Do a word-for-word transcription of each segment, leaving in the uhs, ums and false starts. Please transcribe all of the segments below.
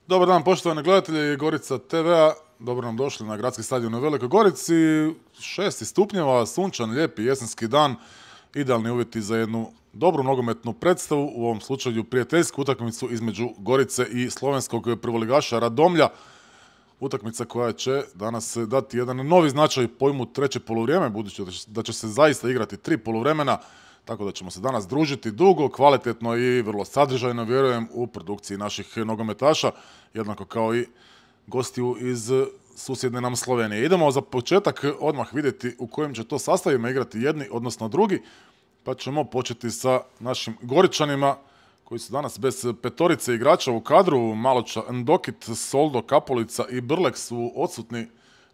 Dobar dan poštovani gledatelji Gorica te ve-a, dobro nam došli na gradski stadion u Velikoj Gorici. Šesti stupnjeva, sunčan, lijepi jesenski dan, idealni uvjeti za jednu dobru nogometnu predstavu, u ovom slučaju prijateljsku utakmicu između Gorice i slovenskog prvoligaša Radomlja. Utakmica koja će danas dati jedan novi značaj pojmu treće poluvrijeme, budući da će se zaista igrati tri poluvremena, tako da ćemo se danas družiti dugo, kvalitetno i vrlo sadržajno, vjerujem, u produkciji naših nogometaša, jednako kao i gostiju iz susjedne nam Slovenije. Idemo za početak odmah vidjeti u kojim će to sastavima igrati jedni, odnosno drugi, pa ćemo početi sa našim Goričanima, koji su danas bez petorice igrača u kadru. Maloča Ndokit, Soldo, Kapolica i Brlek su odsutni,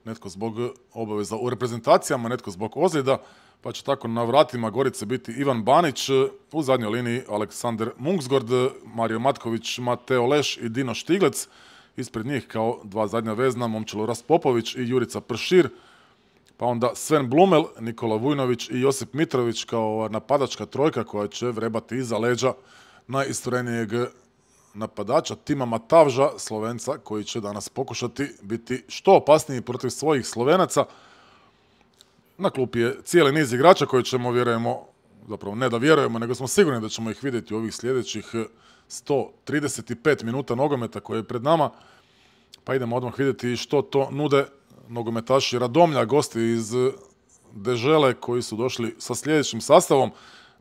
netko zbog obaveza u reprezentacijama, netko zbog ozljeda, pa će tako na vratima Gorice biti Ivan Banić, u zadnjoj liniji Aleksandar Munksgord, Mario Matković, Mateo Leš i Dino Štiglec. Ispred njih kao dva zadnja vezna Momčilo Raspopović i Jurica Pršir, pa onda Sven Blumel, Nikola Vujnović i Josip Mitrović kao napadačka trojka koja će vrebati iza leđa najisturenijeg napadača Tima Matavža, Slovenca, koji će danas pokušati biti što opasniji protiv svojih Slovenaca. Na klupi je cijeli niz igrača koji ćemo, vjerujemo, zapravo ne da vjerujemo, nego smo sigurni da ćemo ih vidjeti u ovih sljedećih sto trideset pet minuta nogometa koje je pred nama. Pa idemo odmah vidjeti što to nude nogometaši Radomlja, gosti iz Dežele koji su došli sa sljedećim sastavom.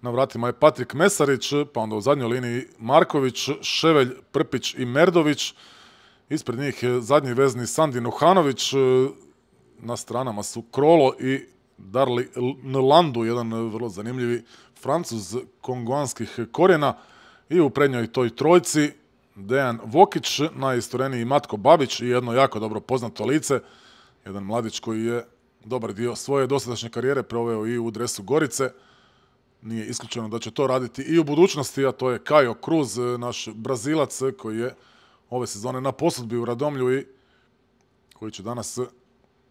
Na vratima je Patrik Mesarić, pa onda u zadnjoj liniji Marković, Ševelj, Prpić i Merdović. Ispred njih je zadnji vezni Sandi Nuhanović. Na stranama su Krolo i Darli Nlandu, jedan vrlo zanimljivi Francuz kongoanskih korijena. I u prednjoj toj trojci Dejan Vokić, najistureniji Matko Babić i jedno jako dobro poznato lice. Jedan mladić koji je dobar dio svoje dosadašnje karijere proveo i u dresu Gorice. Nije isključeno da će to raditi i u budućnosti, a to je Caio Cruz, naš Brazilac koji je ove sezone na posudbi u Radomlju i koji će danas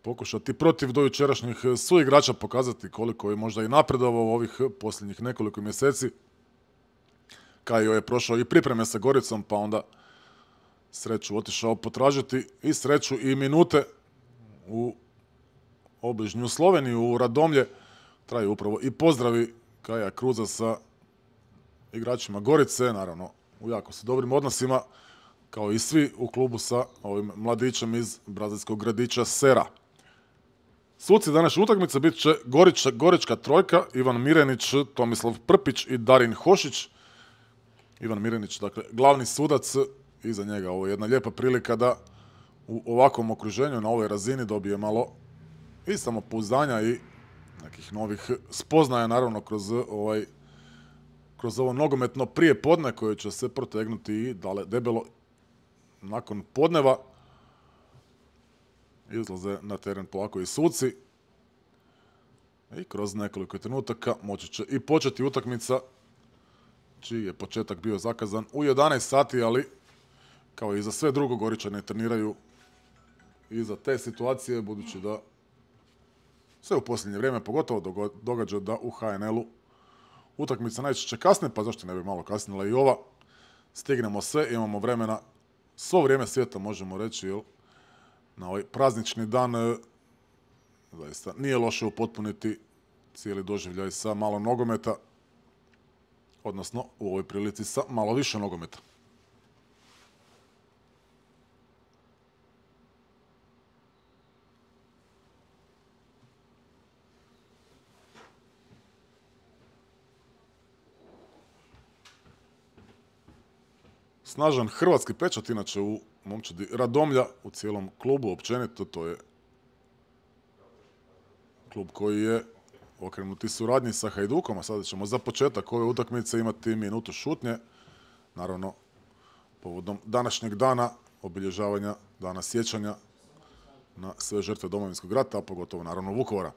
pokušati protiv dojučerašnjih suigrača pokazati koliko je možda i napredovao u ovih posljednjih nekoliko mjeseci. Caio je prošao i pripreme sa Goricom, pa onda sreću otišao potražiti i sreću i minute u obližnju Sloveniju, u Radomlje. Traju upravo i pozdravi Caia Cruza sa igračima Gorice, naravno u jako su dobrim odnosima, kao i svi u klubu sa ovim mladićem iz brazilskog gradića Sera. Suci današnje utakmice bit će Goriča, Gorička trojka, Ivan Mirenić, Tomislav Prpić i Darin Hošić. Ivan Mirenić, dakle, glavni sudac, iza njega ovo je jedna lijepa prilika da u ovakvom okruženju, na ovoj razini, dobije malo i samopouzdanja i nekih novih spoznaja, naravno, kroz ovaj kroz ovo nogometno prije podne koje će se protegnuti i dale debelo nakon podneva. Izlaze na teren polako i suci i kroz nekoliko trenutaka moći će i početi utakmica, čiji je početak bio zakazan u jedanaest sati, ali kao i za sve drugo Goričani treniraju i za te situacije, budući da sve u posljednje vrijeme pogotovo događa da u ha en el-u utakmica najčešće kasne, pa zašto ne bi malo kasnila i ova. Stignemo sve, imamo vremena, svo vrijeme svijeta možemo reći, jel? Na ovaj praznični dan zaista nije loše upotpuniti cijeli doživljaj sa malo nogometa, odnosno u ovoj prilici sa malo više nogometa. Snažan hrvatski pečat, inače u momčadi Radomlja, u cijelom klubu općenito, to je klub koji je okrenut i suradnji sa Hajdukom, a sada ćemo za početak ove utakmice imati minutu šutnje, naravno povodom današnjeg dana obilježavanja dana sjećanja na sve žrtve Domovinskog rata, a pogotovo naravno Vukovara.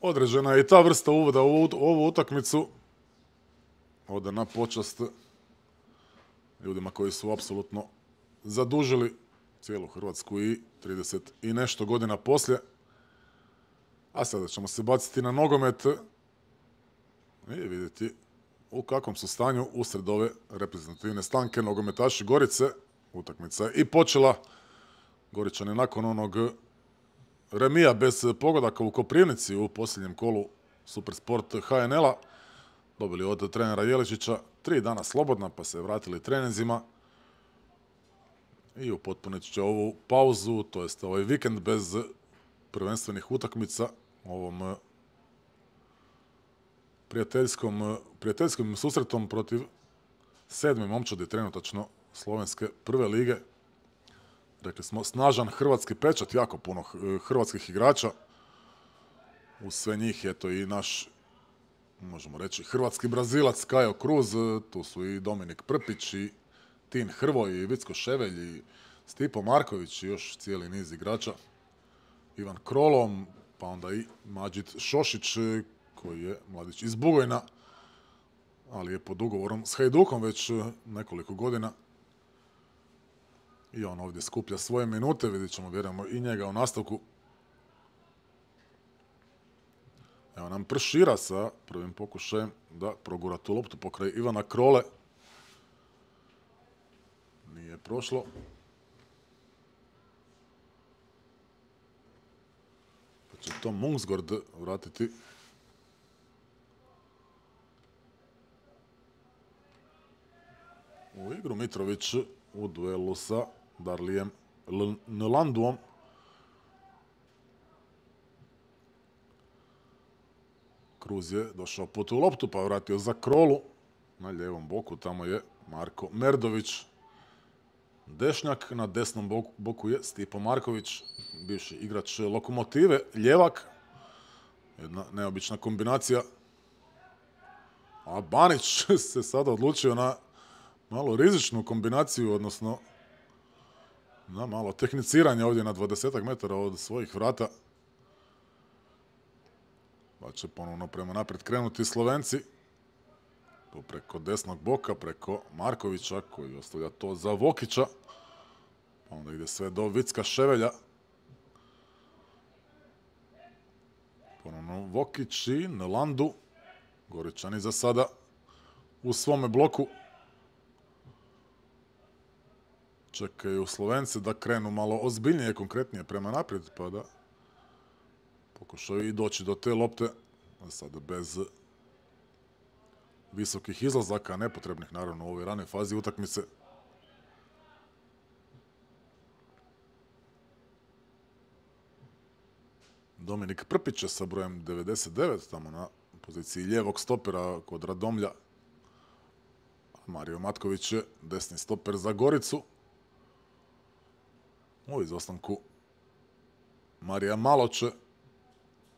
Određena je i ta vrsta uvoda u ovu utakmicu. Ode na počast ljudima koji su apsolutno zadužili cijelu Hrvatsku i trideset i nešto godina poslije. A sada ćemo se baciti na nogomet i vidjeti u kakvom su stanju usred ove reprezentativne stanke nogometaši Gorice. Utakmica je i počela. Goričani nakon onog remija bez pogodaka u Koprivnici u posljednjem kolu Supersport H N L-a dobili od trenera Jeličića tri dana slobodna, pa se vratili treninzima i upotpunit će ovu pauzu, to jest ovaj vikend bez prvenstvenih utakmica ovom prijateljskom, prijateljskom susretom protiv sedme momčadi trenutačno slovenske prve lige. Rekli smo, snažan hrvatski pečat, jako puno hrvatskih igrača. Uz sve njih je to i naš, možemo reći, hrvatski Brazilac Kajo Cruz, tu su i Dominik Prpić, i Tin Hrvoj, i Vicko Ševelj, i Stipo Marković, i još cijeli niz igrača. Ivan Krolom, pa onda i Mađid Šošić, koji je mladić iz Bugojna, ali je pod ugovorom s Hajdukom već nekoliko godina. I on ovdje skuplja svoje minute, vidjet ćemo, vjerujemo, i njega u nastavku. Evo nam Pršira sa prvim pokušajem da progura tu loptu pokraj Ivana Krole. Nije prošlo. Pa će to Mungsgård vratiti. U igru Mitrović u duelu sa Darlijem Nlanduom. Cruz je došao po tu loptu pa vratio za Krolu. Na lijevom boku tamo je Marko Merdović. Dešnjak, na desnom boku, boku je Stipo Marković, bivši igrač Lokomotive, ljevak. Jedna neobična kombinacija. A Banić se sada odlučio na malo rizičnu kombinaciju, odnosno na malo tehniciranje ovdje na dvadesetak metara od svojih vrata. Pa će ponovno prema naprijed krenuti Slovenci. Tu preko desnog boka, preko Markovića koji ostavlja to za Vokića. Pa onda ide sve do Vicka Ševelja. Ponovno Vokić i Nlandu. Goričani za sada u svome bloku. Čekaju Slovence da krenu malo ozbiljnije, konkretnije prema naprijed, pa da pokušaju i doći do te lopte, sada bez visokih izlazaka, nepotrebnih naravno u ovoj ranoj fazi utakmice. Dominik Prpić sa brojem devedeset devet, tamo na poziciji lijevog stopera kod Radomlja. Mario Matković je desni stoper za Goricu. U izostanku Marija Maloče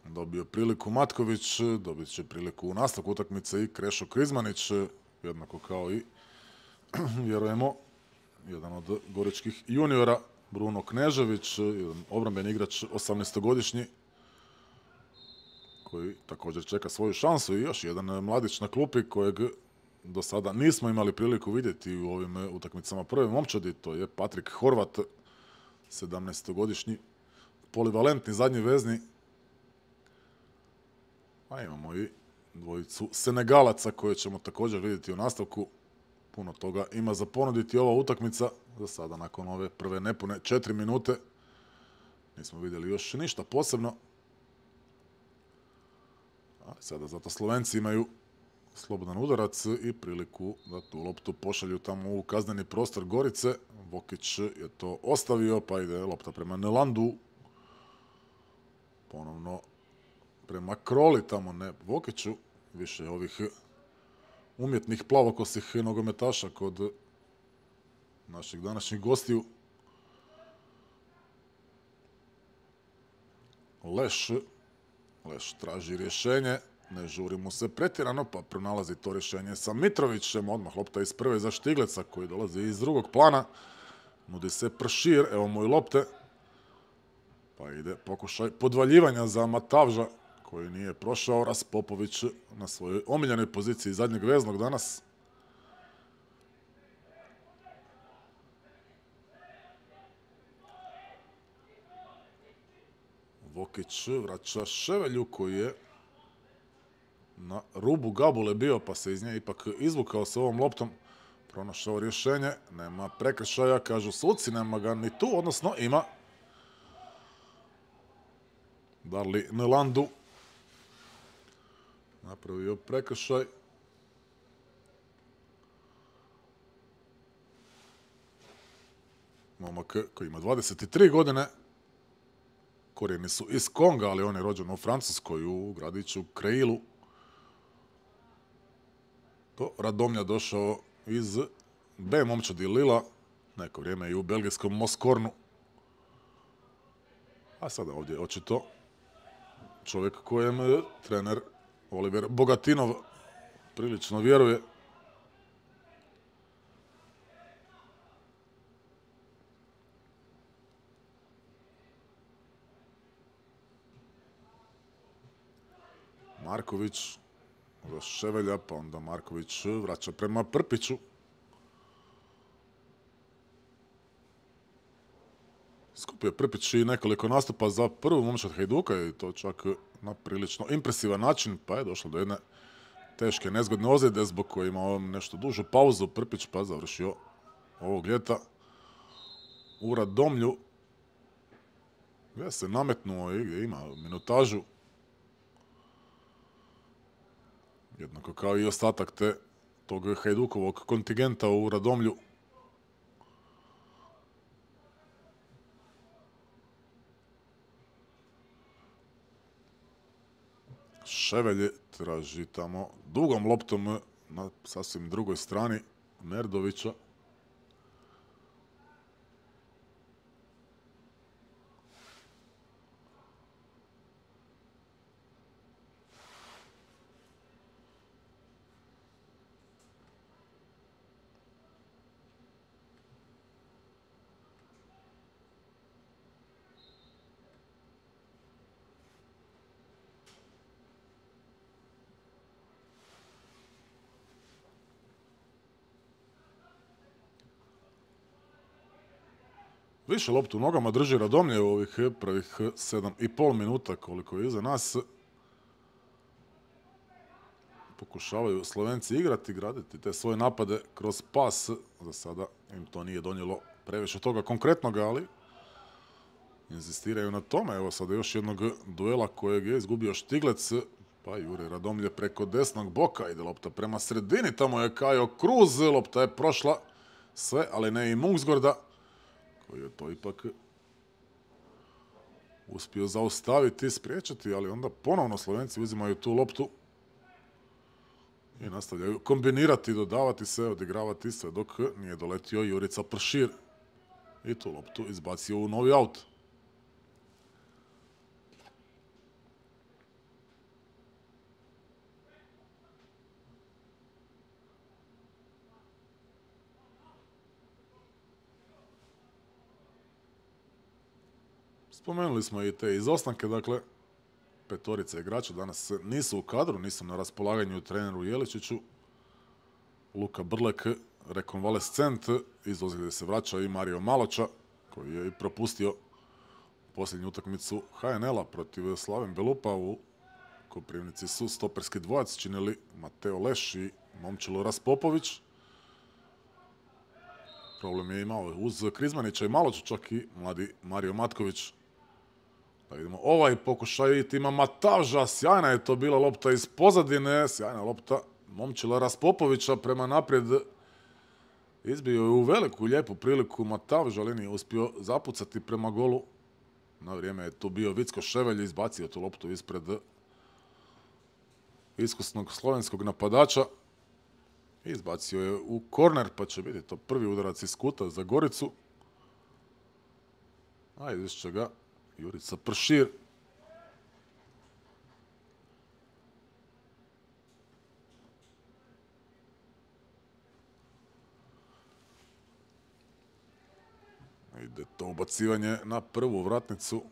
dobio priliku Matković, dobit će priliku u nastavku utakmice i Krešo Krizmanić, jednako kao i, vjerujemo, jedan od goričkih juniora, Bruno Knežević, jedan obrambeni igrač osamnaestogodišnji, koji također čeka svoju šansu, i još jedan mladić na klupi kojeg do sada nismo imali priliku vidjeti u ovim utakmicama prve momčadi, to je Patrik Horvat, sedamnaestogodišnji polivalentni zadnji vezni. A imamo i dvojicu Senegalaca koje ćemo također vidjeti u nastavku. Puno toga ima za ponuditi ova utakmica. Za sada nakon ove prve nepune četiri minute nismo vidjeli još ništa posebno. Ali sada zato Slovenci imaju slobodan udarac i priliku da tu loptu pošalju tamo u kazneni prostor Gorice. Vokić je to ostavio, pa ide lopta prema Nlandu. Ponovno prema Kroli, tamo ne Vokiću. Više ovih umjetnih plavokosih nogometaša kod naših današnjih gostiju. Leš. Leš traži rješenje. Ne žuri mu se pretjerano, pa pronalazi to rješenje sa Mitrovićem. Odmah lopta iz prve za Štigleca koji dolazi iz drugog plana. Nudi se Pršir, evo mu i lopte. Pa ide pokušaj podvaljivanja za Matavža koji nije prošao. Raspopović na svojoj omiljenoj poziciji zadnjeg veznog danas. Vokić vraća Ševelju koji je na rubu gabule bio, pa se iz nje ipak izvukao sa ovom loptom. Pronašao rješenje, nema prekršaja, kažu suci, nema ga ni tu, odnosno ima. Darli Nlandu napravio prekršaj. Momak koji ima dvadeset tri godine. Korijeni su iz Konga, ali on je rođen u Francuskoj, u gradiću Kreilu. Do Radomlja došao iz B momčadi Lila, neko vrijeme i u belgijskom Moskornu. A sada ovdje očito čovjek kojem trener Oliver Bogatinov prilično vjeruje. Marković za Ševelja, pa onda Marković vraća prema Prpiću. Skupio je Prpić i nekoliko nastupa za prvu momčad Hajduka i to čak na prilično impresivan način, pa je došlo do jedne teške nezgodne ozljede zbog koje imao nešto dužu pauzu Prpić, pa završio ovog ljeta u Radomlju, gdje se nametnuo i gdje ima minutažu. Jednako kao i ostatak te tog Hajdukovog kontingenta u Radomlju. Ševelj traži tamo dugom loptom na sasvim drugoj strani Merdovića. Više loptu u nogama drži Radomlje u ovih prvih sedam i pol minuta koliko je iza nas. Pokušavaju Slovenci igrati, graditi te svoje napade kroz pas. Za sada im to nije donijelo previše toga konkretnoga, ali inzistiraju na tome. Evo sada još jednog duela kojeg je izgubio Štiglec, pa jure Radomlje preko desnog boka. Ide lopta prema sredini, tamo je Kajo Kruz, lopta je prošla sve, ali ne i Mungsgorda, koji je to ipak uspio zaustaviti, spriječiti, ali onda ponovno Slovenci uzimaju tu loptu i nastavljaju kombinirati, dodavati se, odigravati sve dok nije doletio Jurica Pršir i tu loptu izbacio u novi aut. Spomenuli smo i te izostanke, dakle, petorica igrača danas nisu u kadru, nisu na raspolaganju treneru Jeličiću. Luka Brlek, rekonvalescent, iz ozljede se vraća i Mario Maloča, koji je i propustio posljednju utakmicu H N L-a protiv Slaven Belupa. U Koprivnici su stoperski dvojac činili Mateo Leš i Momčilo Raspopović. Problem je imao uz Krizmanića i Maloča, čak i mladi Mario Matković. Da vidimo ovaj pokušaj tima Matavža, sjajna je to bila lopta iz pozadine, sjajna lopta Momčila Raspopovića prema naprijed. Izbio je u veliku, lijepu priliku Matavža, ali nije uspio zapucati prema golu. Na vrijeme je tu bio Vicko Ševelj, izbacio tu loptu ispred iskusnog slovenskog napadača. Izbacio je u korner, pa će biti to prvi udarac iz kuta za Goricu. A izvišće ga Jurica Pršir. Ide to ubacivanje na prvu vratnicu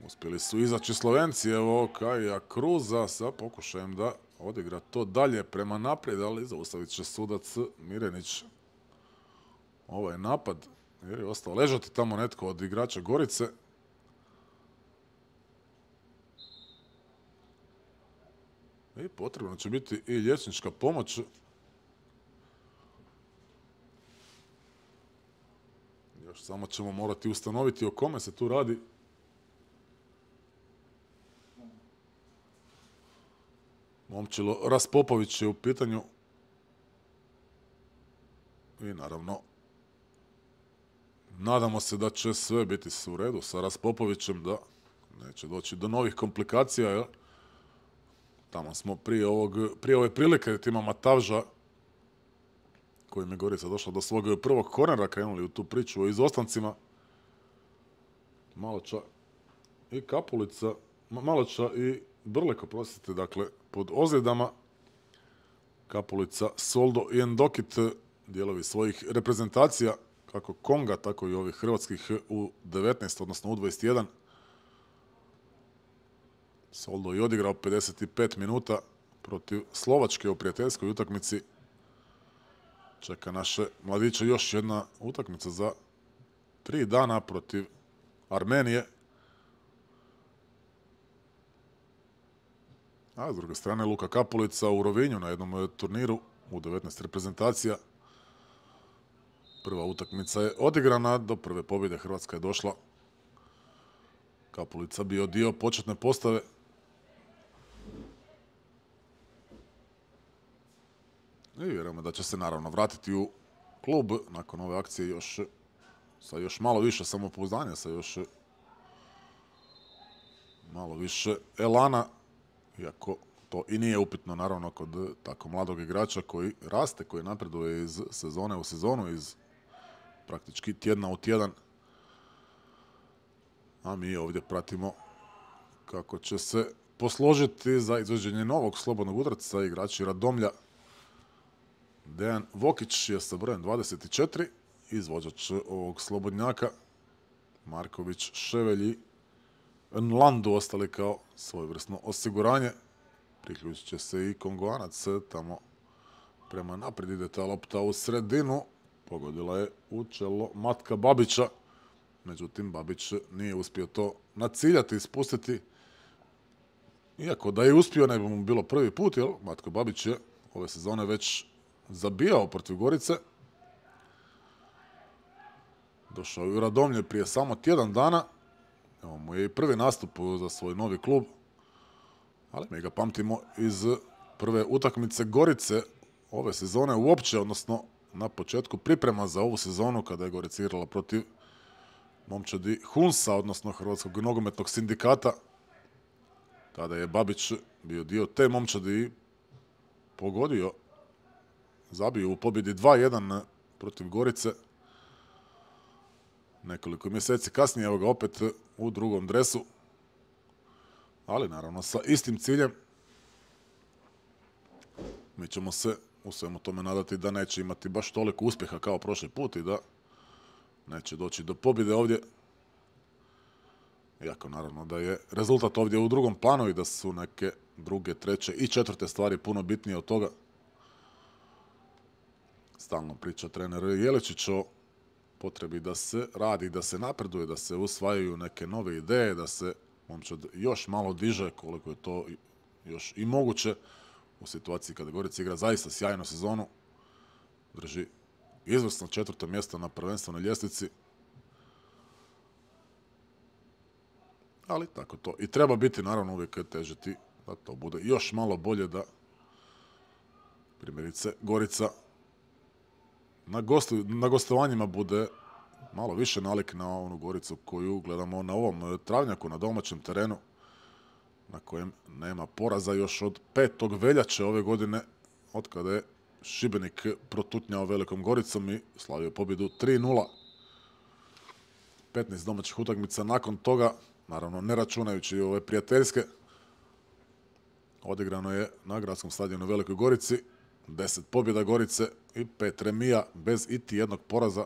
u Uspjeli su izaći Slovenci, evo Kaja Kruza sa pokušajem da odigra to dalje prema naprijed, ali zaustavit će sudac Mirenić ovaj napad, jer je ostao ležati tamo netko od igrača Gorice. I potrebno će biti i liječnička pomoć. Još samo ćemo morati ustanoviti o kome se tu radi. Momčilo Raspopović je u pitanju. I naravno, nadamo se da će sve biti u redu sa Raspopovićem, da neće doći do novih komplikacija, jer tamo smo prije, ovog, prije ove prilike tima Matavža, kojim je Gorica došla do svog prvog kornera, krenuli u tu priču o izostancima. Maloča i Kapulica, Maloča i Brlek, oprostite, dakle, pod ozljedama. Kapulica, Soldo i Endokit, dijelovi svojih reprezentacija, kako Konga, tako i ovih hrvatskih u devetnaest, odnosno u dvadeset jedan. Soldo je odigrao pedeset pet minuta protiv Slovačke u prijateljskoj utakmici. Čeka naše mladiće još jedna utakmica za tri dana protiv Armenije. A s druge strane Luka Kapulica u Rovinju na jednom turniru u devetnaest reprezentacija. Prva utakmica je odigrana, do prve pobjede Hrvatska je došla. Kapulica bio dio početne postave. I vjerujemo da će se naravno vratiti u klub nakon ove akcije još sa još malo više samopouzdanja, sa još malo više elana, iako to i nije upitno naravno kod tako mladog igrača koji raste, koji napreduje iz sezone u sezonu, iz praktički tjedna u tjedan. A mi ovdje pratimo kako će se posložiti za izvođenje novog slobodnog udarca igrači Radomlja. Dejan Vokić je sa brojem dvadeset četiri, izvođač ovog slobodnjaka. Marković, Ševelj i Nlandu ostali kao svojevrsno osiguranje. Priključit će se i Kongoanac, tamo prema naprijed ide ta lopta u sredinu. Pogodila je u čelo Matka Babića, međutim Babić nije uspio to naciljati i spustiti. Iako da je uspio, ne bi mu bilo prvi put, jer Matko Babić je ove sezone već zabijao protiv Gorice. Došao je u Radomlje prije samo tjedan dana. Evo mu je i prvi nastup za svoj novi klub. Ali mi ga pamtimo iz prve utakmice Gorice ove sezone uopće, odnosno na početku priprema za ovu sezonu kada je Gorica igrala protiv momčadi Hunsa, odnosno Hrvatskog nogometnog sindikata. Tada je Babić bio dio te momčadi i pogodio, zabio u pobjedi dva jedan protiv Gorice. Nekoliko mjeseci kasnije, evo ga opet u drugom dresu, ali naravno sa istim ciljem. Mi ćemo se u svemu tome nadati da neće imati baš toliko uspjeha kao prošli put i da neće doći do pobjede ovdje. Iako naravno da je rezultat ovdje u drugom planu i da su neke druge, treće i četvrte stvari puno bitnije od toga. Stalno priča trener Jeličić o potrebi da se radi, da se napreduje, da se usvajaju neke nove ideje, da se momčad još malo diže koliko je to još i moguće u situaciji kada Gorica igra zaista sjajnu sezonu. Drži izvrsno četvrto mjesto na prvenstvenoj ljestvici. Ali tako to i treba biti, naravno uvijek težiti da to bude još malo bolje, da primjerice Gorica na, gostu, na gostovanjima bude malo više nalik na onu Goricu koju gledamo na ovom travnjaku, na domaćem terenu, na kojem nema poraza još od petog veljače ove godine, od kada je Šibenik protutnjao Velikom Goricom i slavio pobjedu tri nula. petnaest domaćih utakmica nakon toga, naravno ne računajući ove prijateljske, odigrano je na gradskom stadionu u Velikoj Gorici deset pobjeda Gorice i pet remija bez iti jednog poraza.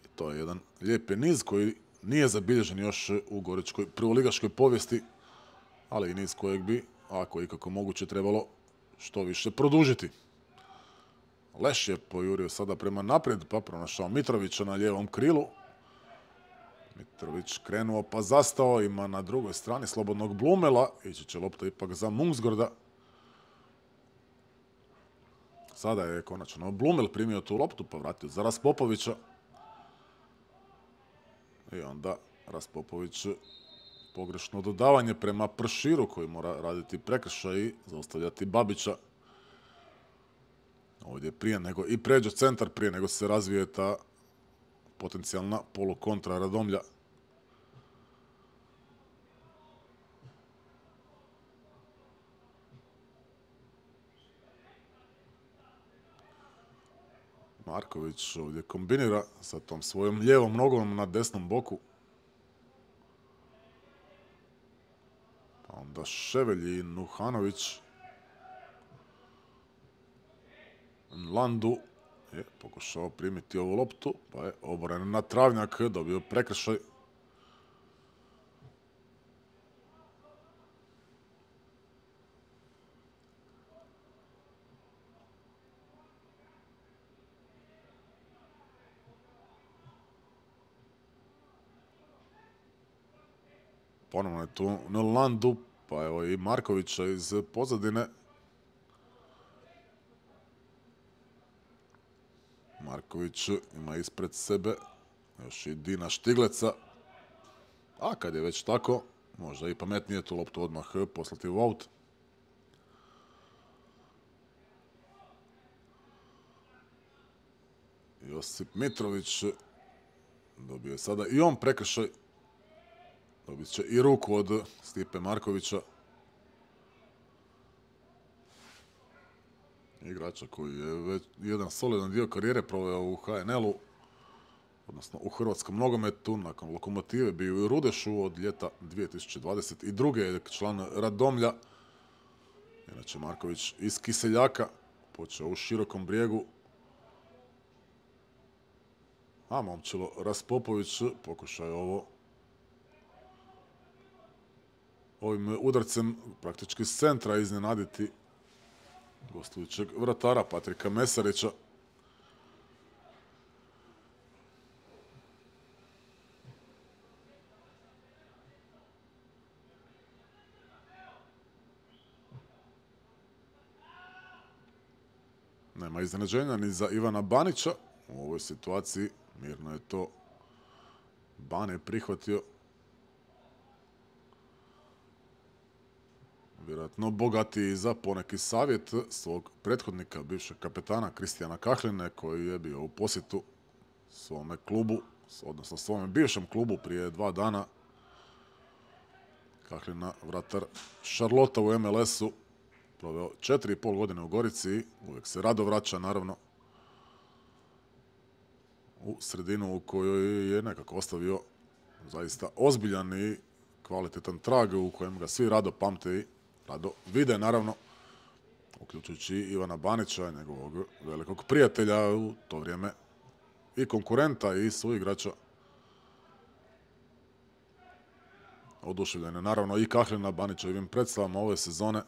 I to je jedan lijepi niz koji nije zabilježen još u goričkoj prvoligaškoj povijesti, ali i niz kojeg bi, ako ikako moguće, trebalo što više produžiti. Leš je pojurio sada prema naprijed, pa pronašao Mitrovića na lijevom krilu. Mitrović krenuo pa zastao, ima na drugoj strani slobodnog Blumela, ići će lopta ipak za Mungsgorda. Sada je konačno Blumel primio tu loptu, pa vratio za Raspopovića. I onda Raspopović pogrešno dodavanje prema Prširu, koji mora raditi prekršaj i zaustavljati Babića. Ovdje prije nego i pređe centar, prije nego se razvije ta potencijalna polukontra Radomlja. Marković ovdje kombinira sa tom svojom lijevom nogom na desnom boku. Pa onda Ševelj i Nuhanović. Landu je pokušao primiti ovu loptu, pa je oboren na travnjak, dobio prekršaj. Ponovno je tu Landu, pa evo i Markovića iz pozadine. Marković ima ispred sebe još i Dina Štigleca. A kad je već tako, možda i pametnije tu loptu odmah poslati u aut. Josip Mitrović dobio je sada i on prekršaj. Dobit će i ruku od Stipe Markovića. Igrača koji je već jedan solidan dio karijere proveo u H N L-u, odnosno u hrvatskom nogometu, nakon Lokomotive bio i u Rudešu od ljeta dvije tisuće dvadeset druge je član Radomlja. Inače Marković iz Kiseljaka, počeo u Širokom Brijegu. A Momčilo Raspopović pokušao je ovo ovim udarcem praktički s centra iznenaditi gostujućeg vratara Patrika Mesarića. Nema iznenađenja ni za Ivana Banića. U ovoj situaciji mirno je to Bane prihvatio. Vjerojatno bogatiji za poneki savjet svog prethodnika, bivšeg kapetana Kristijana Kahline, koji je bio u posjetu svome klubu, odnosno svome bivšem klubu prije dva dana. Kahlina, vratar Šarlota u M L S-u, proveo četiri i pol godine u Gorici, uvijek se rado vraća, naravno, u sredinu u kojoj je nekako ostavio zaista ozbiljan i kvalitetan trag u kojem ga svi rado pamte i rado vide, naravno, uključujući Ivana Banića, njegovog velikog prijatelja u to vrijeme i konkurenta i suigrača. Oduševljen je naravno i Kahlina Banićevim predstavama ove sezone.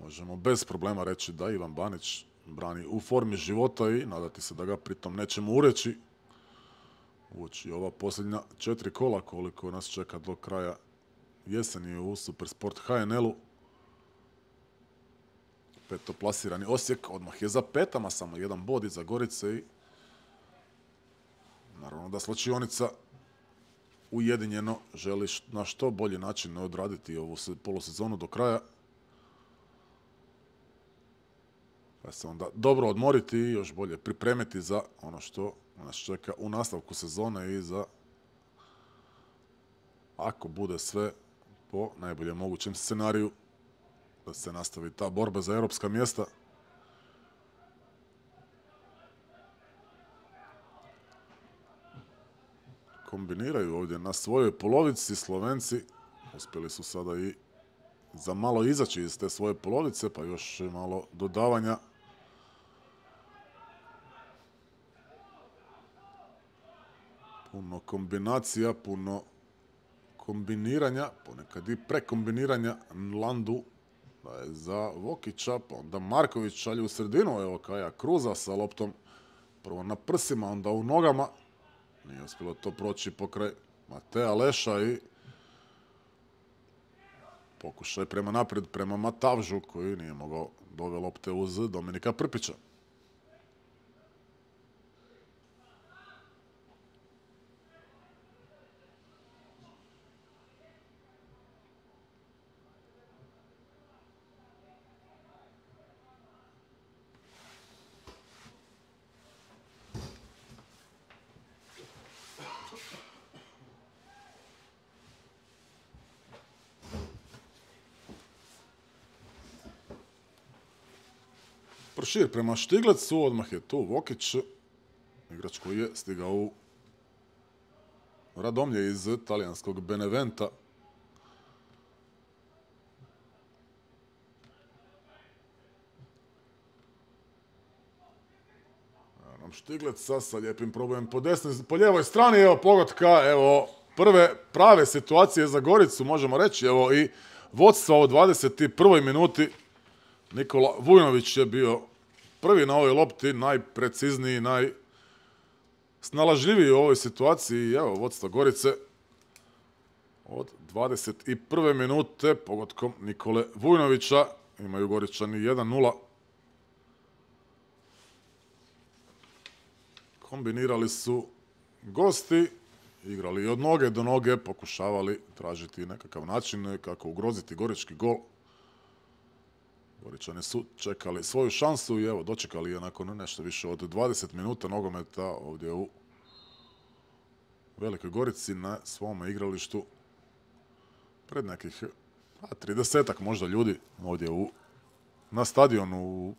Možemo bez problema reći da Ivan Banić brani u formi života i nadati se da ga pritom nećemo ureći. Uoči ova posljednja četiri kola koliko nas čeka do kraja jeseni u Supersport H N L-u. Petoplasirani Osijek odmah je za petama, samo jedan bod iza Gorice i naravno da slačionica ujedinjeno želi na što bolji način odraditi ovu polusezonu do kraja. Pa se onda dobro odmoriti i još bolje pripremiti za ono što nas čeka u nastavku sezone i za, ako bude sve po najboljem mogućem scenariju, da se nastavi ta borba za europska mjesta. Kombiniraju ovdje na svojoj polovici Slovenci. Uspjeli su sada i za malo izaći iz te svoje polovice, pa još malo dodavanja. Puno kombinacija, puno kombiniranja, ponekad i prekombiniranja. Landu daje za Vokića, pa onda Marković šalje u sredinu. Evo Kaja Kruza sa loptom. Prvo na prsima, onda u nogama. Nije uspjelo to proći pokraj Mateja Leša i pokušaj prema naprijed, prema Matavžu koji nije mogao dovesti lopte uz Dominika Prpića. Prošir prema Štiglecu, odmah je tu Vokić, igrač koji je stigao u Radomlje iz talijanskog Beneventa. Evo nam Štigleca sa lijepim probojem po desnoj, po lijevoj strani, evo pogotka, evo prve prave situacije za Goricu, možemo reći, evo i vodstva u dvadeset prvoj minuti. Nikola Vujnović je bio prvi na ovoj lopti, najprecizniji, najsnalažljiviji u ovoj situaciji. Evo, vodstvo Gorice od dvadeset prve minute pogodkom Nikole Vujnovića. Imaju Goričani jedan nula. Kombinirali su gosti, igrali od noge do noge, pokušavali tražiti nekakav način kako ugroziti gorički gol. Goričani su čekali svoju šansu i evo dočekali je nakon nešto više od dvadeset minuta nogometa ovdje u Velikoj Gorici na svome igralištu pred nekih tridesetak možda ljudi ovdje u, na stadionu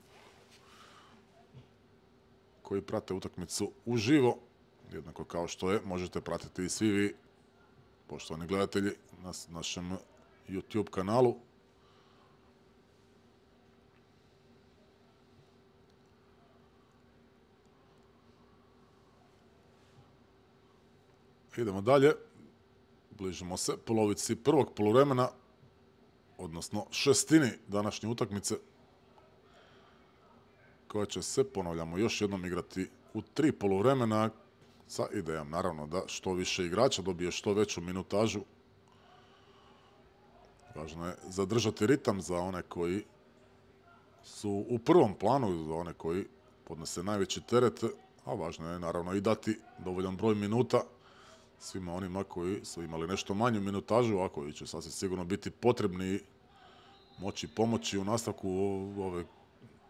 koji prate utakmicu uživo, jednako kao što je možete pratiti i svi vi, poštovani gledatelji, na našem YouTube kanalu. Idemo dalje, bližimo se polovici prvog poluvremena, odnosno šestini današnje utakmice, koja će se, ponavljamo, još jednom igrati u tri poluvremena, sa idejom naravno da što više igrača dobije što veću minutažu. Važno je zadržati ritam za one koji su u prvom planu, za one koji podnose najveći teret, a važno je naravno i dati dovoljan broj minuta svima onima koji su imali nešto manju minutažu, a koji će sasvim sigurno biti potrebni moći pomoći u nastavku ove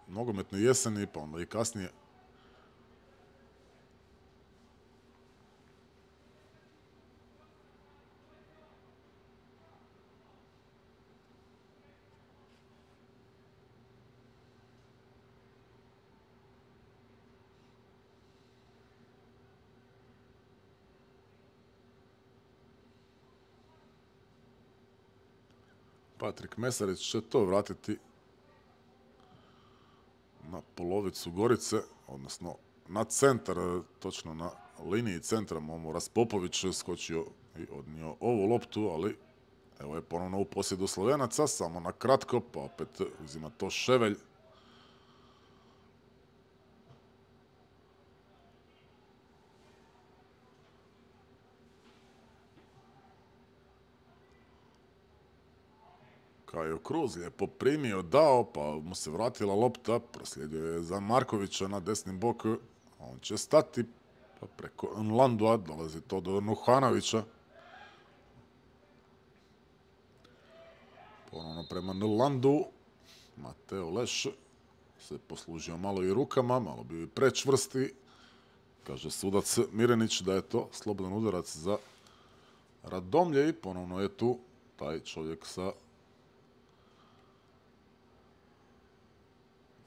nogometne jeseni, pa onda i kasnije. Patrik Mesarić će to vratiti na polovicu Gorice, odnosno na centar, točno na liniji centra. Momoras Popović skočio i odnio ovu loptu, ali evo je ponovno u posjedu Slovenaca, samo na kratko, pa opet uzima to Ševelj. Kajo Kruz lijepo primio, dao, pa mu se vratila lopta, proslijedio je za Markovića na desni bok, on će stati, pa preko Nlandua dolazi to do Nuhanovića. Ponovno prema Nlandu, Mateo Leš se poslužio malo i rukama, malo bi prečvrsti. Kaže sudac Mirenić da je to slobodan udarac za Radomlje i ponovno je tu taj čovjek sa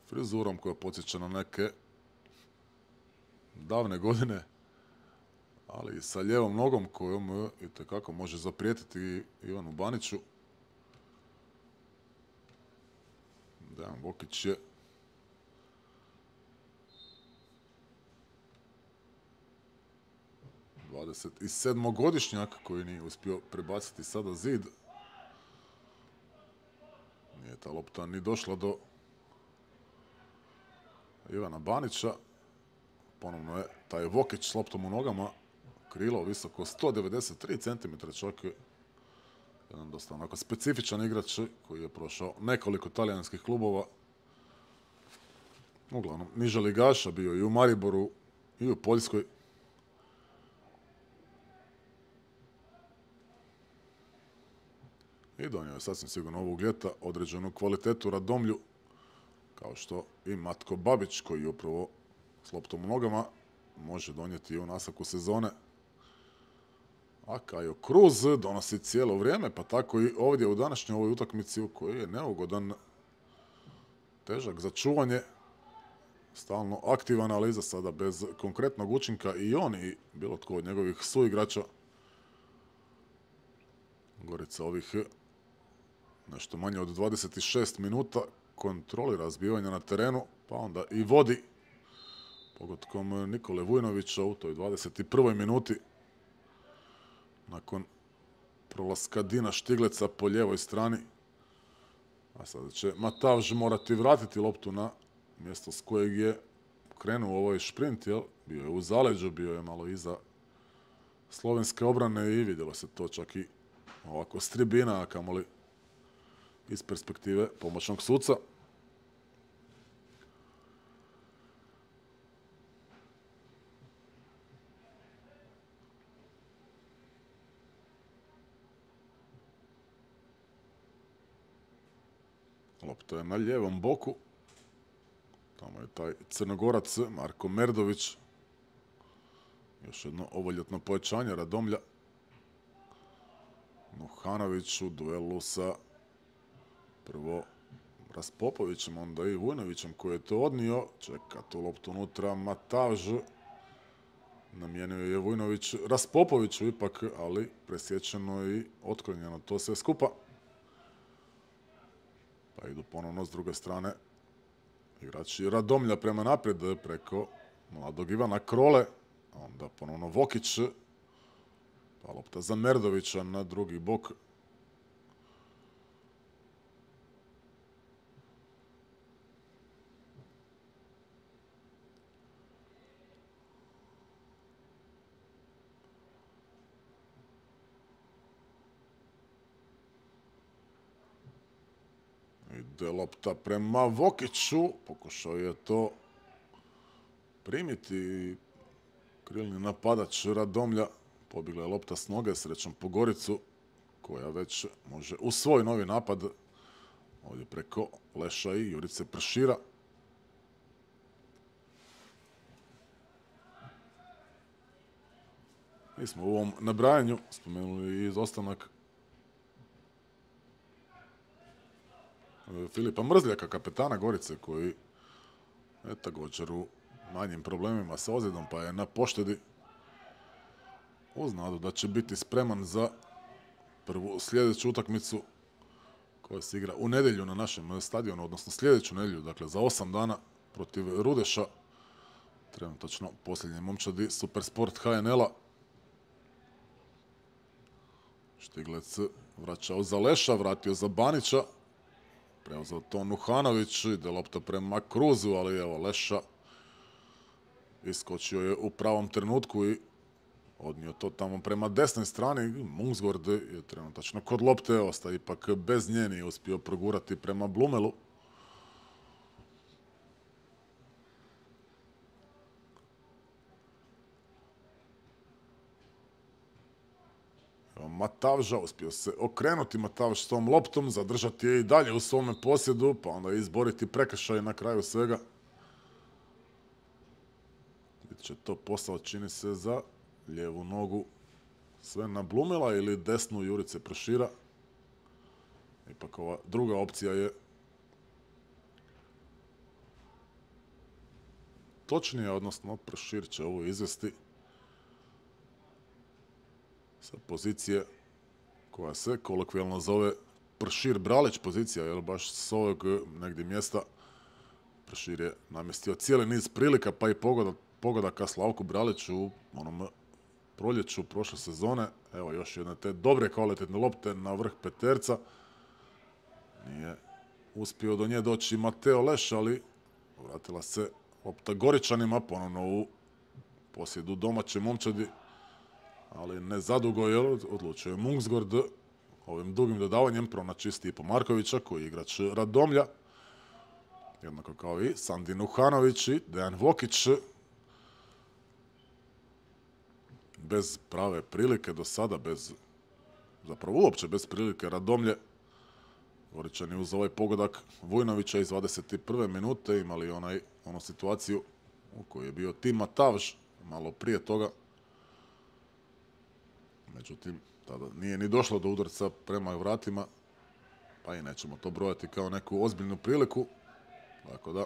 frizurom koja podsjeća na neke davne godine, ali i sa lijevom nogom kojom itekako može zaprijetiti Ivanu Baniću. Dejan Vokić je dvadeset sedmogodišnjak koji nije uspio prebaciti sada zid. Nije ta lopta ni došla do Ivana Banića. Ponovno je taj Vokić s loptom u nogama. Krilo visoko sto devedeset tri centimetra, čak je jedan dosta onako specifičan igrač koji je prošao nekoliko talijanskih klubova. Uglavnom, niža ligaša, bio i u Mariboru i u Poljskoj. I donio je sasvim sigurno ovog ljeta određenu kvalitetu Radomlju, kao što i Matko Babić, koji je upravo s loptom u nogama može donijeti i u nastavku sezone. A Kajo Cruz donosi cijelo vrijeme, pa tako i ovdje u današnjoj ovoj utakmici u kojoj je neugodan, težak za čuvanje, stalno aktivan, ali iza sada bez konkretnog učinka i on i bilo tko od njegovih suigrača. Gorica ovih nešto manje od dvadeset šest minuta kontrolira zbivanja na terenu, pa onda i vodi pogodkom Nikole Vujnovića u toj dvadeset prvoj minuti. Nakon prolaska Dina Štigleca po lijevoj strani. A sada će Matavž morati vratiti loptu na mjesto s kojeg je krenuo ovaj šprint, jel? Bio je u zaleđu, bio je malo iza slovenske obrane i vidjelo se to čak i ovako s tribina, a kamoli iz perspektive pomoćnog suca. Lopta je na lijevom boku. Tamo je taj Crnogorac Marko Merdović. Još jedno ovoljetno pojačanje Radomlja. Nuhanović u duelu sa prvo Raspopovićem, onda i Vujnovićem koji je to odnio. Čeka tu loptu unutra Matavž. Namijenio je Vujnović Raspopoviću ipak, ali presječeno i otklonjeno to sve skupa. Pa idu ponovno s druge strane igrači Radomlja prema naprijed preko mladog Ivana Krole. Onda ponovno Vokić. Pa lopta za Merdovića na drugi bok. Ide lopta prema Vokiću. Pokušao je to primiti krilni napadač Radomlja. Pobjegla je lopta s noge, srećom po Goricu, koja već može u svoj novi napad ovdje preko Leša i Jurice Pršira. Mi smo u ovom nabrajanju spomenuli i izostanak Filipa Mrzljaka, kapetana Gorice, koji je također u manjim problemima sa ozljedom, pa je na poštedi, uz nadu da će biti spreman za prvu sljedeću utakmicu koja se igra u nedjelju na našem stadionu, odnosno sljedeću nedjelju, dakle za osam dana protiv Rudeša. Trenutačno posljednje momčadi Supersport H N L-a. Štiglec vraćao za Leša, vratio za Banića. Preuzeo to Nuhanović, ide lopta prema Cruzu, ali evo Leša iskočio je u pravom trenutku i odnio to tamo prema desnoj strani. Mungsgård je trenutačno kod lopte, ostaje ipak bez nje, nije uspio progurati prema Blumelu. Matavža, uspio se okrenuti Matavž s tom loptom, zadržati je i dalje u svome posjedu, pa onda izboriti prekršaj na kraju svega. Bit će to posao, čini se, za lijevu nogu Svena Blumela ili desnu Jurice Pršira. Ipak ova druga opcija je točnija, odnosno Pršir će ovo izvesti sa pozicije koja se kolokvijalno zove Pršir Bralić pozicija, jer baš s ovog negdje mjesta Pršir je namjestio cijeli niz prilika, pa i pogodaka Slavku Braliću u onom proljeću prošle sezone. Evo još jedne te dobre kvalitetne lopte na vrh peterca. Nije uspio do nje doći Mateo Leš, ali vratila se lopta Goričanima, ponovno u posjedu domaće momčadi, ali ne zadugo, jer odlučio je Mungsgård ovim dugim dodavanjem pronaći Stipo Markovića, koji je igrač Radomlja, jednako kao i Sandin Uhanović i Dejan Vokić. Bez prave prilike do sada, bez, zapravo uopće bez prilike Radomlje. Goričani uz ovaj pogodak Vujnovića iz dvadeset prve minute imali onaj, onu situaciju u kojoj je bio Tima Tavž malo prije toga. Međutim, tada nije ni došlo do udarca prema vratima, pa i nećemo to brojati kao neku ozbiljnu priliku. Tako da,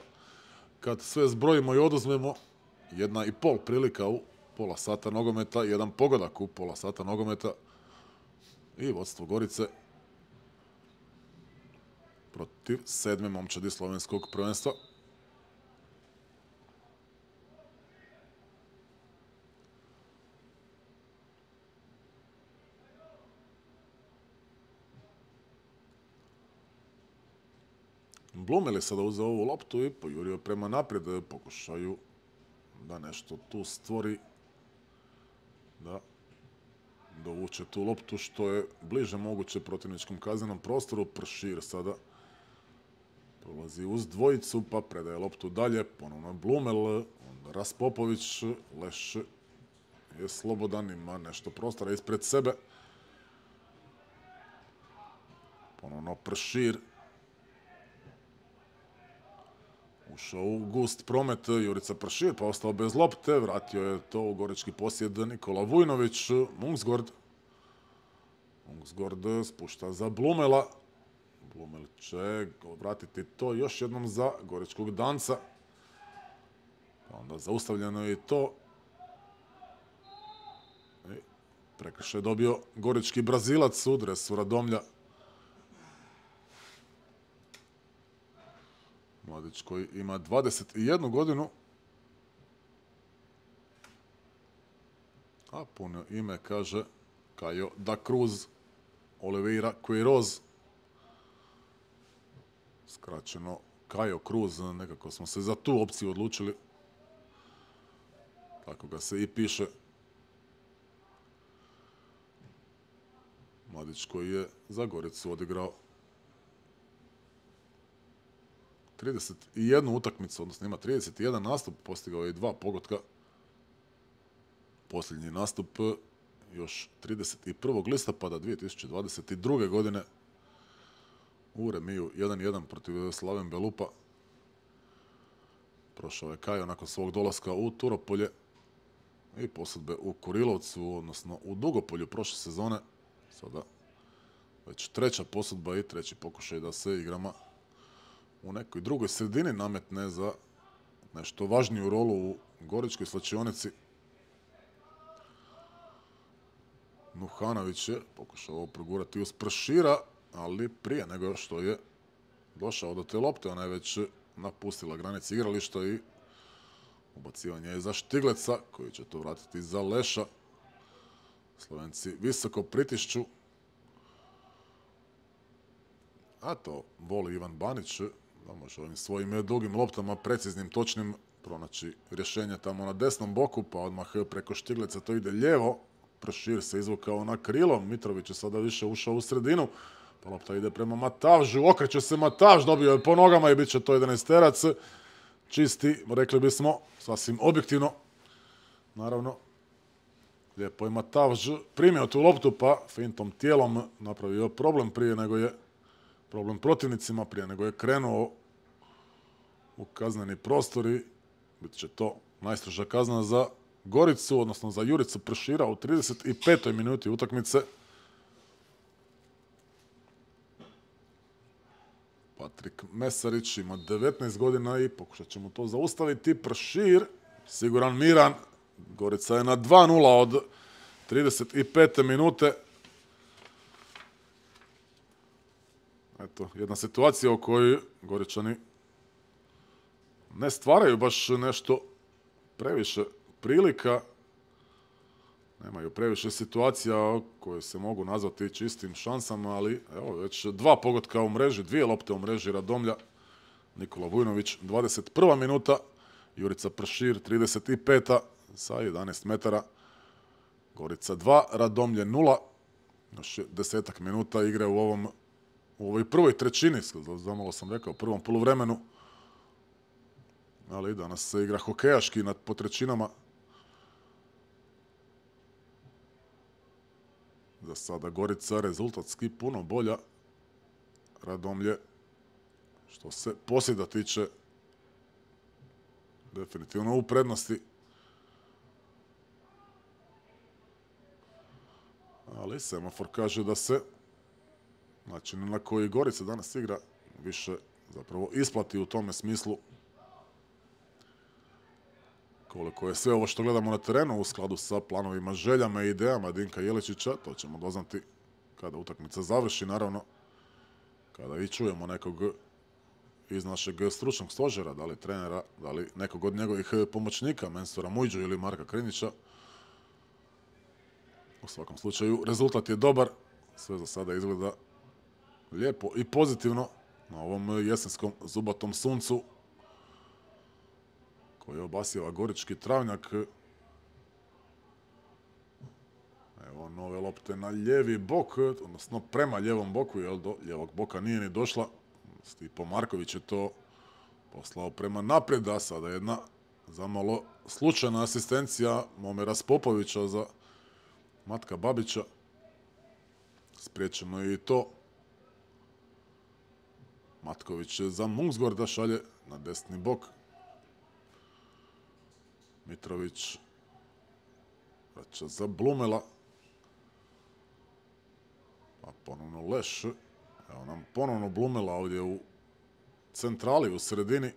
kad sve zbrojimo i oduzmemo, jedna i pol prilika u pola sata nogometa, jedan pogodak u pola sata nogometa i vodstvo Gorice protiv sedme momčadi slovenskog prvenstva. Blumel je sada uzeo ovu loptu i pojurio prema naprijed, pokušaju da nešto tu stvori, da dovuče tu loptu što je bliže moguće protivničkom kaznenom prostoru. Pršir sada prolazi uz dvojicu, pa predaje loptu dalje, ponovno Blumel, onda Raspopović, Leš je slobodan, ima nešto prostora ispred sebe. Ponovno Pršir. Ušao u gust promet Jurica Pršir, pa ostao bez lopte. Vratio je to u gorički posjed Nikola Vujnović. Mungsgård. Mungsgård spušta za Blumela. Blumel će vratiti to još jednom za goričkog Danca. Pa onda zaustavljeno je i to. I prekršaj je dobio gorički Brazilac u dresu Radomlja. Mladić koji ima dvadeset jednu godinu, a puno ime kaže Caio da Cruz Oliveira Queiroz. Skraćeno Caio Cruz, nekako smo se za tu opciju odlučili. Tako ga se i piše. Mladić koji je za Goricu odigrao trideset jednu utakmicu, odnosno ima trideset jedan nastup, postigao je i dva pogotka. Posljednji nastup još trideset prvog listopada dvije tisuće dvadeset druge. godine u remiju jedan jedan protiv Slaven Belupa. Prošao je Caio nakon svog dolaska u Turopolje i posudbe u Kurilovcu, odnosno u Dugopolju prošle sezone. Sada već treća posudba i treći pokušaj da se igrama u nekoj drugoj sredini nametne za nešto važniju rolu u goričkoj slačionici. Nuhanović je pokušao progurati uz Pršira, ali prije nego što je došao do te lopte, ona je već napustila granice igrališta i ubacivanje je za Štigleca, koji će to vratiti za Leša. Slovenci visoko pritišću, a to voli Ivan Banić, da može ovim svojim dugim loptama, preciznim, točnim, pronaći rješenje tamo na desnom boku, pa odmah preko Štigleca to ide lijevo. Pršir se izvukao na krilo, Mitrović je sada više ušao u sredinu, pa lopta ide prema Matavžu, okreće se Matavž, dobio je po nogama i bit će to jedanaesterac. Čisti, rekli bismo, sasvim objektivno. Naravno, lijepo je Matavž primio tu loptu, pa fintom tijelom napravio problem prije nego je problem protivnicima, prije nego je krenuo u kazneni prostor i bit će to najstroža kazna za Goricu, odnosno za Juricu Pršira u trideset petoj minuti utakmice. Patrik Mesarić ima devetnaest godina i pokušat će mu to zaustaviti. Pršir, siguran, miran. Gorica je na dva nula od trideset pete minute. Eto, jedna situacija u kojoj Goričani ne stvaraju baš nešto previše prilika. Nemaju previše situacija koje se mogu nazvati čistim šansama, ali evo već dva pogotka u mreži, dvije lopte u mreži Radomlja. Nikola Vujnović, dvadeset prva minuta, Jurica Pršir, trideset peta sa jedanaest metara. Gorica dva, Radomlje nula. Još desetak minuta igre u ovom u ovoj prvoj trećini, zamalo sam rekao, prvom poluvremenu. Ali danas se igra hokejaški nad po trećinama. Za sada Gorica rezultatski puno bolja. Radomlje, što se posjeda tiče, definitivno u prednosti. Ali semafor kaže da se način na koji Gorica danas igra više zapravo isplati u tome smislu koliko je sve ovo što gledamo na terenu u skladu sa planovima, željama i idejama Dinka Jeličića. To ćemo doznati kada utakmica završi, naravno, kada i čujemo nekog iz našeg stručnog stožera, da li trenera, da li nekog od njegovih pomoćnika, Mensura Mujđu ili Marka Krinića. U svakom slučaju, rezultat je dobar, sve za sada izgleda lijepo i pozitivno na ovom jesenskom zubatom suncu koji obasjava gorički travnjak. Evo nove lopte na lijevi bok, odnosno prema lijevom boku, jer do lijevog boka nije ni došla. Stipo Marković je to poslao prema naprijed, a sada jedna zamalo slučajna asistencija Momira Spopovića za Matka Babića. Spriječeno je i to. Matković za Mungsgorda šalje na desni bok. Mitrović vraća za Blumela. Pa ponovno Leš. Evo nam ponovno Blumela ovdje u centrali, u sredini.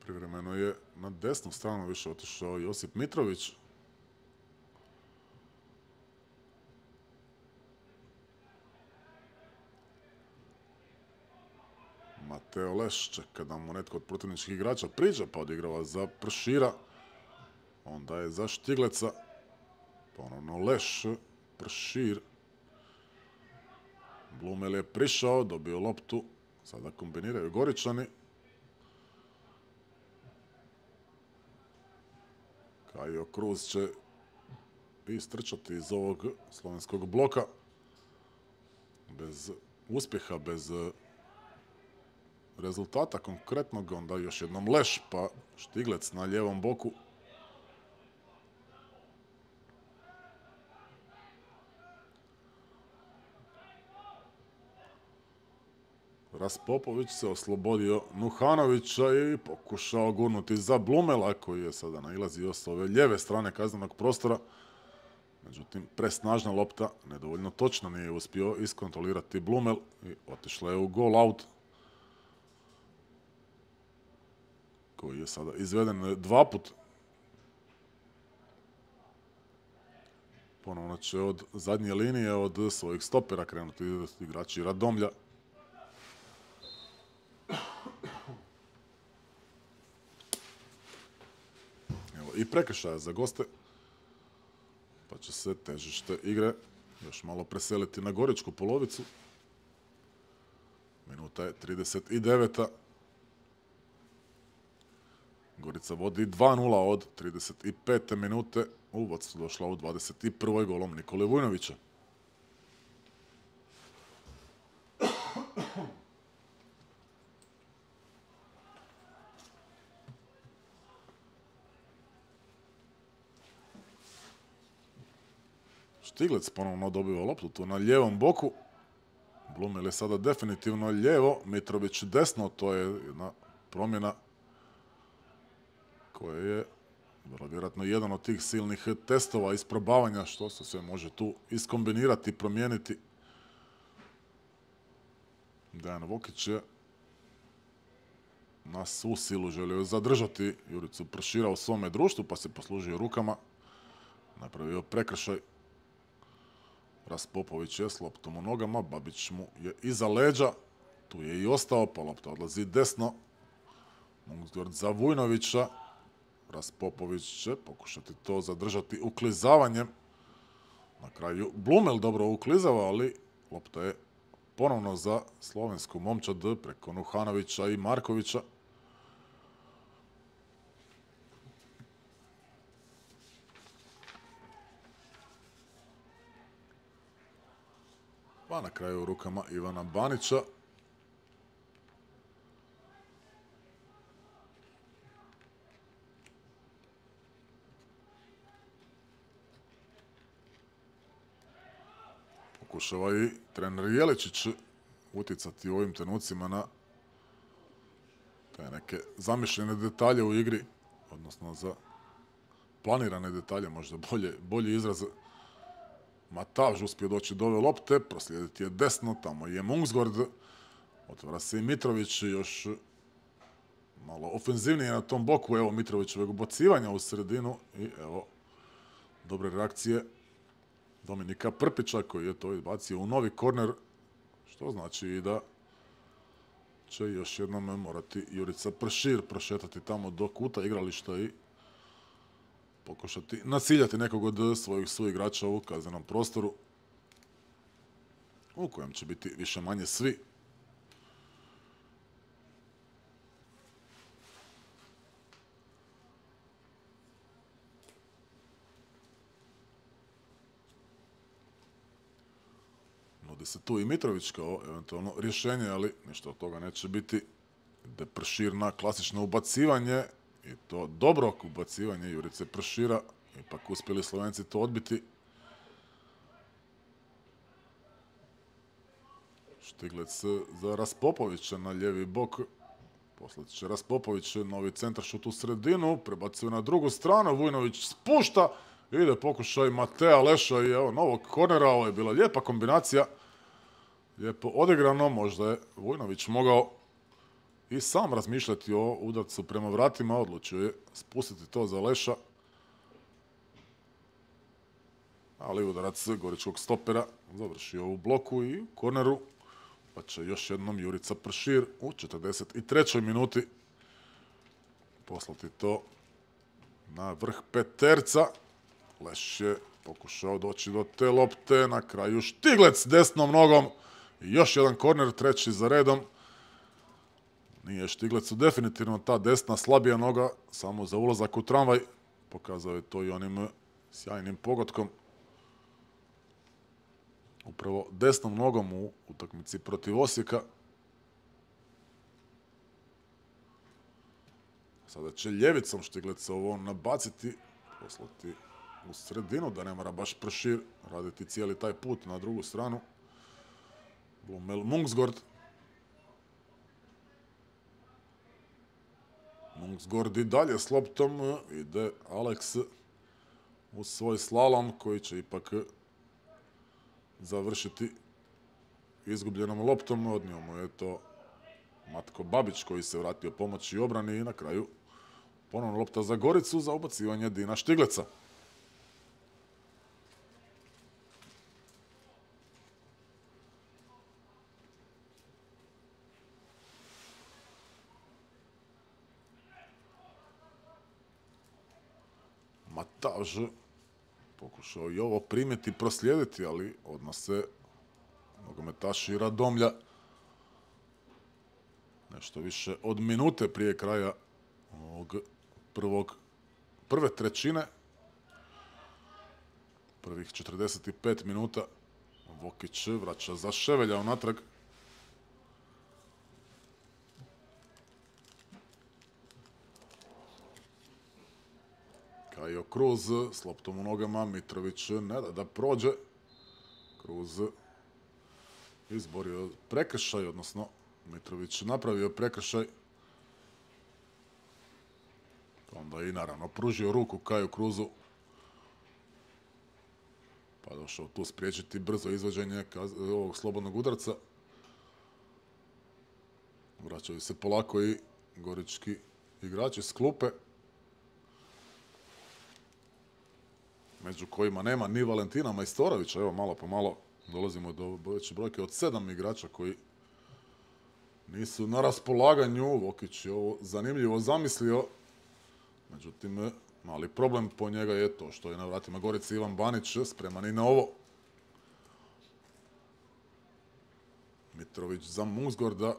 Privremeno je na desnu stranu više otišao Josip Mitrović. Mateo Leš čeka da mu netko od protivničkih igrača priđe, pa odigrava za Pršira. Onda je za Štigleca. Ponovno Leš, Pršir. Blumel je prišao, dobio loptu. Sada kombiniraju Goričani. Kajo Kruz će istrčati iz ovog slovenskog bloka. Bez uspjeha, bez rezultata konkretnog, onda još jednom Leš, pa Štiglec na lijevom boku. Raspopović se oslobodio Nuhanovića i pokušao gurnuti za Blumela, koji je sada nailazio s ove lijeve strane kaznenog prostora. Međutim, presnažna lopta, nedovoljno točno, nije uspio iskontrolirati Blumel i otišla je u goal out, koji je sada izveden dva put. Ponovno će od zadnje linije, od svojih stopera krenuti igrači Radomlja. Evo i prekršaja za goste, pa će se težište igre još malo preseliti na goričku polovicu. Minuta je trideset deveta. Gorica vodi dva nula od trideset pete minute. U vodstvo došla u dvadeset prvoj golom Nikole Vujnovića. Štiglec ponovno dobiva loptu tu na lijevom boku. Blumel je sada definitivno lijevo, Mitrović desno, to je jedna promjena koja je vrlo vjerojatno jedan od tih silnih testova isprobavanja što se sve može tu iskombinirati, promijeniti. Dejan Vokić je na svu silu želio zadržati Juricu Pršira u svome društvu, pa se poslužio rukama, napravio prekršaj. Raspopović je s loptom u nogama, Babić mu je iza leđa, Tu je i ostao, pa lopta odlazi desno. Mungsgård za Vujnovića. Raspopović će pokušati to zadržati uklizavanjem. Na kraju Blumel dobro uklizava, ali lopta je ponovno za slovensku momčad preko Nuhanovića i Markovića. Pa na kraju u rukama Ivana Banića. Pokušava i trener Jeličić utjecati u ovim trenucima na te neke zamišljene detalje u igri, odnosno za planirane detalje, možda bolje, bolji izraz. Matavž uspio doći do ove lopte, proslijediti je desno, tamo je Mungsgård, otvara se i Mitrović, još malo ofenzivnije na tom boku, evo Mitrovićevog ubacivanja u sredinu i evo dobre reakcije Dominika Prpića koji je to izbacio u novi korner, što znači i da će još jednom morati Jurica Pršir prošetati tamo do kuta igrališta i pokušati naciljati nekog od svojih suigrača u kaznenom prostoru u kojem će biti više manje svi. Nudi se tu i Mitrović kao eventualno rješenje, ali ništa od toga neće biti. Ide Pršir na klasično ubacivanje i to dobro ubacivanje Jurice Pršira. Ipak uspjeli Slovenci to odbiti. Štiglec za Raspopovića na lijevi bok. Poslat će Raspopović novi centaršut u sredinu. Prebacuje na drugu stranu. Vujnović spušta. Ide pokušaj Matea Leša i evo novog kornera. Ovo je bila lijepa kombinacija. Lijepo odigrano. Možda je Vujnović mogao i sam razmišljati o udarcu prema vratima. Odlučio je spustiti to za Leša. Ali udarac goričkog stopera završio u bloku i korneru. Pa će još jednom Jurica Pršir u četrdeset trećoj minuti poslati to na vrh peterca. Leš je pokušao doći do te lopte. Na kraju Štiglec desnom nogom. I još jedan korner, treći za redom. Nije Štiglecu definitivno ta desna slabija noga, samo za ulazak u tramvaj. Pokazao je to i onim sjajnim pogodkom. Upravo desnom nogom u utakmici protiv Osijeka. Sada će ljevicom Štiglec ovo nabaciti, poslati u sredinu, da ne mora baš Pršir raditi cijeli taj put na drugu stranu. Blumel Mungsgård. Mungsgård i dalje s loptom. Ide Alex u svoj slalom koji će ipak završiti izgubljenom loptom. Odnio mu je to Matko Babić koji se vratio pomoći obrani i na kraju ponovno lopta za Goricu za ubacivanje Dina Štigleca. Matavž pokušao i ovo primjeti i proslijediti, ali odmah se nogometaši Radomlja nešto više od minute prije kraja ovog prvog, prve trećine. Prvih četrdeset pet minuta Vokić vraća za Ševelja unatrag. Kajo Kruz s loptom u nogama, Mitrović ne da da prođe. Kruz izborio prekršaj, odnosno Mitrović napravio prekršaj. Onda i naravno pružio ruku Kaju Kruzu. Pa došao tu spriječiti brzo izvođenje ovog slobodnog udarca. Vraćaju se polako i gorički igrači s klupe, među kojima nema ni Valentina Majstorovića. Evo malo po malo dolazimo do veće brojke od sedam igrača koji nisu na raspolaganju. Vokić je ovo zanimljivo zamislio. Međutim, mali problem po njega je to što je na vratima Gorice Ivan Banić spreman i na ovo. Mitrović za Mungsgorda.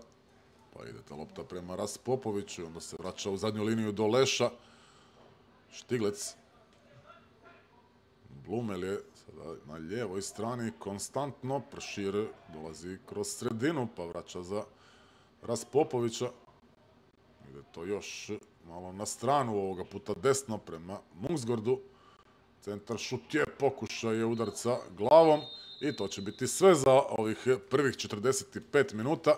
Pa ide ta lopta prema Raspopoviću i onda se vraća u zadnju liniju do Leša. Štiglec. Blumel je sada na lijevoj strani konstantno. Pršir dolazi kroz sredinu pa vraća za Raspopovića. Ide to još malo na stranu, ovoga puta desno prema Mungsgordu. Centar šut je, pokušaj je udarca glavom i to će biti sve za ovih prvih četrdeset pet minuta.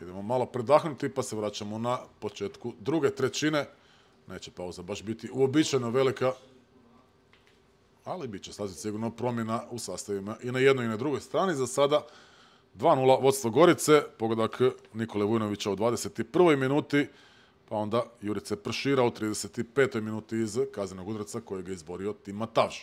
Idemo malo predahnuti pa se vraćamo na početku druge trećine. Neće pauza baš biti uobičajeno velika, ali bit će sasvim sigurno promjena u sastavima i na jednoj i na drugoj strani. Za sada dva nula vodstvo Gorice, pogodak Nikole Vujnovića u dvadeset prvoj minuti, pa onda Jurice Pršira u trideset petoj minuti iz kaznenog udarca kojeg je izborio Tim Matavž.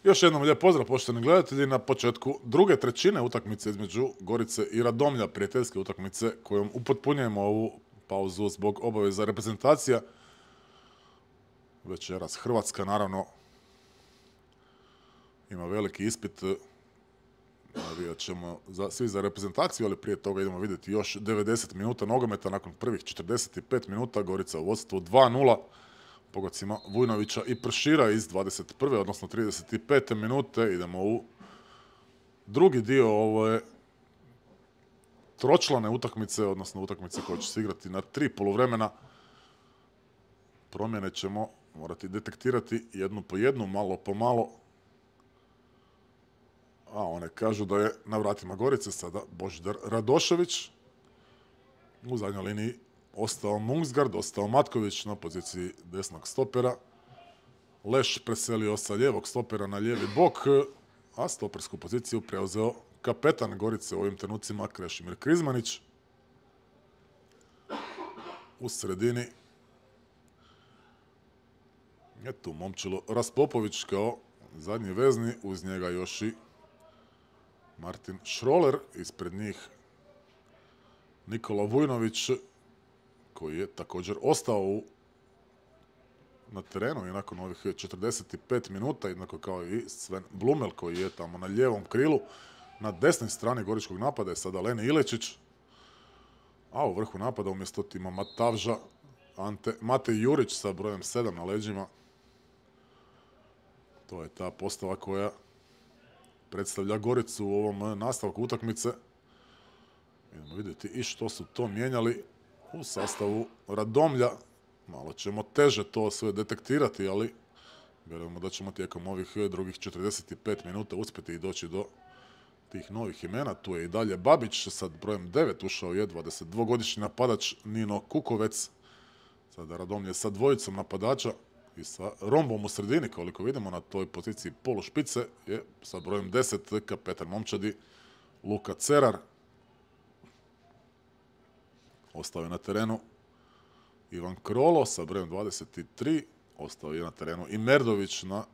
Još jednom lijep pozdrav poštovani gledatelji na početku druge trećine utakmice između Gorice i Radomlja, prijateljske utakmice kojom upotpunjujemo ovu pauzu zbog obaveza reprezentacija. Večeras Hrvatska naravno ima veliki ispit, navijat ćemo za, svi za reprezentaciju, ali prije toga idemo vidjeti još devedeset minuta nogometa nakon prvih četrdeset pet minuta. Gorica u vodstvu dva nula. Pogodcima Vujnovića i Pršira iz dvadeset prve odnosno trideset pete minute. Idemo u drugi dio ove tročlane utakmice, odnosno utakmice koja će se igrati na tri poluvremena. Promjene ćemo morati detektirati jednu po jednu, malo po malo. A one kažu da je na vratima Gorice sada Božidar Radošević. U zadnjoj liniji ostao Mungsgard, ostao Matković na poziciji desnog stopera. Leš preselio sa lijevog stopera na lijevi bok, a stopersku poziciju preuzeo kapetan Gorice u ovim trenucima Krešimir Krizmanić. U sredini je tu Momčilo Raspopović kao zadnji vezni, uz njega još i Martin Šroler, ispred njih Nikola Vujnović, koji je također ostao u, na terenu i nakon ovih četrdeset pet minuta, jednako kao i Sven Blumel koji je tamo na lijevom krilu. Na desnoj strani goričkog napada je sada Leni Ilečić, a u vrhu napada umjesto Tima Matavža Ante Matej Jurić sa brojem sedam na leđima. To je ta postava koja predstavlja Goricu u ovom nastavku utakmice. Idemo vidjeti i što su to mijenjali u sastavu Radomlja. Malo ćemo teže to sve detektirati, ali vjerujemo da ćemo tijekom ovih drugih četrdeset pet minuta uspjeti i doći do tih novih imena. Tu je i dalje Babić, sad brojem devet ušao je dvadesetdvogodišnji napadač Nino Kukovec. Sada Radomlje sa dvojicom napadača i sa rombom u sredini, koliko vidimo na toj poziciji polušpice, je sa brojem deset kapetan momčadi Luka Cerar. Ostao je na terenu Ivan Krolo sa brojem dvadeset tri, ostao je na terenu i Merdović na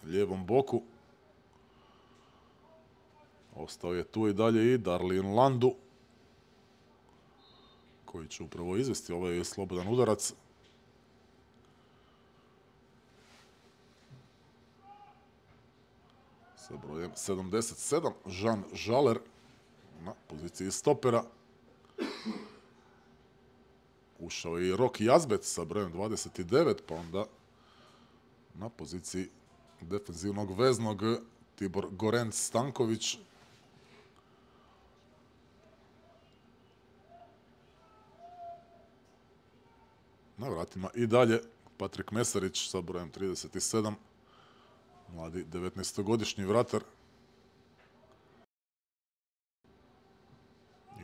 lijevom boku. Ostao je tu i dalje i Darlin Landu, koji će upravo izvesti ovaj slobodan udarac. Sa brojem sedamdeset sedam, Žan Žaler na poziciji stopera. Ušao je i Rok Jazbec sa brojem dvadeset devet, pa onda na poziciji defenzivnog veznog Tibor Gorenc Stanković. Na vratima i dalje Patrik Mesarić sa brojem trideset sedam, mladi devetnaestogodišnji vratar.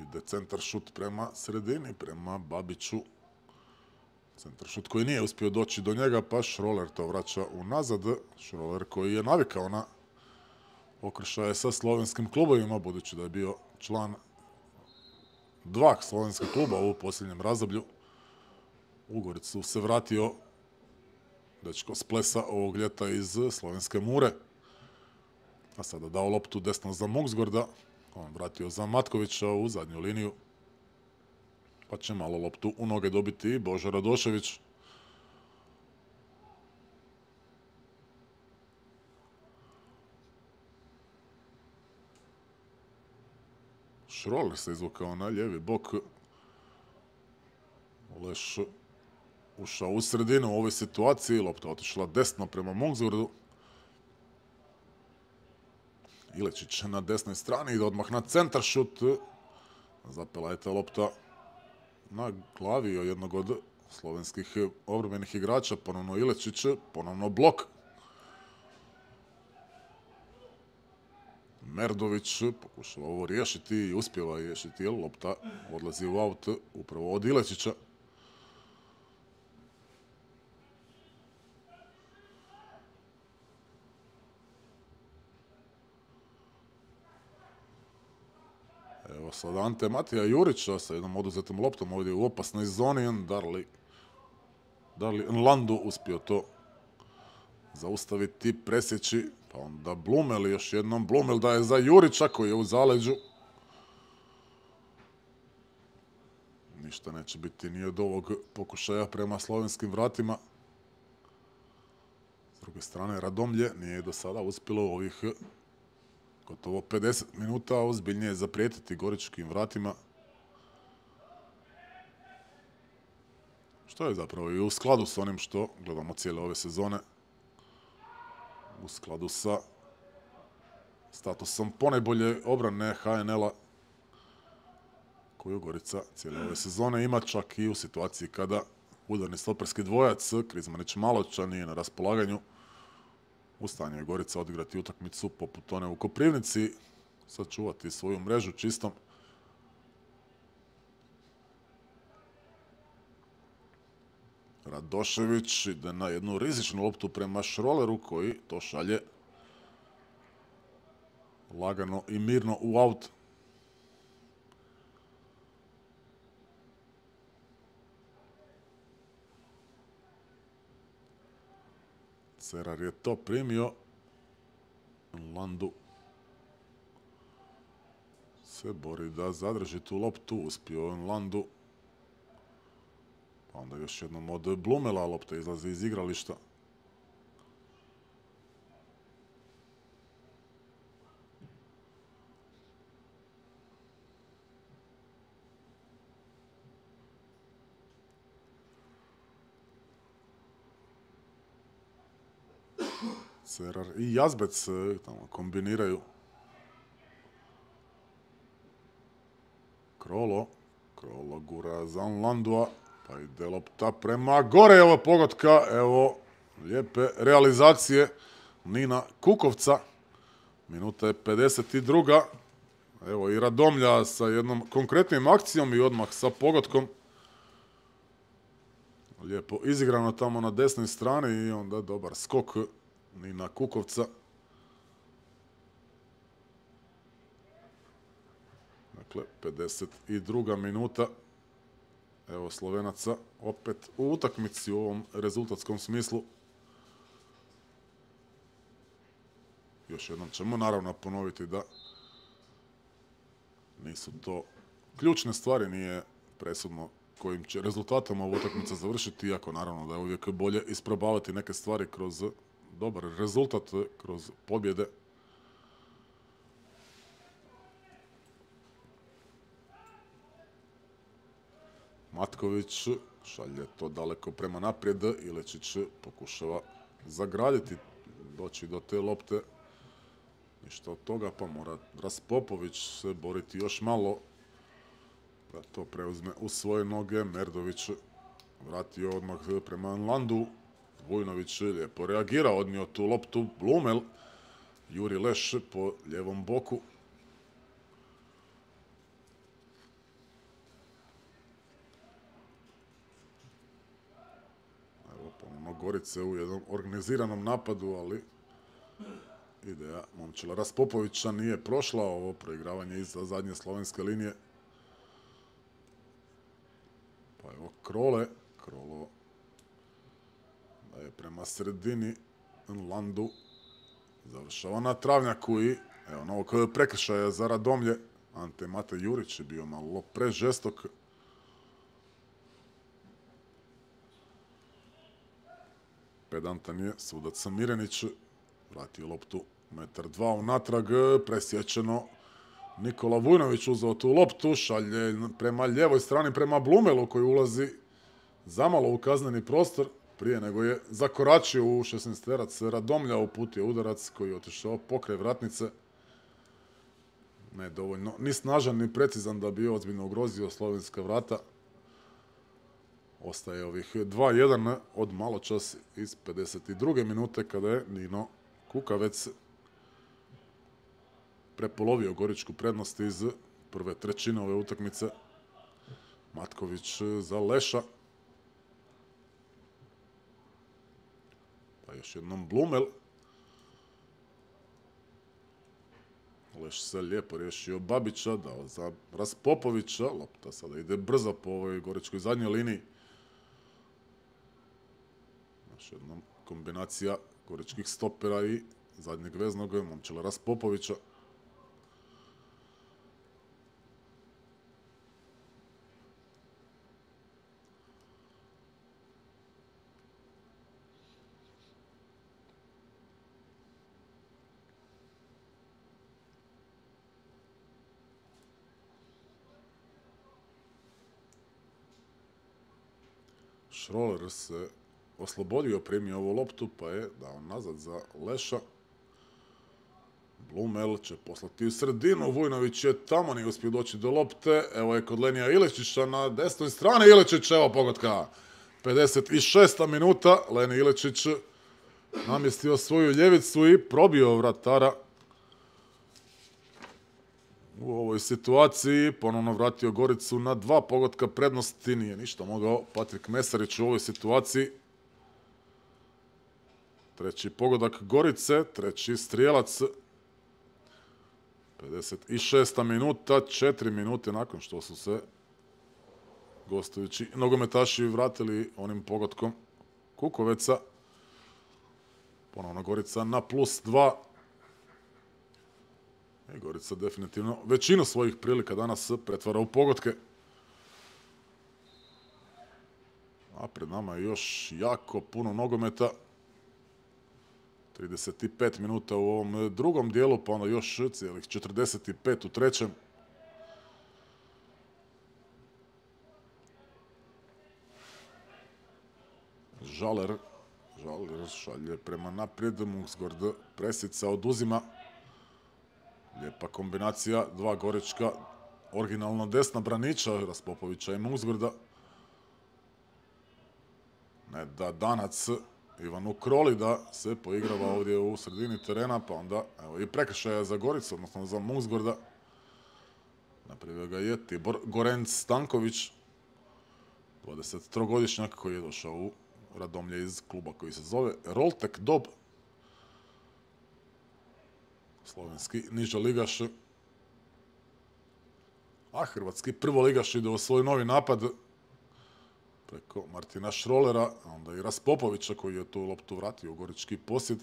Ide centar šut prema sredini, prema Babiću. Centar šut koji nije uspio doći do njega, pa Šroler to vraća unazad. Šroler koji je navikao na okršaje sa slovenskim klubovima, budući da je bio član dva slovenska kluba u posljednjem razdoblju. U Goricu se vratio dečko s Plesa ovog ljeta iz slovenske Mure. A sada dao loptu desno za Mungsgorda. On vratio za Matkovića u zadnju liniju. Pa će malo loptu u noge dobiti i Božo Radošević. Šroler se izvukao na lijevi bok. Leš ušao u sredinu u ovoj situaciji. Lopta otišla desno prema Mungsgordu. Ilečić na desnoj strani ide odmah na centar šut. Zapela je ta lopta na glavi jednog od slovenskih obrambenih igrača. Ponovno Ilečić, ponovno blok. Merdović pokušava ovo riješiti i uspjeva riješiti, jer lopta odlazi u aut upravo od Ilečića. Evo sad Ante Matija Jurića sa jednom oduzetom loptom ovdje u opasnoj zoni. Darli, Darli Landu uspio to zaustaviti, presjeći. Pa onda Blumel, još jednom Blumel daje za Jurića koji je u zaleđu. Ništa neće biti ni od ovog pokušaja prema slovenskim vratima. S druge strane, Radomlje nije do sada uspjelo u ovih gotovo pedeset minuta ozbiljnije zaprijetiti goričkim vratima. Što je zapravo i u skladu s onim što gledamo cijele ove sezone. U skladu sa statusom ponajbolje obrane H N L-a koju Gorica cijele ove sezone ima, čak i u situaciji kada udarni stoperski dvojac Krizmanić Maloča nije na raspolaganju. U stanju je Gorica odigrati utakmicu poput one u Koprivnici, sačuvati svoju mrežu čistom. Radošević ide na jednu rizičnu loptu prema Šroleru koji to šalje lagano i mirno u aut. Cerar je to primio. Landu se bori da zadrži tu loptu. Uspio je Landu. Pa onda još jednom od Blumela lopta izlazi iz igrališta. Cerar i Jazbec tamo kombiniraju. Krolo. Krolo gura za Landua. Pa ide lopta prema gore. Evo pogotka. Evo lijepe realizacije Nina Kukovca. Minuta je pedeset druga. Evo i Radomlja sa jednom konkretnim akcijom i odmah sa pogotkom. Lijepo izigrano tamo na desnoj strani i onda dobar skok Nina Kukovca. Dakle, pedeset druga minuta. Evo Slovenaca opet u utakmici u ovom rezultatskom smislu. Još jednom ćemo naravno ponoviti da nisu to ključne stvari, nije presudno kojim će rezultatom ovu utakmicu završiti, iako naravno da je uvijek bolje isprobavati neke stvari kroz dobar rezultat, kroz pobjede. Matković šalje to daleko prema naprijed. Ilečić pokušava zagraditi, doći do te lopte. Ništa od toga, pa mora Raspopović se boriti još malo da to preuzme u svoje noge. Merdović vratio odmah prema Landu. Vujnović lijepo reagira, odnio tu loptu. Blumel, Juri Leš po ljevom boku. Evo ponovno Gorice u jednom organiziranom napadu, ali ideja Momčila Raspopovića nije prošla. Ovo proigravanje iza zadnje slovenske linije. Pa evo Krole. Krolo daje prema sredini Landu. Završava na travnjaku i evo novog prekršaja za Radomlje. Ante Mate Jurić je bio malo prežestok. Pedantan je sudac Mirenić. Vratio loptu metar dva unatrag. Presječeno. Nikola Vujnović uzeo tu loptu. Šalje prema ljevoj strani, prema Blumelu koji ulazi zamalo u kazneni prostor. Prije nego je zakoračio u šesnaesterac Radomlja, uputio udarac koji je otišao pokraj vratnice. Ne dovoljno ni snažan ni precizan da bi ozbiljno ugrozio slovenska vrata. Ostaje ovih dva jedan od maločas iz pedeset druge minute kada je Nino Kukavec prepolovio goričku prednost iz prve trećine ove utakmice. Matković za Leša. Pa još jednom Blumel. Leš se lijepo riješio Babića, dao za Raspopovića. Lopta sada ide brzo po ovoj goričkoj zadnjoj liniji. Još jednom kombinacija goričkih stopera i zadnjeg veznog, Momčila Raspopovića. Šroler se oslobodio, primio ovu loptu, pa je dao nazad za Leša. Blumel će poslati u sredinu, Vujnović je tamo, nije uspio doći do lopte. Evo je kod Lenija Iličića na desnoj strani, Iličić, evo pogotka. pedeset šesta minuta, Leni Iličić namjestio svoju ljevicu i probio vratara. U ovoj situaciji ponovno vratio Goricu na dva pogotka prednosti, nije ništa mogao Patrik Mesarić u ovoj situaciji. Treći pogodak Gorice, treći strijelac. pedeset šesta minuta, četiri minute nakon što su se gostujući nogometaši vratili onim pogodkom Kukoveca. Ponovno Gorica na plus dva. I Gorica definitivno većinu svojih prilika danas pretvara u pogodke. A pred nama je još jako puno nogometa. trideset pet minuta u ovom drugom dijelu, pa onda još cijelih četrdeset pet u trećem. Žaler, Žaler šalje prema naprijed, Mungsgord presica, oduzima. Lijepa kombinacija, dva Gorička, originalno desna braniča, Raspopovića i Mungsgorda. Ne da Danac Ivanu Kroli da se poigrava ovdje u sredini terena, pa onda evo i prekršaja za Goricu, odnosno za Mungsgorda. Napravio ga je Tibor Gorenc Stanković, dvadesettrogodišnjak koji je došao u Radomlje iz kluba koji se zove Roltek Dob. Slovenski niža ligaš. A hrvatski prvoligaš ide u svoj novi napad preko Martina Šrolera, a onda i Raspopovića koji je tu loptu vratio u gorički posjed.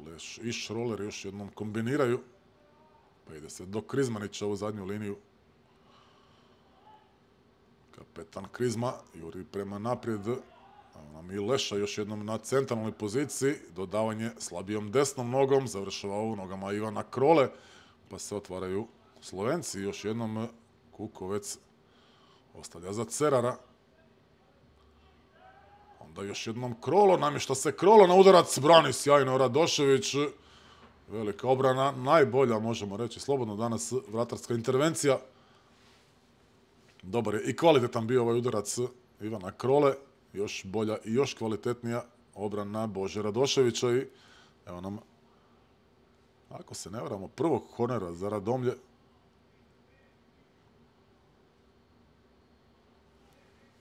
Leš i Šroler još jednom kombiniraju. Pa ide se do Krizmanića u zadnju liniju. Kapetan Krizma juri prema naprijed. Nam i Leša još jednom na centralnoj poziciji. Dodavanje slabijom desnom nogom. Završava u nogama Ivana Krole. Pa se otvaraju Slovenci. Još jednom Kukovec ostavlja za Cerara. Onda još jednom Krolo. Namješta se Krolo na udarac. Brani sjajno Radošević. Velika obrana. Najbolja, možemo reći slobodno danas, vratarska intervencija. Dobar je i kvalitetan bio ovaj udarac Ivana Krole. Još bolja i još kvalitetnija obrana Bože Radoševića. I evo nam, ako se ne varamo, prvog kornera za Radomlje.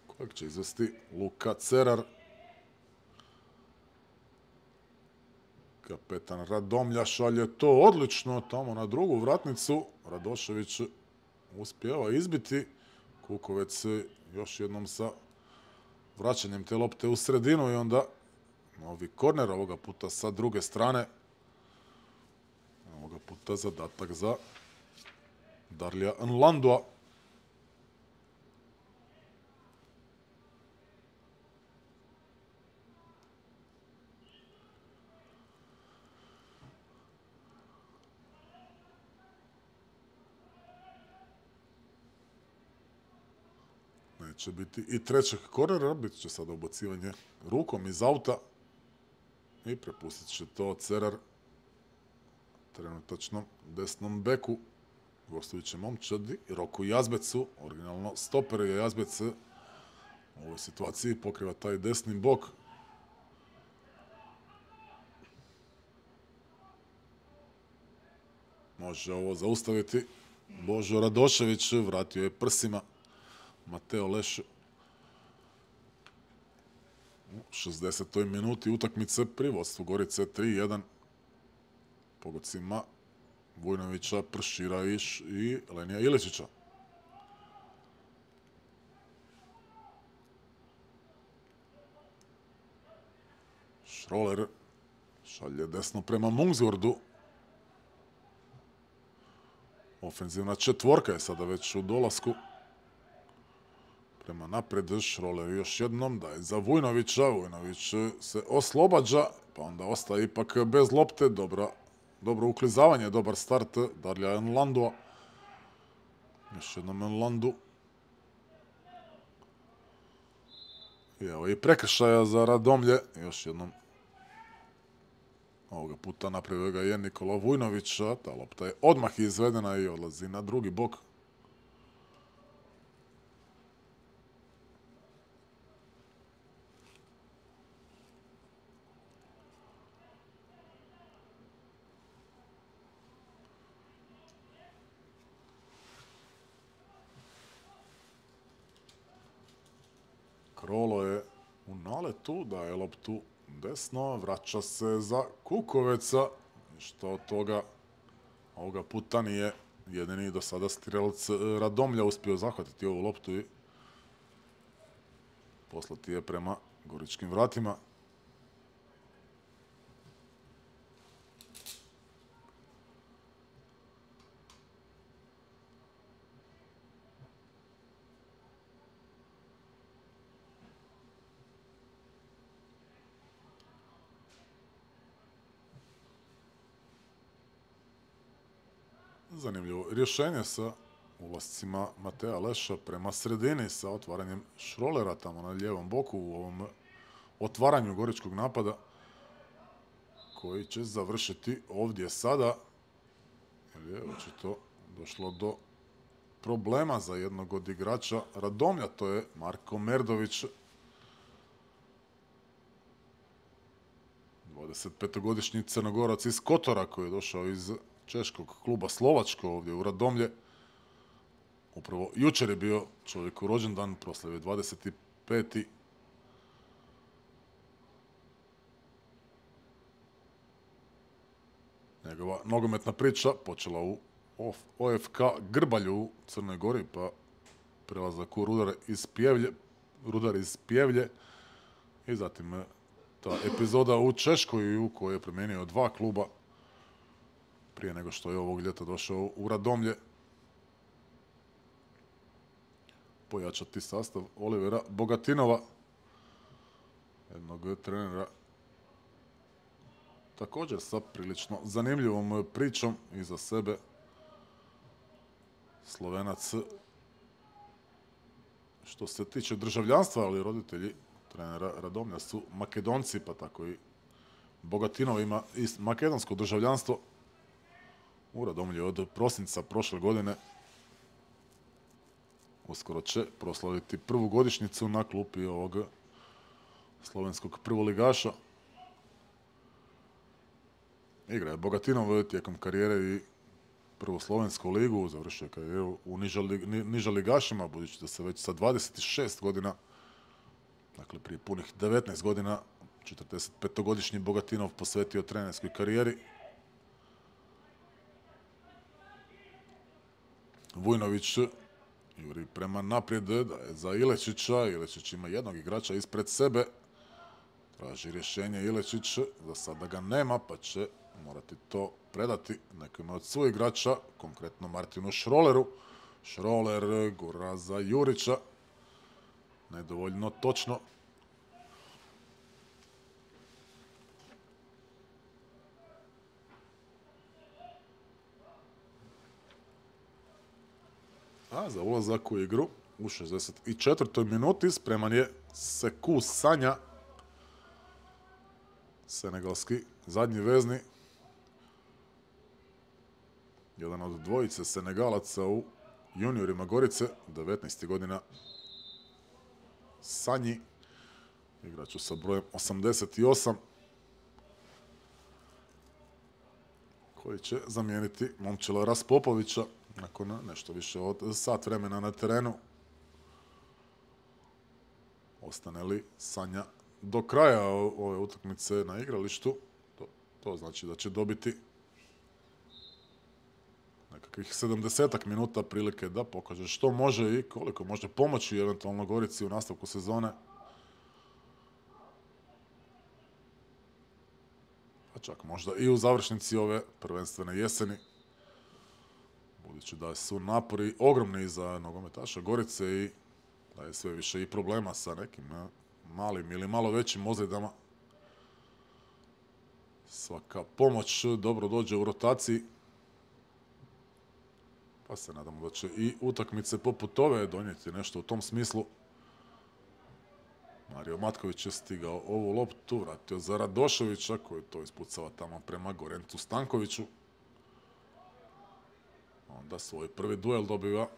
Kojeg će izvesti Luka Cerar. Kapetan Radomlja šalje to odlično tamo na drugu vratnicu. Radošević uspijeva izbiti. Kukovec još jednom sa vraćanjem te lopte u sredinu i onda novi korner, ovoga puta sa druge strane. Ovoga puta zadatak za Darlija Nlandua. Neće biti i trećeg kornera, bit će sada ubacivanje rukom iz auta i prepustit će to Cerar trenutačno desnom beku, gostujućem momčadi Roku Jazbecu, originalno stoper je Jazbec u ovoj situaciji pokriva taj desni bok. Može ovo zaustaviti Božo Radošević, vratio je prsima Mateo Leš u šezdesetoj minuti utakmice pri vodstvu Gorice tri jedan. Pogodcima Vujnovića, Pršira i Lenija Iličića. Šroler šalje desno prema Mungsgordu. Ofenzivna četvorka je sada već u dolasku. Prema naprijed Šroler još jednom daje za Vujnovića. Vujnović se oslobađa, pa onda ostaje ipak bez lopte. Dobra, dobro uklizavanje, dobar start Darlija Enlandua. Još jednom Enlandu. I evo i prekršaja za Radomlje. Još jednom. Ovoga puta napravio ga je Nikola Vujnović. Ta lopta je odmah izvedena i odlazi na drugi bok. Krolo je u naletu, daje loptu desno, vraća se za Kukoveca, što od toga ovoga puta nije jedini do sada strelac Radomlja uspio zahvatiti ovu loptu i poslati je prema goričkim vratima. Zanimljivo rješenje sa ulascima Mateja Leša prema sredini sa otvaranjem Šrolera tamo na lijevom boku u ovom otvaranju goričkog napada koji će završiti ovdje sada. Jer je očito došlo do problema za jednog od igrača Radomlja, to je Marko Merdović. dvadesetpetogodišnji Crnogorac iz Kotora koji je došao iz češkog kluba Slovačko ovdje u Radomlje. Upravo jučer je bio čovjeku rođendan, proslavio dvadeset peti. Njegova nogometna priča počela u O F K Grbalju u Crnoj Gori, pa prelazak u Rudar iz Pjevlje, Rudar iz Pjevlje i zatim ta epizoda u Češkoj u kojoj je promijenio dva kluba prije nego što je ovog ljeta došao u Radomlje. Pojačati sastav Olivera Bogatinova, jednog trenera također sa prilično zanimljivom pričom iza sebe. Slovenac što se tiče državljanstva, ali roditelji trenera Radomlja su Makedonci, pa tako i Bogatinov ima i makedonsko državljanstvo. U Radomlju od prosinca prošle godine uskoro će proslaviti prvu godišnjicu na klupi ovog slovenskog prvoligaša. Igra je Bogatinov tijekom karijere i prvu slovensku ligu, završio karijeru u nižaligašima, budući da se već sa dvadeset šest godina, dakle prije punih devetnaest godina, četrdesetpetogodišnji Bogatinov posvetio trenerskoj karijeri. Vujnović juri prema naprijed, da je za Ilečića. Ilečić ima jednog igrača ispred sebe. Traži rješenje Ilečić, za sada ga nema, pa će morati to predati nekome od svojih igrača, konkretno Martinu Šroleru. Šroler gura za Jurića. Nedovoljno točno. A za ulazak u igru u šezdeset četvrtoj minuti spreman je Sekou Sanja, senegalski zadnji vezni. Jedan od dvojice Senegalaca u juniorima Gorice, devetnaest godina. Sanji, igraču sa brojem osamdeset osam, koji će zamijeniti Momčila Raspopovića nakon nešto više od sat vremena na terenu. Ostane li Sanja do kraja ove utakmice na igralištu, to, to znači da će dobiti nekakvih sedamdesetak minuta prilike da pokaže što može i koliko može pomoći eventualno Gorici u nastavku sezone. čak možda i u završnici ove prvenstvene jeseni. Budući da su napori ogromni za nogometaša Gorice i da je sve više i problema sa nekim malim ili malo većim ozljedama. Svaka pomoć dobro dođe u rotaciji. Pa se nadamo da će i utakmice poput ove donijeti nešto u tom smislu. Mario Matković je stigao ovu loptu, vratio za Radoševića koji to ispucava tamo prema Gorencu Stankoviću. Onda svoj prvi duel dobiva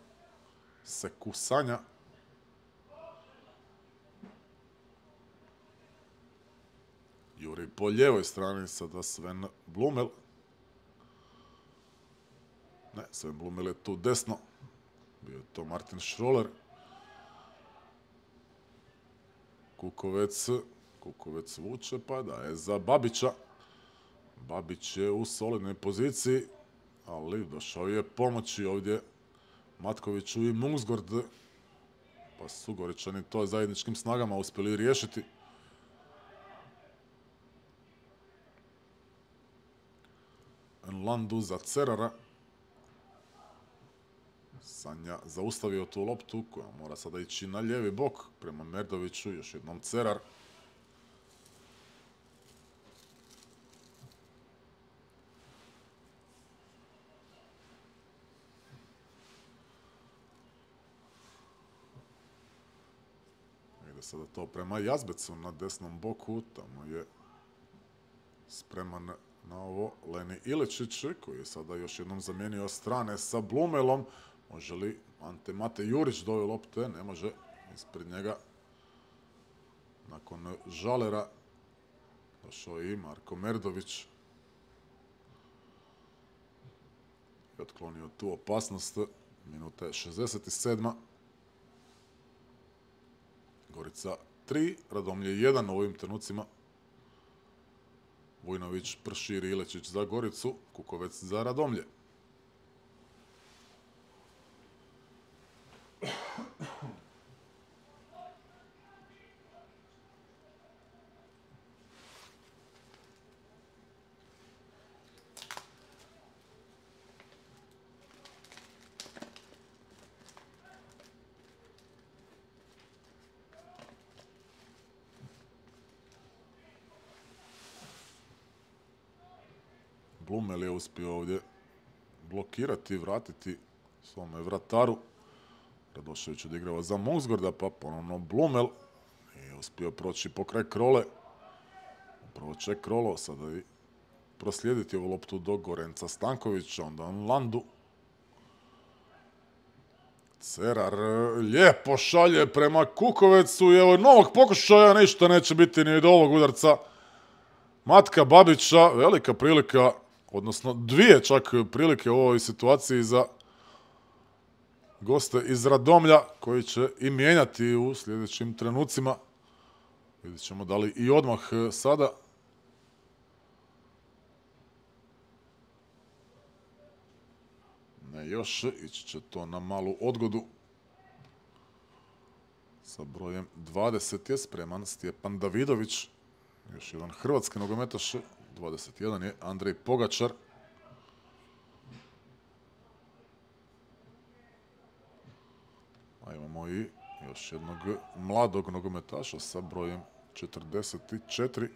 Seku Sanja. Juri po lijevoj strani, sada Sven Blumel. Ne, Sven Blumel je tu desno. Bio je to Martin Schroller. Kukovec, Kukovec vuče, pa daje za Babića. Babić je u solidnoj poziciji, ali došao je pomoći ovdje Matkoviću i Mungsgård. Pa su Goričani to zajedničkim snagama uspjeli riješiti. Landu za Cerara. Sanja zaustavio tu loptu koja mora sada ići na lijevi bok prema Merdoviću. Još jednom Cerar. Ide sada to prema Jazbecu na desnom boku. Tamo je spreman na ovo Leni Iličić koji je sada još jednom zamijenio strane sa Blumelom. Može li Ante Mate Jurić do ove lopte? Ne može. Ispred njega nakon Žalera došao i Marko Merdović. I otklonio tu opasnost. Minuta je šezdeset sedma. Gorica tri, Radomlje jedan u ovim trenucima. Vujnović, Pršir, Ilečić za Goricu, Kukovec za Radomlje. Blumel je uspio ovdje blokirati i vratiti svome vrataru. Radošević odigrava za Mungsgårda, pa ponovno Blumel. I uspio proći pokraj Krole. Upravo će Krolo sada i proslijediti ovu loptu do Gorenca Stankovića, onda Landu. Cerar lijepo šalje prema Kukovecu i evo novog pokušaja, ništa neće biti ni do ovog udarca Matka Babića. Velika prilika, odnosno dvije čak prilike u ovoj situaciji za goste iz Radomlja koji će i mijenjati u sljedećim trenucima. Vidjet ćemo da li i odmah sada. Ne još, ići će to na malu odgodu. Sa brojem dvadeset je spreman Stjepan Davidović. Još jedan hrvatski nogometaš. dvadeset jedan je Andrej Pogačar. A imamo i još jednog mladog nogometaša sa brojem četrdeset četiri.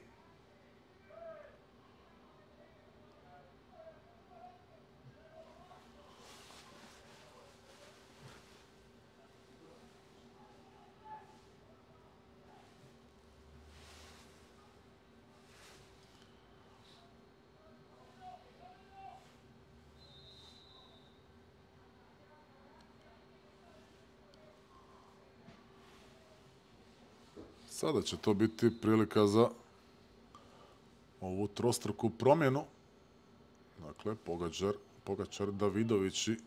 Sada će to biti prilika za ovu trostruku promjenu. Dakle, Pogačar, Pogačar, Davidović i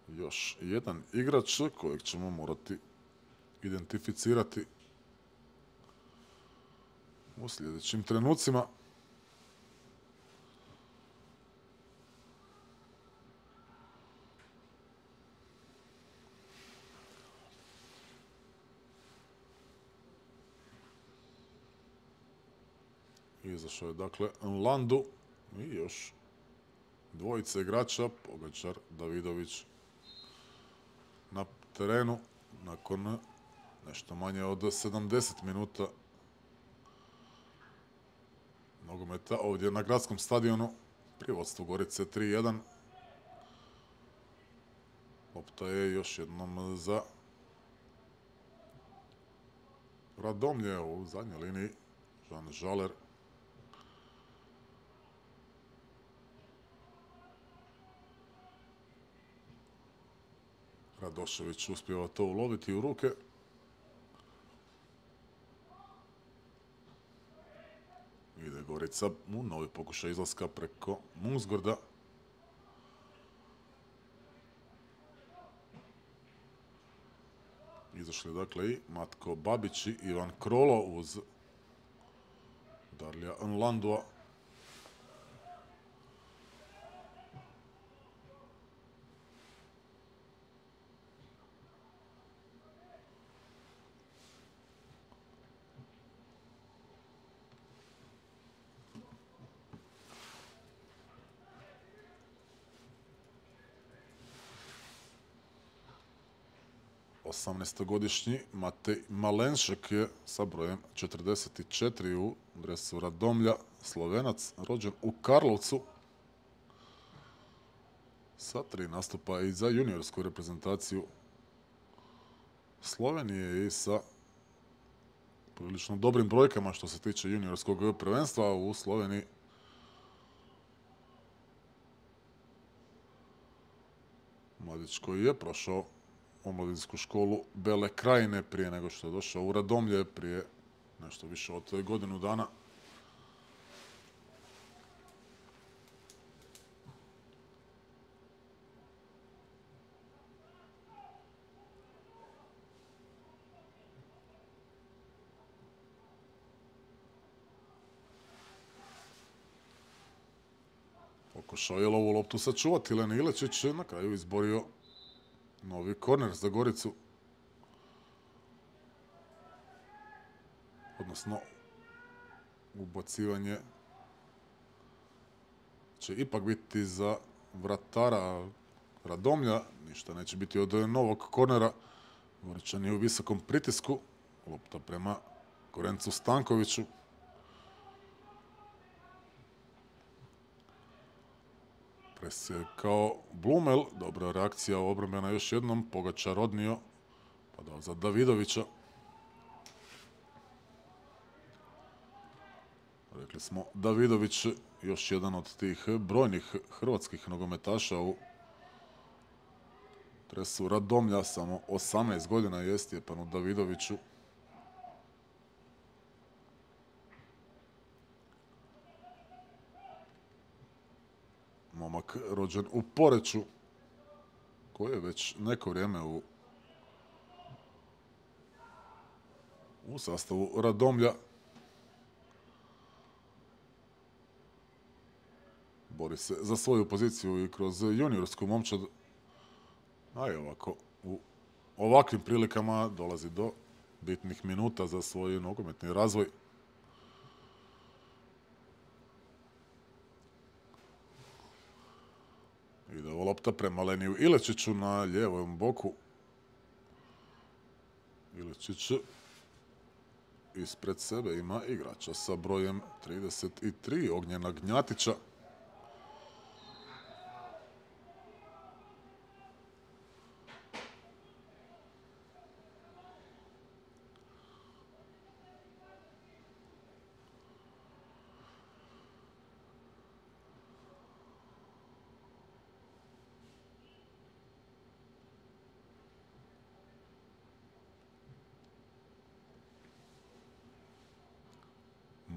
još jedan igrač kojeg ćemo morati identificirati u sljedećim trenucima. Izašao je dakle Landu i još dvojice igrača, Pogačar, Davidović na terenu nakon nešto manje od sedamdeset minuta nogometa ovdje na gradskom stadionu pri vodstvu Gorice tri jedan. Lopta je još jednom za Radomlje u zadnjoj liniji. Žan Žaler. Radošević uspijeva to uloviti u ruke. Ide Gorica u novi pokušaj izlaska preko Mungsgorda. Izašli dakle i Matko Babić i Ivan Krolo uz Darlija Nlandua. osamnaestogodišnji Matej Malenšek je sa brojem četrdeset četiri u dresu Radomlja, Slovenac, rođen u Karlovcu. Sa tri nastupa i za juniorsku reprezentaciju Slovenije i sa prilično dobrim brojkama što se tiče juniorskog prvenstva u Sloveniji. Mladić koji je prošao omladinsku školu Bele Krajine prije nego što je došao u Radomlje prije nešto više od godinu dana. Pokušao je ovu loptu sačuvati Len Ilečić, na kraju izborio novi korner za Goricu. Odnosno, ubacivanje će ipak biti za vratara Radomlja. Ništa neće biti od novog kornera. Goričan je u visokom pritisku. Lopta prema Gorencu Stankoviću. Presjekao Blumel. Dobra reakcija obrambena još jednom. Pogačar odnio. Pa dao za Davidovića. Rekli smo, Davidović još jedan od tih brojnih hrvatskih nogometaša u dresu Radomlja. Samo osamnaest godina je Stjepanu Davidoviću. Momak rođen u Poreču, koji je već neko vrijeme u, u sastavu Radomlja. Bori se za svoju poziciju i kroz juniorsku momčad. A i ovako, u ovakvim prilikama dolazi do bitnih minuta za svoj nogometni razvoj. Ide ova lopta prema Leniju Ilečiću na lijevom boku. Ilečić ispred sebe ima igrača sa brojem trideset tri, Ognjena Gnjatića.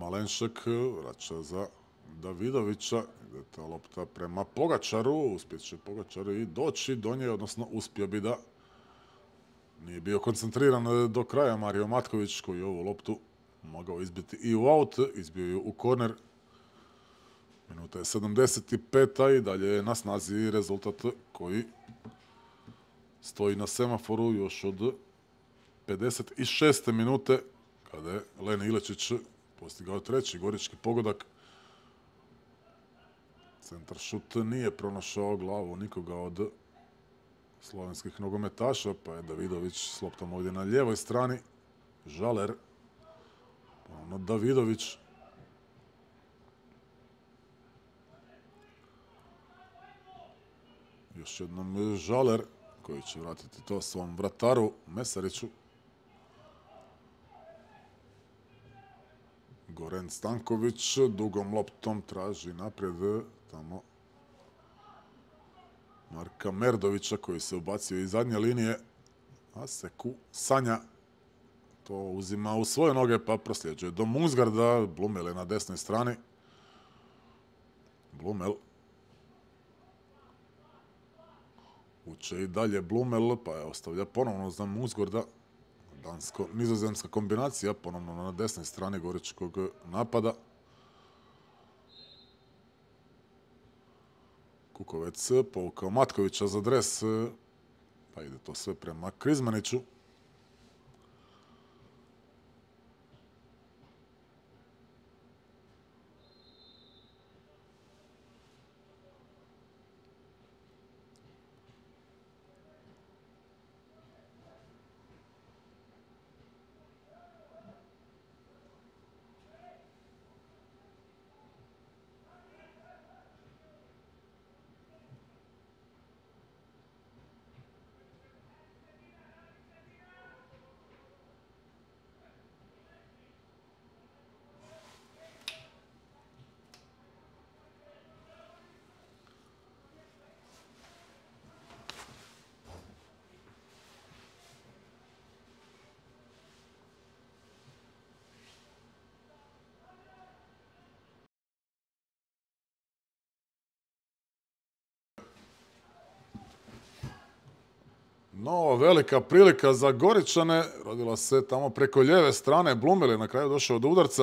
Malenšek vraća za Davidovića. Ide ta lopta prema Pogačaru. Uspjet će Pogačar i doći do nje, odnosno uspio bi da nije bio koncentriran do kraja Mario Matković, koji je ovu loptu mogao izbiti i u aut. Izbio ju u korner. Minuta je sedamdeset pet i dalje je na snazi rezultat koji stoji na semaforu još od pedeset šeste minute, kada je Len Ilečić postigao treći gorički pogodak. Centar šut nije pronašao glavu nikoga od slovenskih nogometaša, pa je Davidović s loptom ovdje na lijevoj strani. Žaler, ponovno Davidović. Još jednom Žaler, koji će vratiti to svom vrataru Mesariću. Goran Stanković dugom loptom traži naprijed tamo Marka Merdovića, koji se ubacio iz zadnje linije, a Seku Sanja to uzima u svoje noge pa prosljeđuje do Mungsgarda. Blumel je na desnoj strani. Blumel uče i dalje Blumel, pa je ostavlja ponovno za Mungsgarda. Dansko-nizozemska kombinacija, ponovno na desnoj strani goričkog napada. Kukovec povukao Matkovića za dres, pa ide to sve prema Krizmaniću. No, velika prilika za Goričane, rodila se tamo preko lijeve strane. Blumel je na kraju došao do udarca,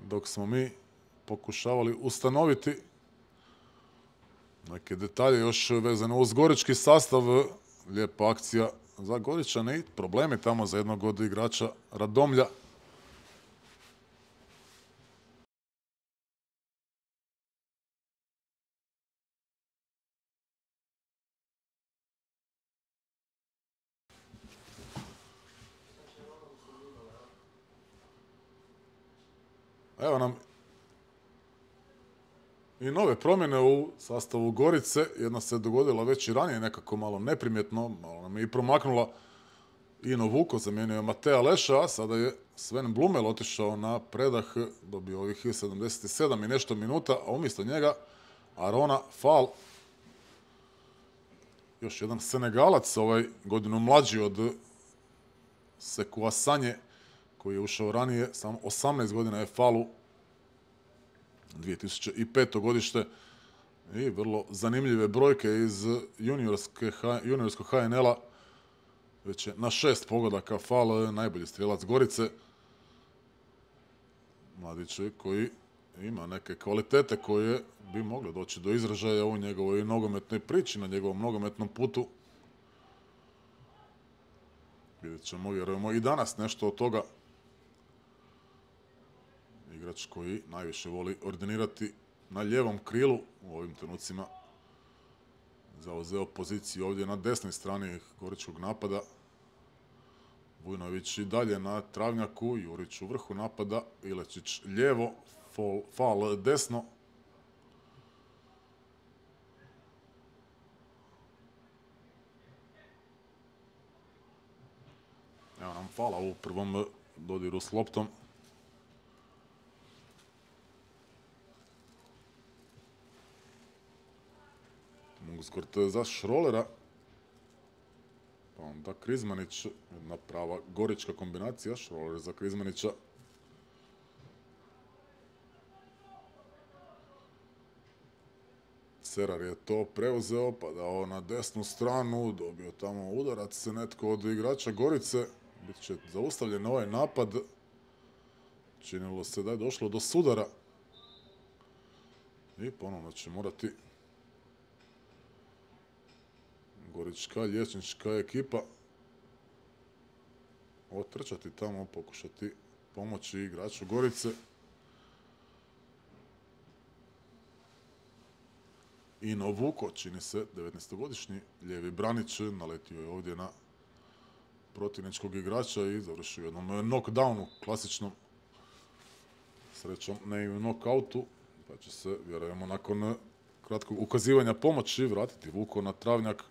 dok smo mi pokušavali ustanoviti neke detalje još vezano uz gorički sastav. Lijepa akcija za Goričane i problemi tamo za jednog od igrača Radomlja. Evo nam i nove promjene u sastavu Gorice. Jedna se dogodila već i ranije, nekako malo neprimjetno, malo nam je i promaknula. Ino Vuko zamijenio je Mateja Leša, a sada je Sven Blumel otišao na predah, dobio ovih sedamdeset sedam i nešto minuta, a umjesto njega Arona Fall. Još jedan Senegalac, ovaj godinu mlađi od Sekua Sanje, koji je ušao ranije, samo osamnaest godina je Fallu, dvije tisuće peto godište, i vrlo zanimljive brojke iz juniorskog ha en el-a. Već je na šest pogodaka Fall, najbolji strijelac Gorice. Mladić koji ima neke kvalitete koje bi mogle doći do izražaja u njegovoj nogometnoj priči, na njegovom nogometnom putu. Vidjet ćemo, vjerujemo, i danas nešto od toga. Igrač koji najviše voli ordinirati na lijevom krilu u ovim trenucima. Zauzeo poziciju ovdje na desnoj strani goričkog napada. Vujnović i dalje na travnjaku, Jurić u vrhu napada, Ilečić lijevo, Fall desno. Evo nam Falla u prvom dodiru s loptom. Mungsgard za Šrolera. Pa onda Krizmanić, jedna prava gorička kombinacija, Šroler za Krizmanića. Cerar je to preuzeo, pa dao na desnu stranu, dobio tamo udarac, netko od igrača Gorice. Bit će zaustavljen ovaj napad. Činilo se da je došlo do sudara. I ponovno će morati gorička liječnička ekipa otrčati tamo, pokušati pomoći igraču Gorice. Ino Vuko, čini se, devetnaestogodišnji lijevi branič, naletio je ovdje na protivničkog igrača i završio u jednom knockdownu, klasičnom. Srećom, ne i u knockoutu, pa će se, vjerujemo, nakon kratkog ukazivanja pomoći vratiti Vuko na travnjak.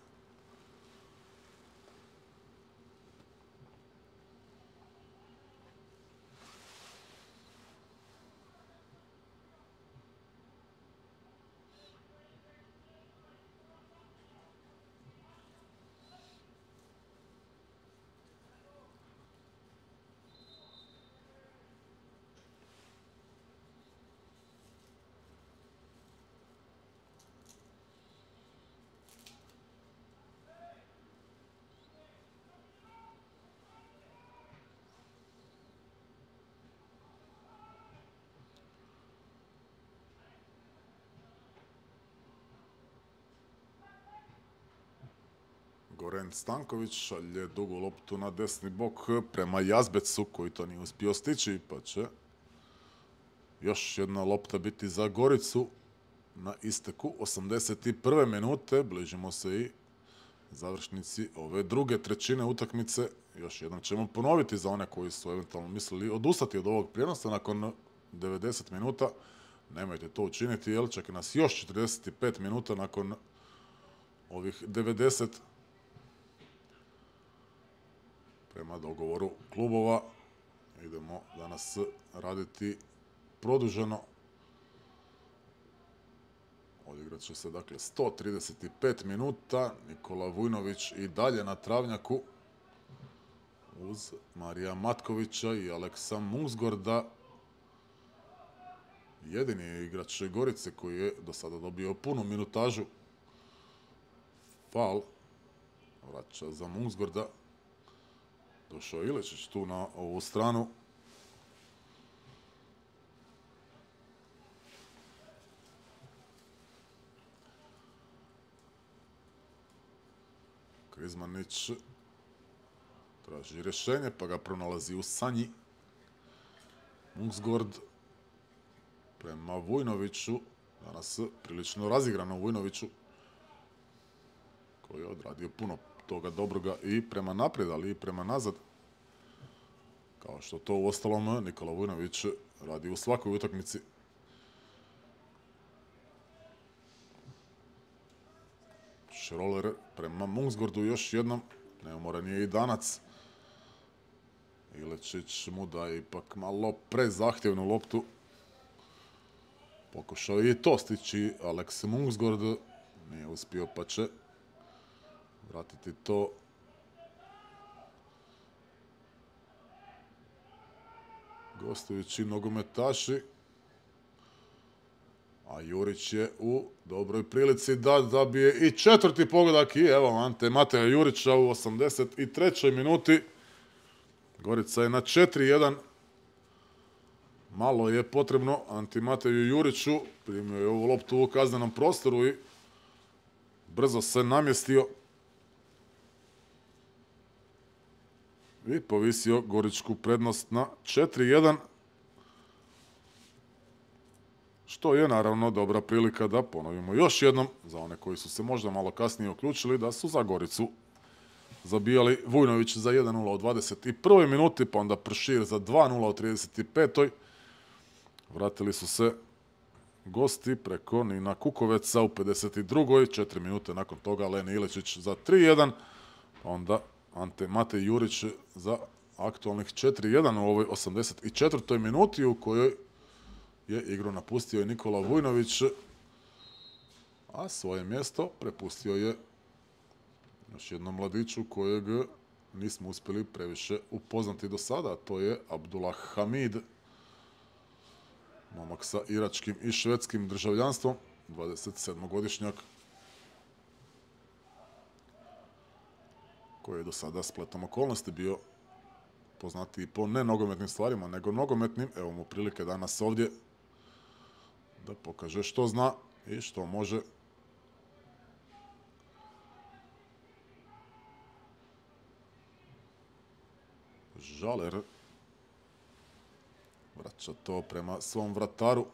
Goran Stanković šalje dugu loptu na desni bok prema Jazbecu koji to nije uspio stići, pa će još jedna lopta biti za Goricu na isteku osamdeset prve minute. Bližimo se i završnici ove druge trećine utakmice. Još jednom ćemo ponoviti za one koji su eventualno mislili odustati od ovog prijenosa nakon devedeset minuta. Nemojte to učiniti jer čeka nas još četrdeset pet minuta nakon ovih devedeset. Prema dogovoru klubova idemo danas raditi produženo. Odigrat će se dakle sto trideset pet minuta. Nikola Vujnović i dalje na travnjaku uz Marija Matkovića i Aleksa Mungsgorda. Jedini je igrač Gorice koji je do sada dobio punu minutažu. Faul vraća za Mungsgorda. Došao je Ilečić tu na ovu stranu. Krizmanić traži rješenje pa ga pronalazi u Sanji. Mungsgord prema Vujnoviću. Danas prilično razigrano Vujnoviću koji je odradio puno toga dobroga i prema naprijed, ali i prema nazad. Kao što to u ostalom Nikola Vujnović radi u svakoj utakmici. Šroler prema Mungsgordu još jednom. Neumoran je i Danac. Ilečić mu daje ipak malo prezahtjevnu loptu. Pokušao je i to stići Aleks Mungsgord. Nije uspio pa će vratiti to gostujući nogometaši. A Jurić je u dobroj prilici da zabije i četvrti pogodak. I evo Ante Mateja Jurića u osamdeset trećoj minuti. Gorica je na četiri jedan. Malo je potrebno Anti Mateju Juriću. Primio je ovu loptu u kaznenom prostoru i brzo se namjestio. I povisio goričku prednost na četiri jedan. Što je naravno dobra prilika da ponovimo još jednom za one koji su se možda malo kasnije uključili da su za Goricu zabijali Vujnović za jedan nula u dvadeset prvoj minuti, pa onda Pršir za dva nula u trideset petoj Vratili su se gosti preko Nina Kukoveca u pedeset drugoj četiri minute nakon toga Leni Ilečić za tri jedan, pa onda Ante Matej Jurić za aktualnih četiri jedan u ovoj osamdeset četvrtoj minuti u kojoj je igru napustio i Nikola Vujnović, a svoje mjesto prepustio je još jednom mladiću kojeg nismo uspjeli previše upoznati do sada, a to je Abdullah Hamid, momak sa iračkim i švedskim državljanstvom, dvadesetsedmogodišnjak, koji je do sada spletom okolnosti bio poznatiji po ne nogometnim stvarima, nego nogometnim. Evo mu prilike danas ovdje da pokaže što zna i što može. Žaler Vraća to prema svom vrataru.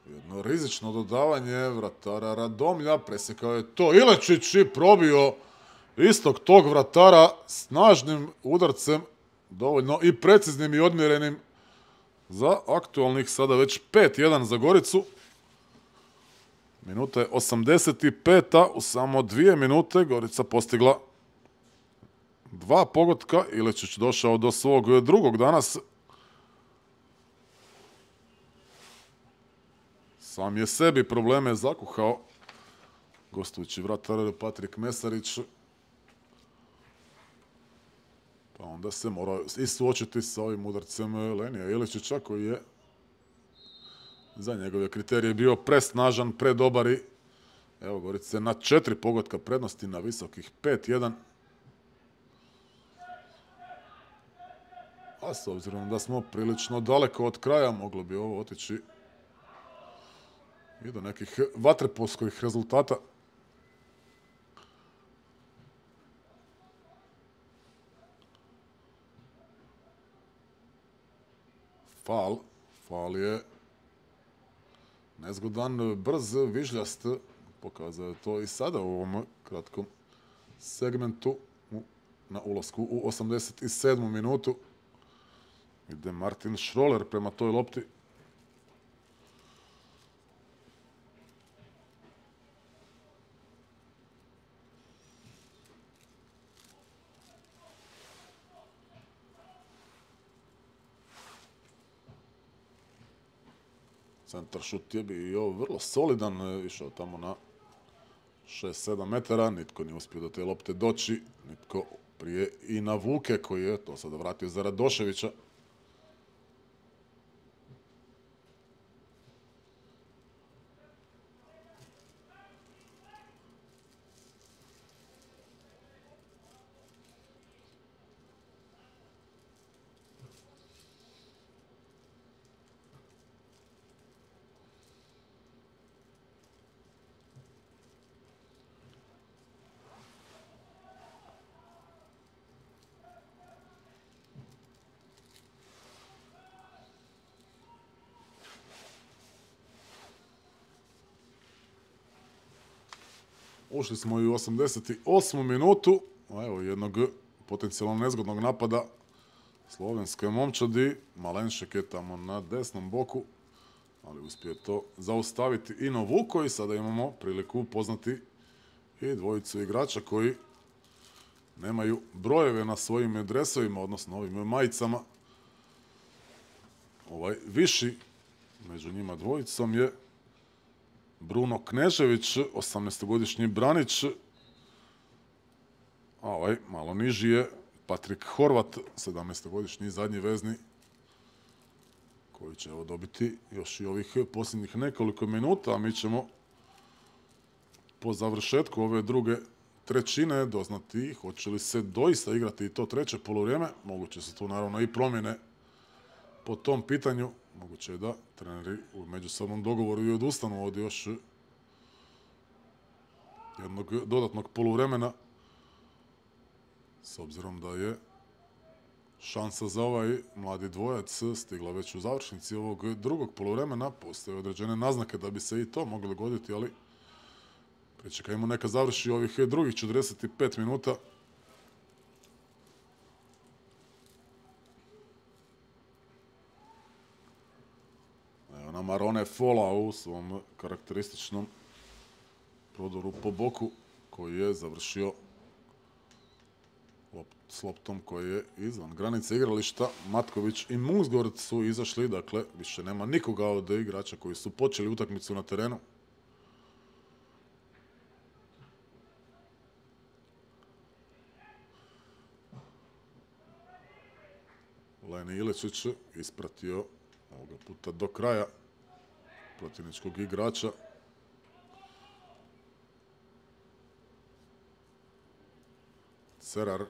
Jedno rizično dodavanje vratara Radomlja. Presekao je to Ilečić i probio istog tog vratara snažnim udarcem. Dovoljno i preciznim i odmjerenim za aktualnih sada već pet jedan za Goricu. Minuta je osamdeset peta. U samo dvije minute Gorica postigla dva pogotka. Ilečić došao do svog drugog danas. Sam je sebi probleme zakuhao gostujući vratar Patrik Mesarić. Pa onda se mora i suočiti sa ovim udarcem Lenija Ilečića koji je za njegove kriterije bio presnažan, predobar i evo Gorice na četiri pogotka prednosti na visokih pet jedan. A s obzirom da smo prilično daleko od kraja, moglo bi ovo otići i do nekih vaterpolskih rezultata. Fal. Fal je nezgodan, brz, vižljast. Pokazao je to i sada u ovom kratkom segmentu na ulasku u osamdeset sedmu minutu. Ide Martin Schroller prema toj lopti. Centar šut je bio vrlo solidan, išao tamo na šest sedam metara, nitko nije uspio do te lopte doći, nitko prije i na Vuke koji je to sada vratio za Radoševića. Ušli smo i u osamdeset osmu minutu, a evo jednog potencijalno nezgodnog napada slovenske momčadi. Malenšek je tamo na desnom boku, ali uspije to zaustaviti Ino Vuko i sada imamo priliku upoznati i dvojicu igrača koji nemaju brojeve na svojim dresovima, odnosno ovim majicama. Ovaj viši među njima dvojicom je Bruno Knežević, osamnaestogodišnji branič, a ovaj malo niži je Patrik Horvat, sedamnaestogodišnji zadnji vezni, koji će evo dobiti još i ovih posljednjih nekoliko minuta, a mi ćemo po završetku ove druge trećine doznati hoće li se doista igrati i to treće poluvrijeme. Moguće su tu naravno i promjene po tom pitanju. Moguće je da treneri u međusobnom dogovoru i odustanu od još jednog dodatnog poluvremena, s obzirom da je šansa za ovaj mladi dvojac stigla već u završnici ovog drugog poluvremena. Postoje određene naznake da bi se i to moglo dogoditi, ali pričekajmo neka završi ovih drugih četrdeset pet minuta. Marone Fola u svom karakterističnom prodoru po boku koji je završio s loptom koji je izvan granice igrališta. Matković i Mungsgord su izašli, dakle više nema nikoga od igrača koji su počeli utakmicu na terenu. Leni Ilečić ispratio ovoga puta do kraja protivničkog igrača. Cerar.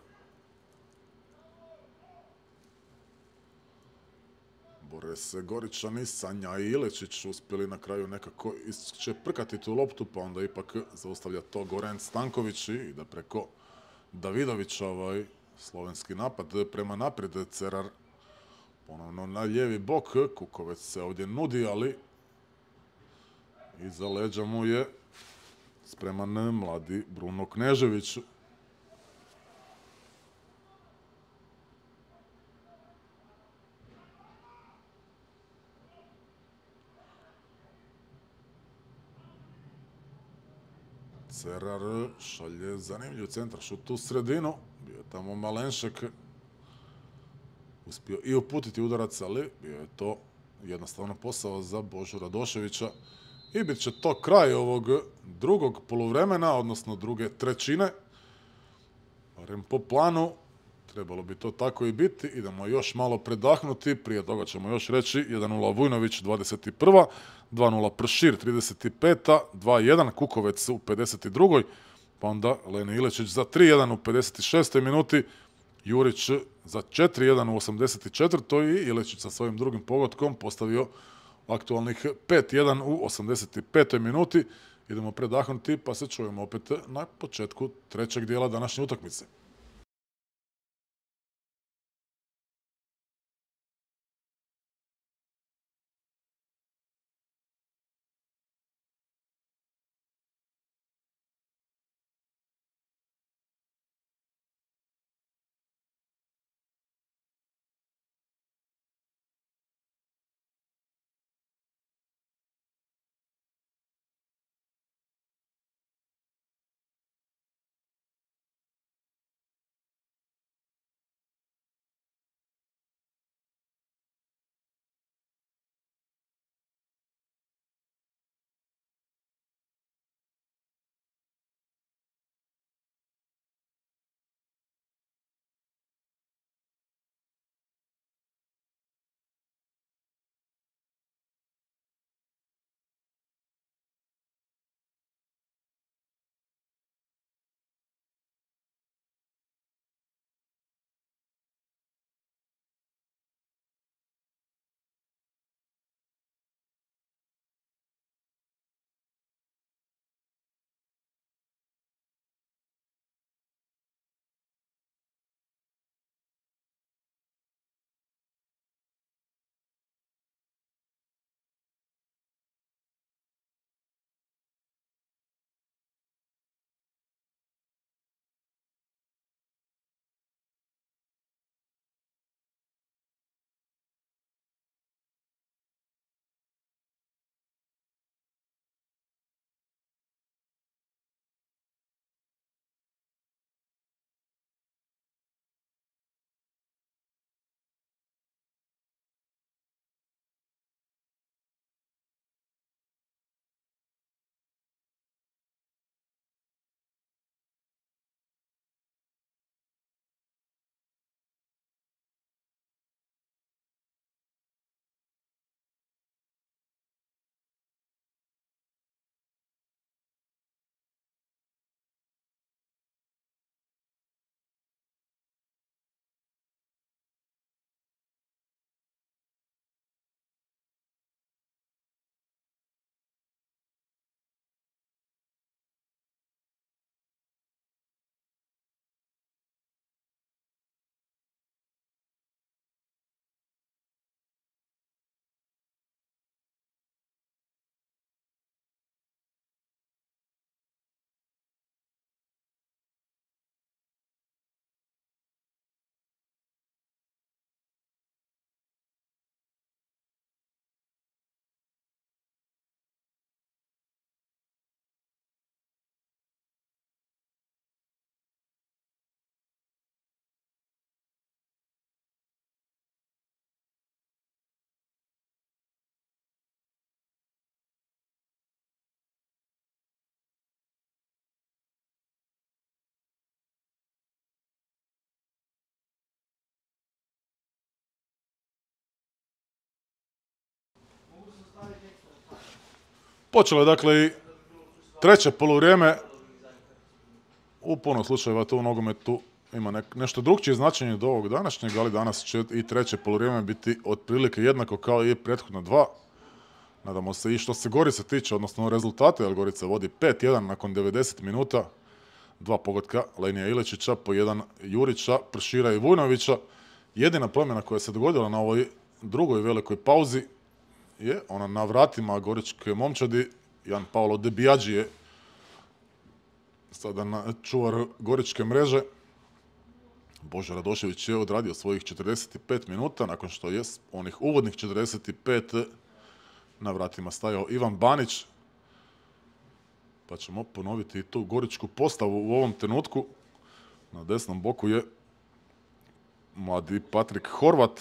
gore se Goričani, Sanja i Iličić uspjeli na kraju nekako isčeprkati tu loptu, pa onda ipak zaustavlja to Goran Stanković i ide preko Davidovića ovaj slovenski napad prema naprijed. Cerar ponovno na lijevi bok, Kukovec se ovdje nudi, ali iza leđa mu je spreman mladi Bruno Knežević. Cerar šalje zanimljiv centar, šut u sredinu, bio je tamo Malenšek, uspio i uputiti udarac, ali bio je to jednostavno posao za Božu Radoševića i bit će to kraj ovog drugog poluvremena, odnosno druge trećine, barem po planu. Trebalo bi to tako i biti. Idemo još malo predahnuti. Prije toga ćemo još reći jedan nula Vujnović, dvadeset prva, dva nula Pršir, trideset peta, dva jedan Kukovec u pedeset drugoj, pa onda Lene Ilečić za tri jedan u pedeset šestoj minuti, Jurić za četiri jedan u osamdeset četvrtoj i Ilečić sa svojim drugim pogodkom postavio aktualnih pet jedan u osamdeset petoj minuti. Idemo predahnuti pa se čujemo opet na početku trećeg dijela današnje utakmice. Počelo je dakle i treće poluvrijeme. U puno slučajeva to u nogometu ima nek, nešto drugčije značenje do ovog današnjeg, ali danas će i treće poluvrijeme biti otprilike jednako kao i prethodna dva. Nadamo se i što se Gorice tiče, odnosno rezultate, jer Gorica vodi pet jedan nakon devedeset minuta. Dva pogotka Lenija Ilečića, po jedan Jurića, Pršira i Vujnovića. Jedina promjena koja se dogodila na ovoj drugoj velikoj pauzi je ona na vratima goričke momčadi. Jan Paolo De Biaggi je sada na čuvar goričke mreže. Božo Radošević je odradio svojih četrdeset pet minuta, nakon što je onih uvodnih četrdeset pet na vratima stajao Ivan Banić. Pa ćemo ponoviti i tu goričku postavu u ovom trenutku. Na desnom boku je mladi Patrik Horvat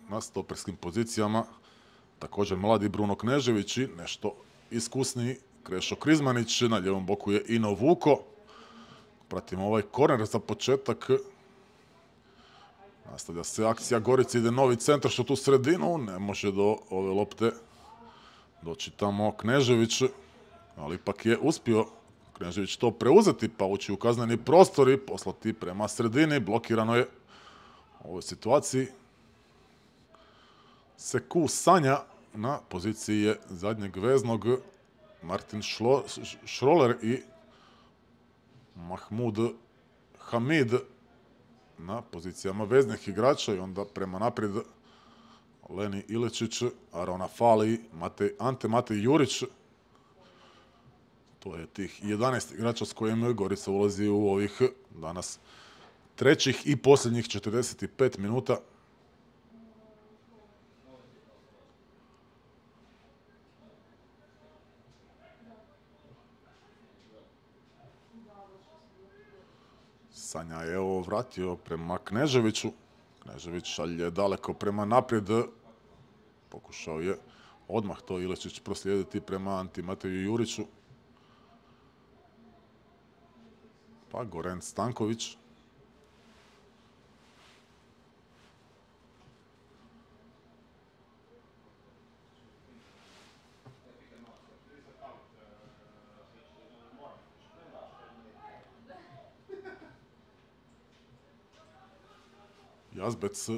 na stoperskim pozicijama. Također mladi Bruno Knežević i nešto iskusniji Krešo Krizmanić. Na ljevom boku je Ino Vuko. Pratimo ovaj korner za početak. Nastavlja se akcija Gorici, ide novi centar što tu sredinu. Ne može do ove lopte doći tamo Knežević, ali ipak je uspio Knežević to preuzeti pa ući u kazneni prostor i poslati prema sredini. Blokirano je u ovoj situaciji. Seku Sanja na poziciji je zadnjeg veznog. Martin Šlo, Šroler i Mahmud Hamid na pozicijama veznih igrača i onda prema naprijed Leni Ilečić, Arona Fali, Matej, Ante Matej Jurić. To je tih jedanaest igrača s kojim Gorica ulazi u ovih danas trećih i posljednjih četrdeset pet minuta. Sanja je ovo vratio prema Kneževiću. Knežević šalje daleko prema naprijed. Pokušao je odmah to Ilečić proslijediti prema Anti Mateju Juriću. Pa Goran Stanković. Jazbec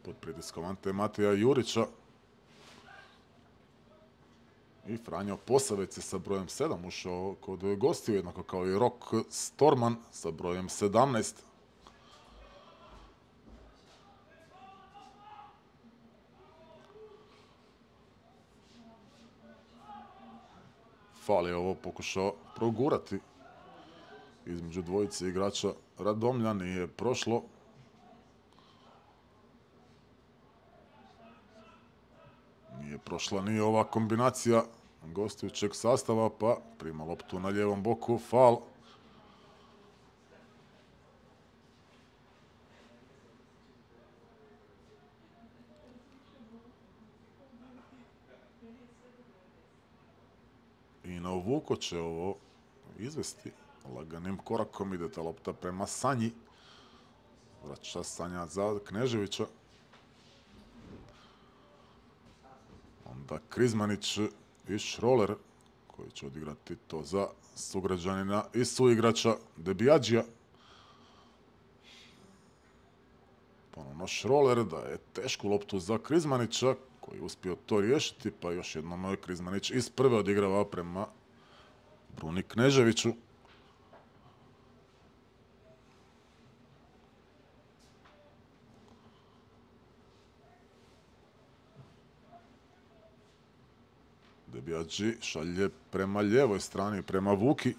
pod pritiskom Ante Mateja Jurića. I Franjo Posavec je sa brojem sedam ušao kod gostiju, jednako kao i Rok Storman sa brojem sedamnaest. Fal je ovo pokušao progurati između dvojice igrača Radomlja, nije prošlo. Nije prošla ni ova kombinacija gostujućeg sastava, pa prima loptu na lijevom boku, fal. Ino Vuko će ovo izvesti. Laganim korakom ide ta lopta prema Sanji. Vraća Sanja za Kneževića. Onda Krizmanić i Šroler koji će odigrati to za sugrađanina i suigrača De Biaggija. Ponovno Šroler daje tešku loptu za Krizmanića koji je uspio to riješiti, pa još jednom Krizmanić iz prve odigrava prema Bruni Kneževiću. De Biaggi šalje prema lijevoj strani, prema Vuki.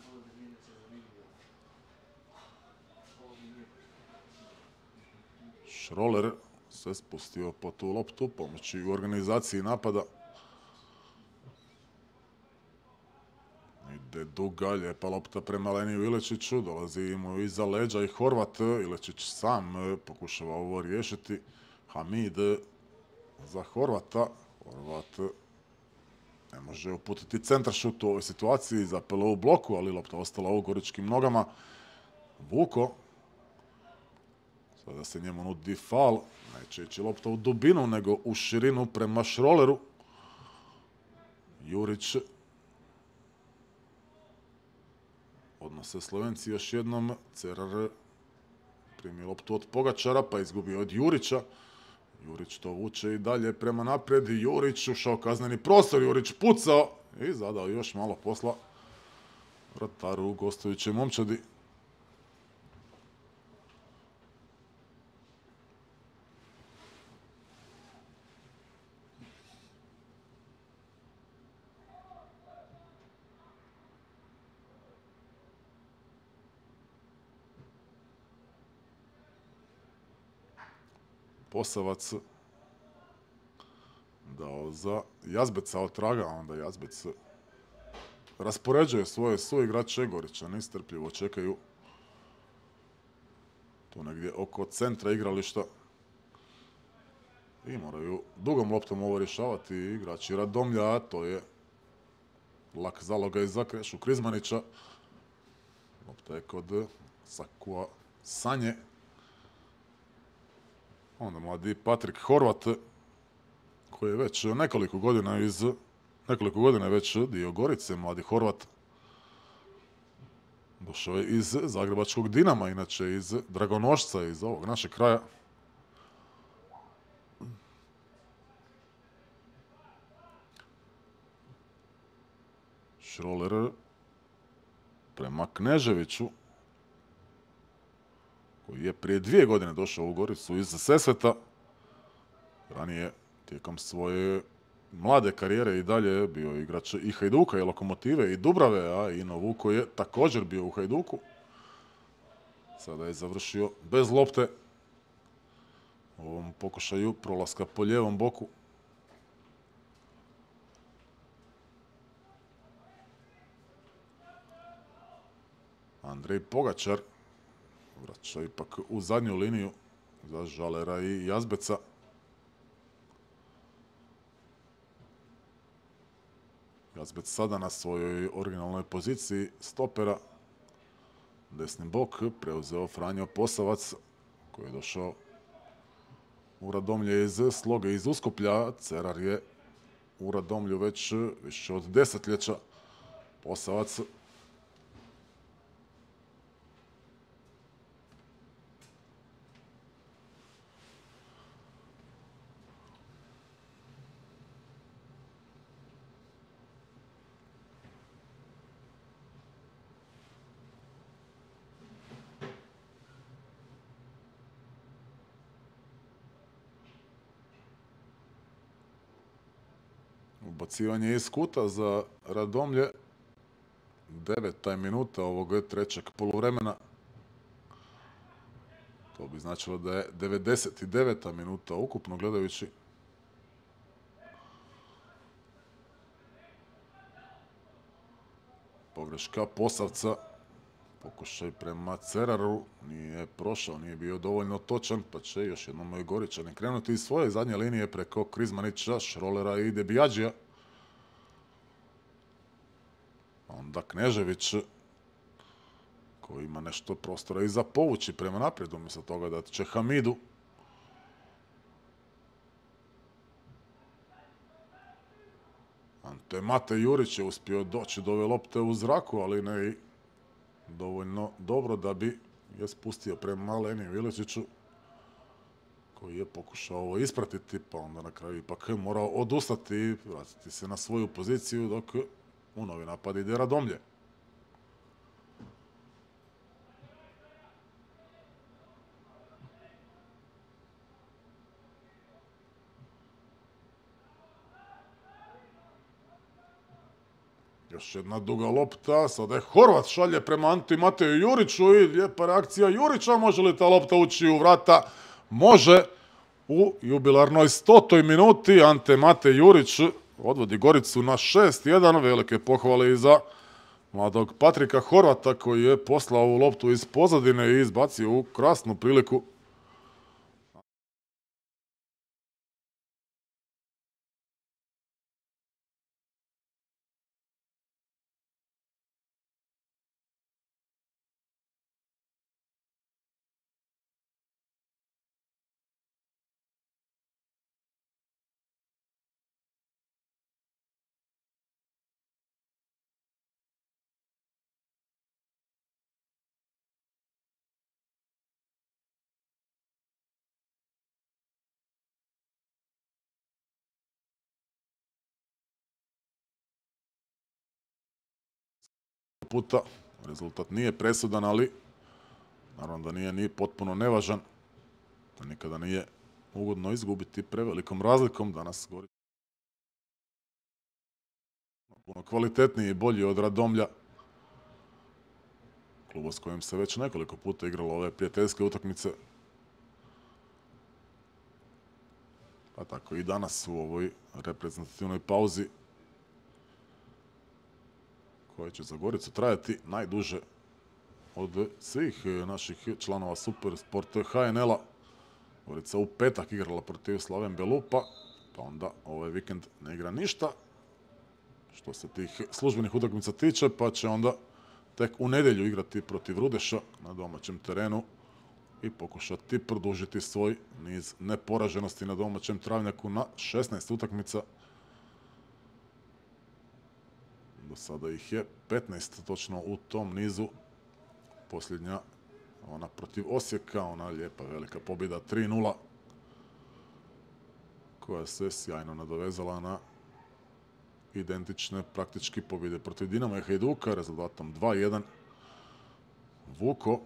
Šroler se spustio po tu loptu, pomoći u organizaciji napada. Ide duga, lijepa lopta prema Leniju Ilečiću, dolazi mu iza leđa i Horvat. Ilečić sam pokušava ovo riješiti. Hamid za Horvata. Horvat ne može uputiti centaršut u ovoj situaciji, zapelo u bloku, ali lopta ostala u goričkim nogama. Vuko. Sada se njemu nudi fal. Neće ići lopta u dubinu, nego u širinu prema Šroleru. Jurić. Odnose Slovenci još jednom. Cerar Primio loptu od Pogačara, pa izgubio od Jurića. Jurić to vuče i dalje prema naprijed. Jurić ušao kazneni prostor, Jurić pucao i zadao još malo posla vrataru u gostujućoj momčadi. Posavac dao za Jazbeca od traga, a onda Jazbec raspoređuje svoje suigrače. Goričani nestrpljivo čekaju tu negdje oko centra igrališta i moraju dugom loptom ovo rješavati igrači Radomlja, a to je lak zalogaj za Krešu Krizmanića. Lopta je kod Sakua Sanje. Onda mladi Patrik Horvat, koji je već nekoliko godina iz nekoliko godina je već dio Gorice. Mladi Horvat došao je iz zagrebačkog Dinama, inače iz Dragonošca, iz ovog našeg kraja. Šroler prema Kneževiću, koji je prije dvije godine došao u Goricu iz Sesveta. Ranije, tijekom svoje mlade karijere i dalje bio igrač i Hajduka i Lokomotive i Dubrave, a i Novuko je također bio u Hajduku. Sada je završio bez lopte u ovom pokušaju prolaska po lijevom boku. Andrej Pogačar vraća ipak u zadnju liniju za Žalera i Jazbeca. Jazbec sada na svojoj originalnoj poziciji stopera. Desni bok preuzeo Franjo Posavac, koji je došao u Radomlje iz Sloge iz Uskoplja. Cerar je u Radomlju već više od desetljeća. Posavac ubacivanje iz kuta za Radomlje. Deveta je minuta ovog trećeg poluvremena. To bi značilo da je devedeset deveta minuta ukupno gledajući. Pogreška Posavca. Pokušaj prema Ceraru. Nije prošao, nije bio dovoljno točan, pa će još jednom moji Goričani krenuti iz svoje zadnje linije preko Krizmanića, Šrolera i Debijadžija. Onda Knežević, koji ima nešto prostora i za povući prema naprijed, umjesto toga da će Hamidu. Ante Mate Jurić je uspio doći do ove lopte u zraku, ali ne i dovoljno dobro da bi je spustio prema Leniju Iličiću, koji je pokušao ovo ispratiti, pa onda na kraju ipak morao odustati i vratiti se na svoju poziciju, dok u novi napad ide Radomlje. Još jedna duga lopta, sada je Horvat šalje prema Anti Mateju Juriću i lijepa reakcija Jurića. Može li ta lopta ući u vrata? Može. U jubilarnoj stotoj minuti Ante Mate Jurić odvodi Goricu na šest jedan. Velike pohvale i za mladog Patrika Horvata, koji je poslao ovu loptu iz pozadine i izbacio u krasnu priliku puta. Rezultat nije presudan, ali naravno da nije ni potpuno nevažan. Da nikada nije ugodno izgubiti prevelikom razlikom. Danas Gorica puno kvalitetniji i bolji od Radomlja. Kluba s kojim se već nekoliko puta igralo ove prijateljske utakmice. Pa tako i danas u ovoj reprezentativnoj pauzi koja će za Goricu trajati najduže od svih naših članova Supersport H N L-a. Gorica u petak igrala protiv Slaven Belupa, pa onda ovaj vikend ne igra ništa što se tih službenih utakmica tiče, pa će onda tek u nedjelju igrati protiv Rudeša na domaćem terenu i pokušati produžiti svoj niz neporaženosti na domaćem travnjaku na šesnaest utakmica. Do sada ih je petnaest točno u tom nizu. Posljednja, ona protiv Osijeka, ona lijepa velika pobjeda tri nula, koja se sjajno nadovezala na identične praktički pobjede protiv Dinama i Hajduka rezultatom dva jedan. Vuko,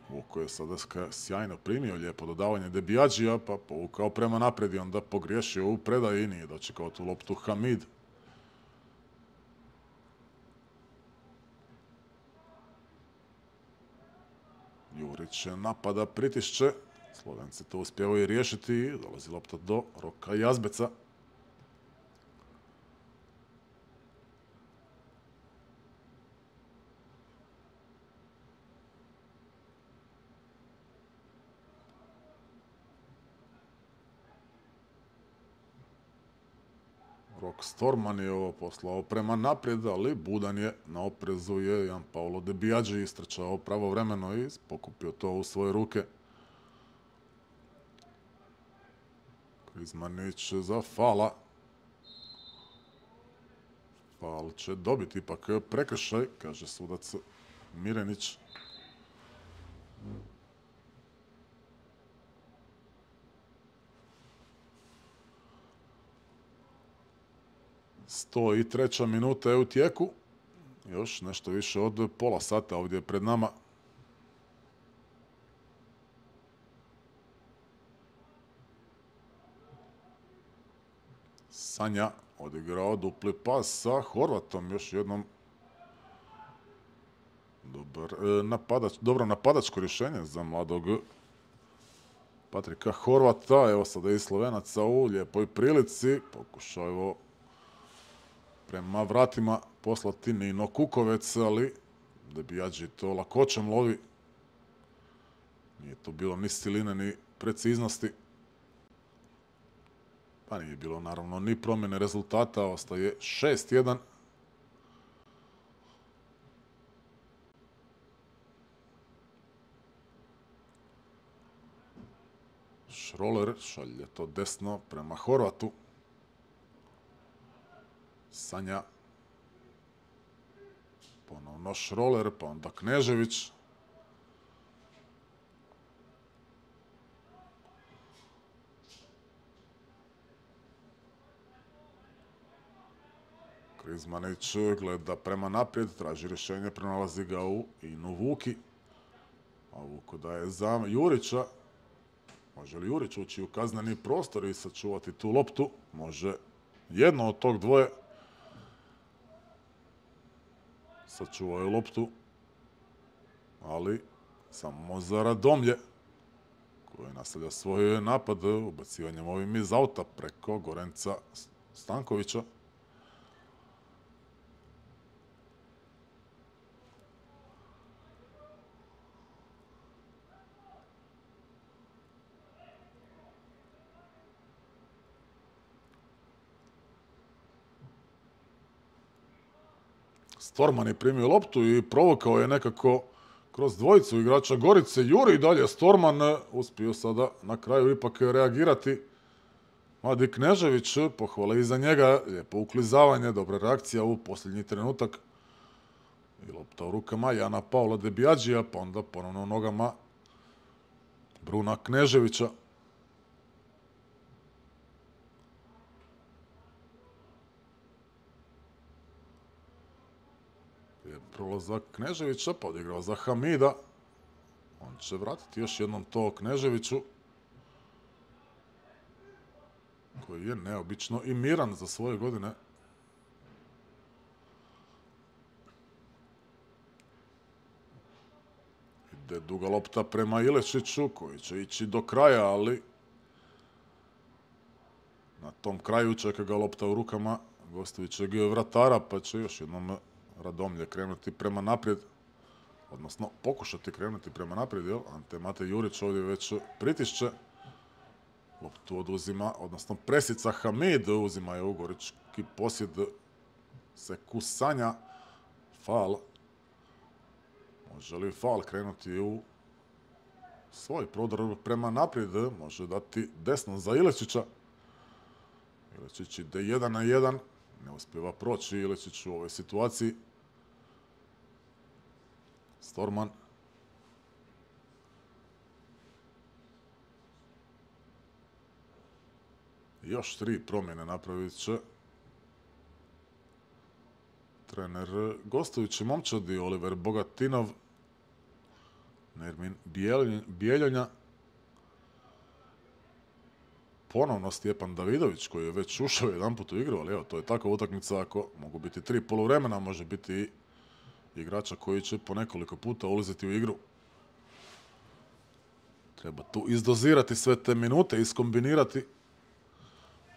Vuko je sada sjajno primio lijepo dodavanje Debiadžija, pa povukao prema naprijed i onda pogriješio u predaji i nije dočekao tu loptu Hamid. Jurić napada, pritišće. Slovenci to uspijevaju riješiti i dolazi lopta do Roka Jazbeca. Rok Storman je ovo poslao prema naprijed, ali budan je, na oprezu je Jan Paolo Debiadži istrčao pravovremeno i pokupio to u svoje ruke. Krizmanić za fala. Fal će dobiti ipak prekršaj, kaže sudac Mirenić. sto treća minuta je u tijeku. Još nešto više od pola sata ovdje pred nama. Sanja odigrao dupli pas sa Horvatom. Još jednom dobar, e, napadač, dobro napadačko rješenje za mladog Patrika Horvata. Evo sada i Slovenaca u lijepoj prilici. Pokušao je prema vratima poslati Nino Kukovec, ali Debiadži to lakoćem lovi. Nije to bilo ni stiline, ni preciznosti. Pa nije bilo naravno ni promjene rezultata, ostaje šest jedan. Šroler šalje to desno prema Horvatu. Sanja. Ponovno Šroler, pa onda Knežević. Krizmanić gleda prema naprijed, traži rješenje, pronalazi ga u Inu Vuki. A Vuko daje za Jurića. Može li Jurić ući u kazneni prostor i sačuvati tu loptu? Može jedno od tog dvoje. Sačuvao je loptu, ali samo za Radomlje, koji nastavlja svoj napad ubacivanjem ovim iz auta preko Gorenca Stankovića. Storman je primio loptu i provokao je nekako kroz dvojicu igrača Gorice. Juri dalje, Storman uspio sada na kraju ipak reagirati. Mladi Knežević, pohvale iza njega, lijepo uklizavanje, dobra reakcija u posljednji trenutak. I lopta u rukama Jana Paula Debiadžija, pa onda ponovno u nogama Bruna Kneževića. prolazak Kneževića, pa odigrao za Hamida. On će vratiti još jednom to Kneževiću, koji je neobično i miran za svoje godine. Ide duga lopta prema Ilešiću, koji će ići do kraja, ali na tom kraju čeka ga lopta u rukama gostujućeg vratara, pa će još jednom Radomlje krenuti prema naprijed, odnosno pokušati krenuti prema naprijed, jel? Ante Matej Jurić ovdje već pritišće. Loptu oduzima, odnosno presica Hamid, uzima je ugorički posjed, se kusanja. Faul. Može li faul krenuti u svoj prodor prema naprijed? Može dati desno za Ilečića. Ilečić ide jedan na jedan. Ne uspijeva proći Ilečić u ovoj situaciji. Storman. Još tri promjene napravit će trener gostujući momčadi Oliver Bogatinov, Nermin Bijeljanja, ponovno Stjepan Davidović koji je već ušao jedan put u igru, ali evo, to je takva utakmica, ako mogu biti tri poluvremena, može biti i igrača koji će po nekoliko puta ulaziti u igru. Treba tu izdozirati sve te minute, iskombinirati.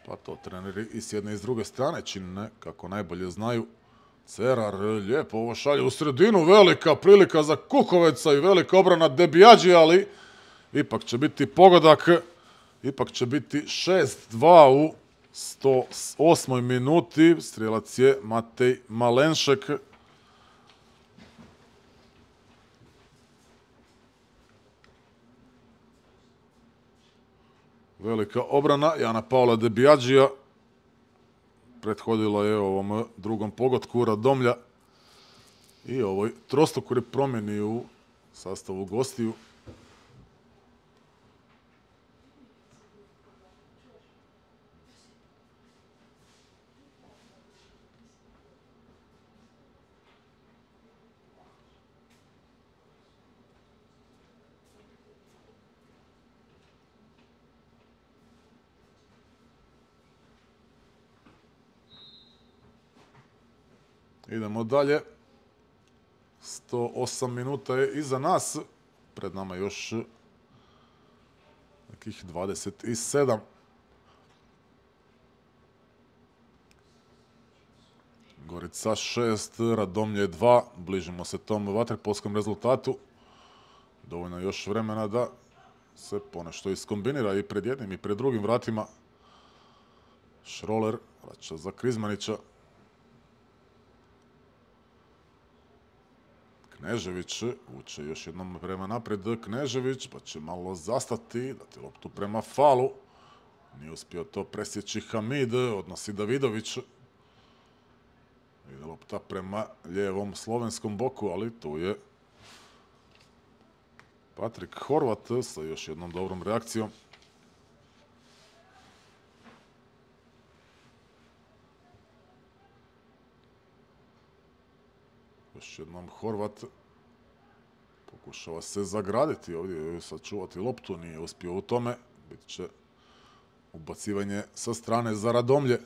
Pa to treneri i s jedne i s druge strane čine kako najbolje znaju. Cerar lijepo ovo šalje u sredinu, velika prilika za Kukoveca i velika obrana Debijađi, ali ipak će biti pogodak, ipak će biti šest dva u sto osmoj minuti. Strijelac je Matej Malenšek. Velika obrana Jana Paula Debijađija. Prethodila je ovom drugom pogodku Radomlja i ovoj trostokoj promjeni u sastavu gostiju. Idemo dalje. sto osam minuta je iza nas. Pred nama još nekih dvadeset sedam. Gorica šest, Radomlje dva. Bližimo se tom vaterpolskom rezultatu. Dovoljno još vremena da se ponešto iskombinira i pred jednim i pred drugim vratima. Šroler vraća za Krizmanića. Knežević uče još jednom prema naprijed. Knežević pa će malo zastati, dati loptu prema falu. Nije uspio to presjeći Hamid, odnosi Davidović. Ide lopta prema lijevom slovenskom boku, ali tu je Patrik Horvat sa još jednom dobrom reakcijom. Još jednom Horvat pokušava se zagraditi ovdje, sačuvati loptu, nije uspio u tome. Bit će ubacivanje sa strane za Radomlje.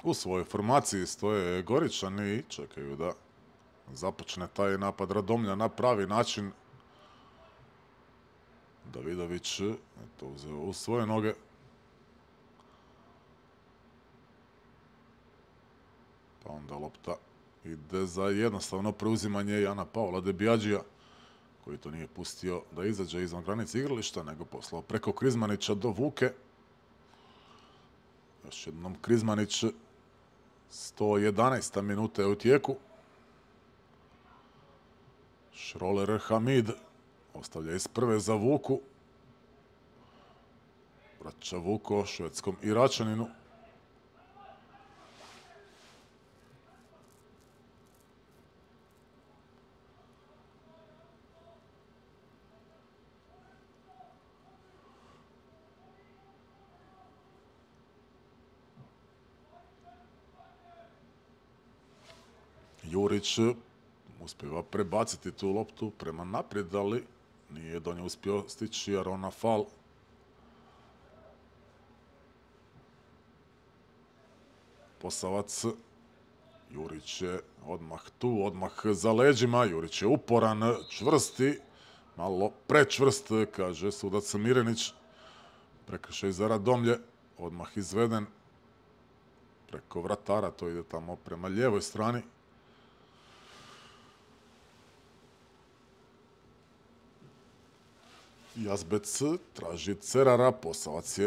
U svojoj formaciji stoje Goričani i čekaju da započne taj napad Radomlja na pravi način. Davidović je to uzeo u svoje noge. Pa onda lopta ide za jednostavno preuzimanje Jana Paula Debijađija, koji to nije pustio da izađe izvan granice igrališta, nego poslao preko Krizmanića do Vuke. Još jednom Krizmanić sto jedanaesta minuta je u tijeku. Šroler Hamid ostavlja iz prve za Vuku. Vraća Vuko švedskom Iračaninu. Jurić uspjeva prebaciti tu loptu prema naprijed, ali nije do nje uspio stići Arona Fal. Posavac. Jurić je odmah tu, odmah za leđima. Jurić je uporan, čvrsti, malo prečvrst, kaže sudac Mirenić. Prekršaj za Radomlje, odmah izveden preko vratara, to ide tamo prema lijevoj strani. Jazbec traži Cerara, Posavac je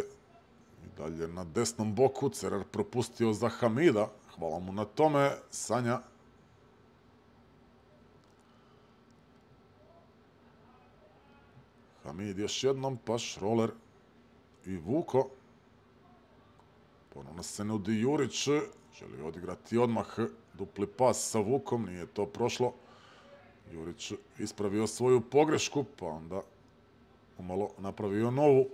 i dalje na desnom boku. Cerar propustio za Hamida, hvala mu na tome. Sanja. Hamid još jednom, pa Šroler i Vuko. Ponovno se nudi Jurić, želi odigrati odmah dupli pas sa Vukom, nije to prošlo. Jurić ispravio svoju pogrešku, pa onda umalo napravio novu.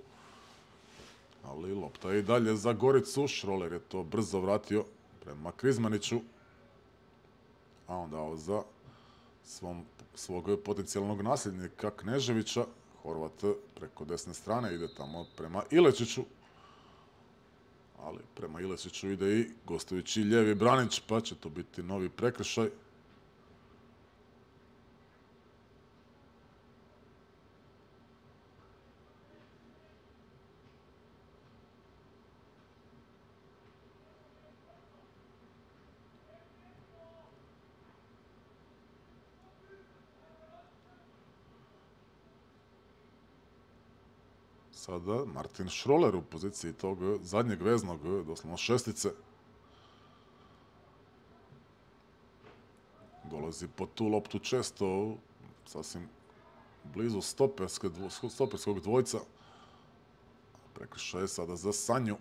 Ali lopta je i dalje za Goricu. Šroler je to brzo vratio prema Krizmaniću. A onda za svom, svog potencijalnog nasljednika Kneževića. Horvat preko desne strane ide tamo prema Ilečiću. Ali prema Ilečiću ide i gostujući lijevi Branić, pa će to biti novi prekršaj. Sada Martin Šroler u poziciji tog zadnjeg veznog, doslovno šestice. Dolazi po tu loptu često, sasvim blizu stoperskog dvojca. Prekršaj je sada za Sanju.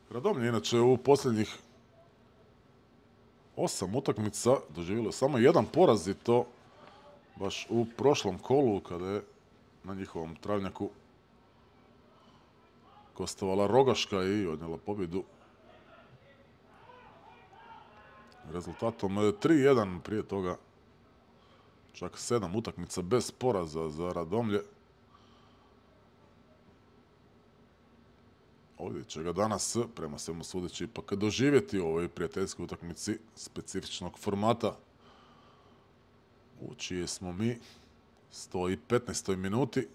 Radomlje inače u posljednjih osam utakmica doživjelo samo jedan poraz i to baš u prošlom kolu kada je na njihovom travnjaku gostovala Rogaška i odnijela pobjedu rezultatom tri jedan. Prije toga čak sedam utakmica bez poraza za Radomlje. Ovdje će ga danas, prema svemu sudeći, ipak doživjeti u ovoj prijateljskoj utakmici specifičnog formata, u čije smo mi sto petnaestoj minuti.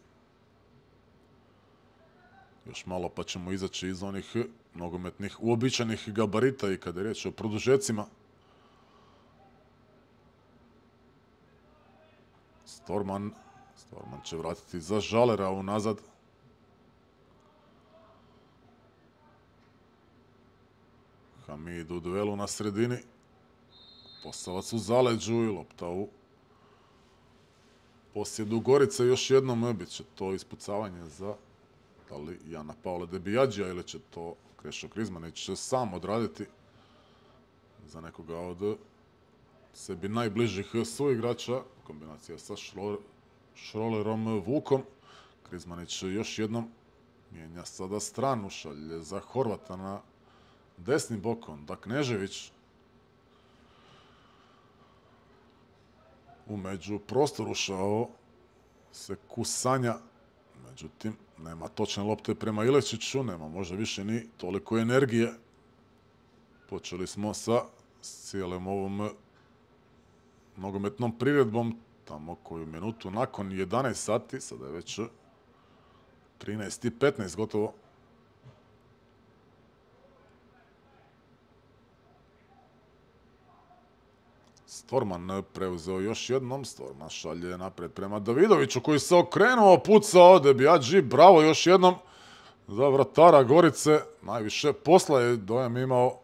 Još malo pa ćemo izaći iz onih nogometnih uobičajenih gabarita i kada je riječ o produžecima. Storman, Storman će vratiti za Žalera unazad. Hamid u duelu na sredini. Posavac u zaleđu i lopta u posjedu Gorice. Još jednom bit će to ispucavanje za da li Jana Pavla Debijađija ili će to Krešo Krizmanić sam odraditi za nekoga od sebi najbližih suigrača. Kombinacija sa Šrolerom Vukom. Krizmanić još jednom mijenja sada stranu, šalje za Horvata na desni bok, onda Knežević. U među prostor ušao se Kusanja, međutim nema točne lopte prema Ilečiću, nema možda više ni toliko energije. Počeli smo sa cijelom ovom nogometnom priredbom tamo koju minutu nakon jedanaest sati, sada je već trinaest i petnaest gotovo. Storman preuzeo još jednom, Storman šalje napred prema Davidoviću koji se okrenuo, pucao, Debiadži, bravo još jednom za vratara Gorice. Najviše posla je dojam imao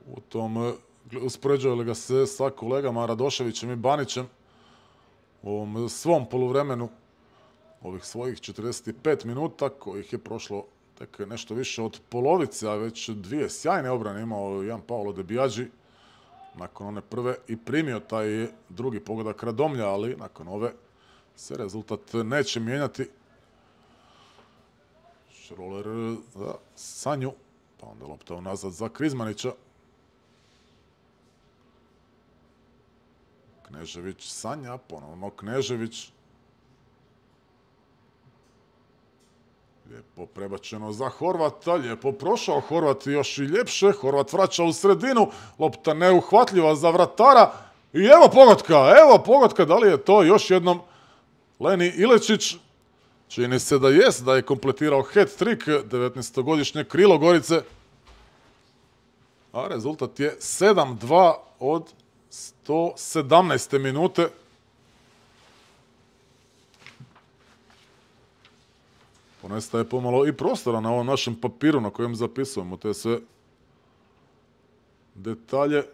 u tom, uspoređuje li ga se sa kolegama Radoševićem i Banićem u ovom svom poluvremenu ovih svojih četrdeset pet minuta, kojih je prošlo tek nešto više od polovice, a već dvije sjajne obrane imao Jan Paolo Debiadži. Nakon one prve i primio taj drugi pogodak Radomlja, ali nakon ove se rezultat neće mijenjati. Šroler za Sanju, pa onda lopta unazad za Krizmanića. Knežević, Sanja, ponovno Knežević. Lijepo prebačeno za Horvata, lijepo prošao Horvat, još i ljepše, Horvat vraća u sredinu, lopta neuhvatljiva za vratara i evo pogotka, evo pogotka, da li je to još jednom Leni Ilečić? Čini se da jest, da je kompletirao hat-trick, devetnaestogodišnje krilo Gorice, a rezultat je sedam dva od sto sedamnaeste minute. Ponestaje pomalo i prostora na ovom našem papiru na kojem zapisujemo te sve detalje.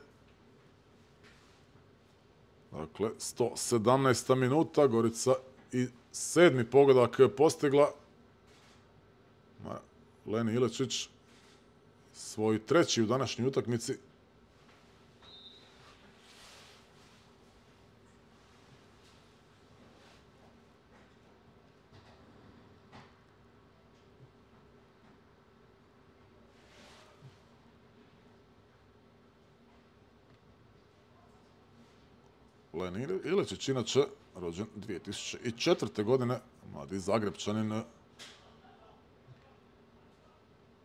Dakle, sto sedamnaesta minuta, Gorica i sedmi pogodak postigla. Leni Ilečić, svoj treći u današnjoj utakmici. Leni Ilečić, inače rođen dvije tisuće četvrte. godine, mladi Zagrebčanin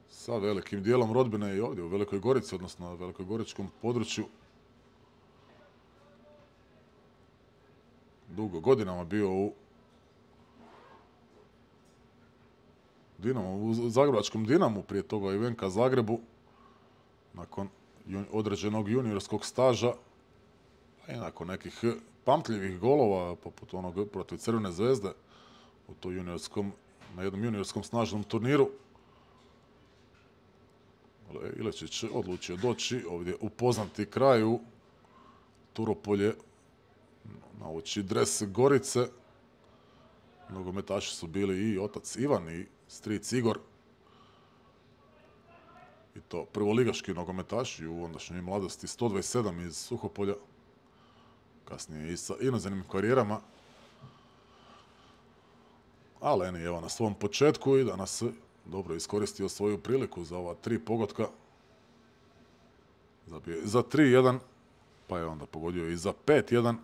sa velikim dijelom rodbine i ovdje u Velikoj Gorici, odnosno na velikogoričkom području. Dugo godinama bio u Dinamo, u zagrebačkom Dinamu, prije toga i Venka Zagrebu, nakon određenog juniorskog staža. I nakon nekih pamtljivih golova, poput onog protiv Crvene zvezde, u to juniorskom, na jednom juniorskom snažnom turniru, Ilečić odlučio doći ovdje upoznati kraj u Turopolje, nauči dres Gorice. Nogometaši su bili i otac Ivan i stric Igor. I to prvoligaški nogometaši u ondašnjoj mladosti, sto dvadeset sedam iz Suhopolja. Kasnije i sa inozemnim karijerama. A Leni evo na svom početku i danas dobro iskoristio svoju priliku za ova tri pogotka. Zabije za tri jedan, pa je onda pogodio i za pet jedan.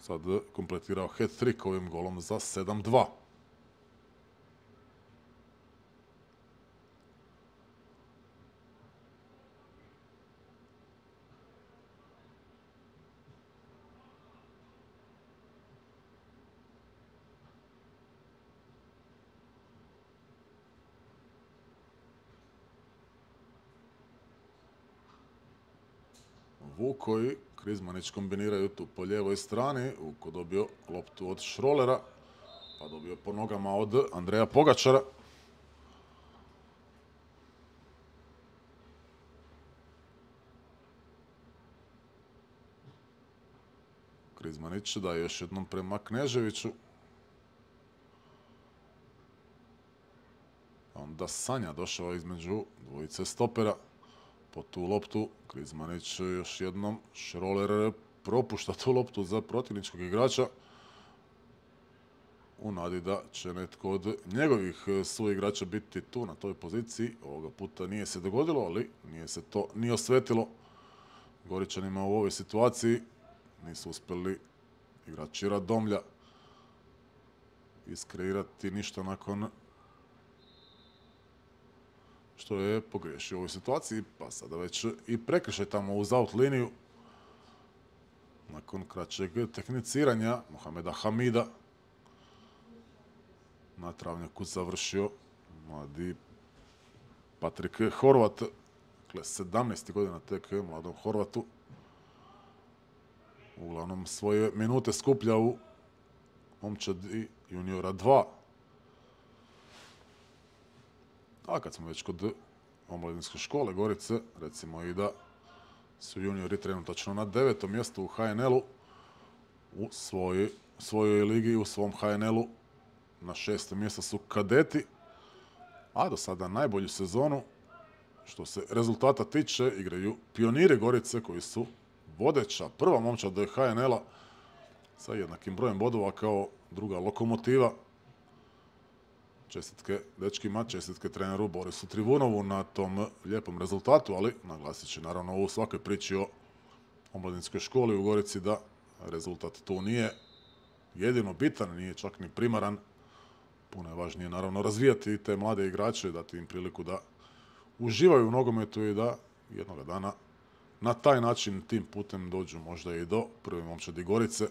Sad kompletirao hat-trick ovim golom za sedam dva. Vuko i Krizmanić kombiniraju tu po lijevoj strani. Vuko dobio loptu od Šrolera, pa dobio po nogama od Andreja Pogačara. Krizmanić daje još jednom prema Kneževiću. Onda Sanja došao između dvojice stopera. Po tu loptu Krizmanić još jednom, Šroler propušta tu loptu za protivničkog igrača u nadi da će netko od njegovih suigrača biti tu na toj poziciji. Ovoga puta nije se dogodilo, ali nije se to ni osvetilo Goričanima u ovoj situaciji. Nisu uspjeli igrači Radomlja iskreirati ništa nakon što je pogriješio u ovoj situaciji, pa sada već i prekršaj tamo uz out liniju. nakon kraćeg tehniciranja Mohameda Hamida na travnjaku završio mladi Patrik Horvat, dakle sedamnaest godina tek mladom Horvatu. Uglavnom svoje minute skuplja u momčadi juniora dva. A kad smo već kod omladinske škole Gorice, recimo i da su juniori trenutačno na devetom mjestu u ha en el-u u svojoj, svojoj ligi, u svom ha en el-u. Na šestom mjestu su kadeti, a do sada najbolju sezonu, što se rezultata tiče, igraju pioniri Gorice koji su vodeća prva momčad ha en el-a sa jednakim brojem bodova kao druga Lokomotiva. Čestitke dečkima, čestitke treneru Borisu Trivunovu na tom lijepom rezultatu, ali naglasit će naravno u svakoj priči o omladinskoj školi u Gorici da rezultat tu nije jedino bitan, nije čak ni primaran. Puno je važnije naravno razvijati te mlade igrače, dati im priliku da uživaju u nogometu i da jednoga dana na taj način tim putem dođu možda i do prve momčadi Gorice.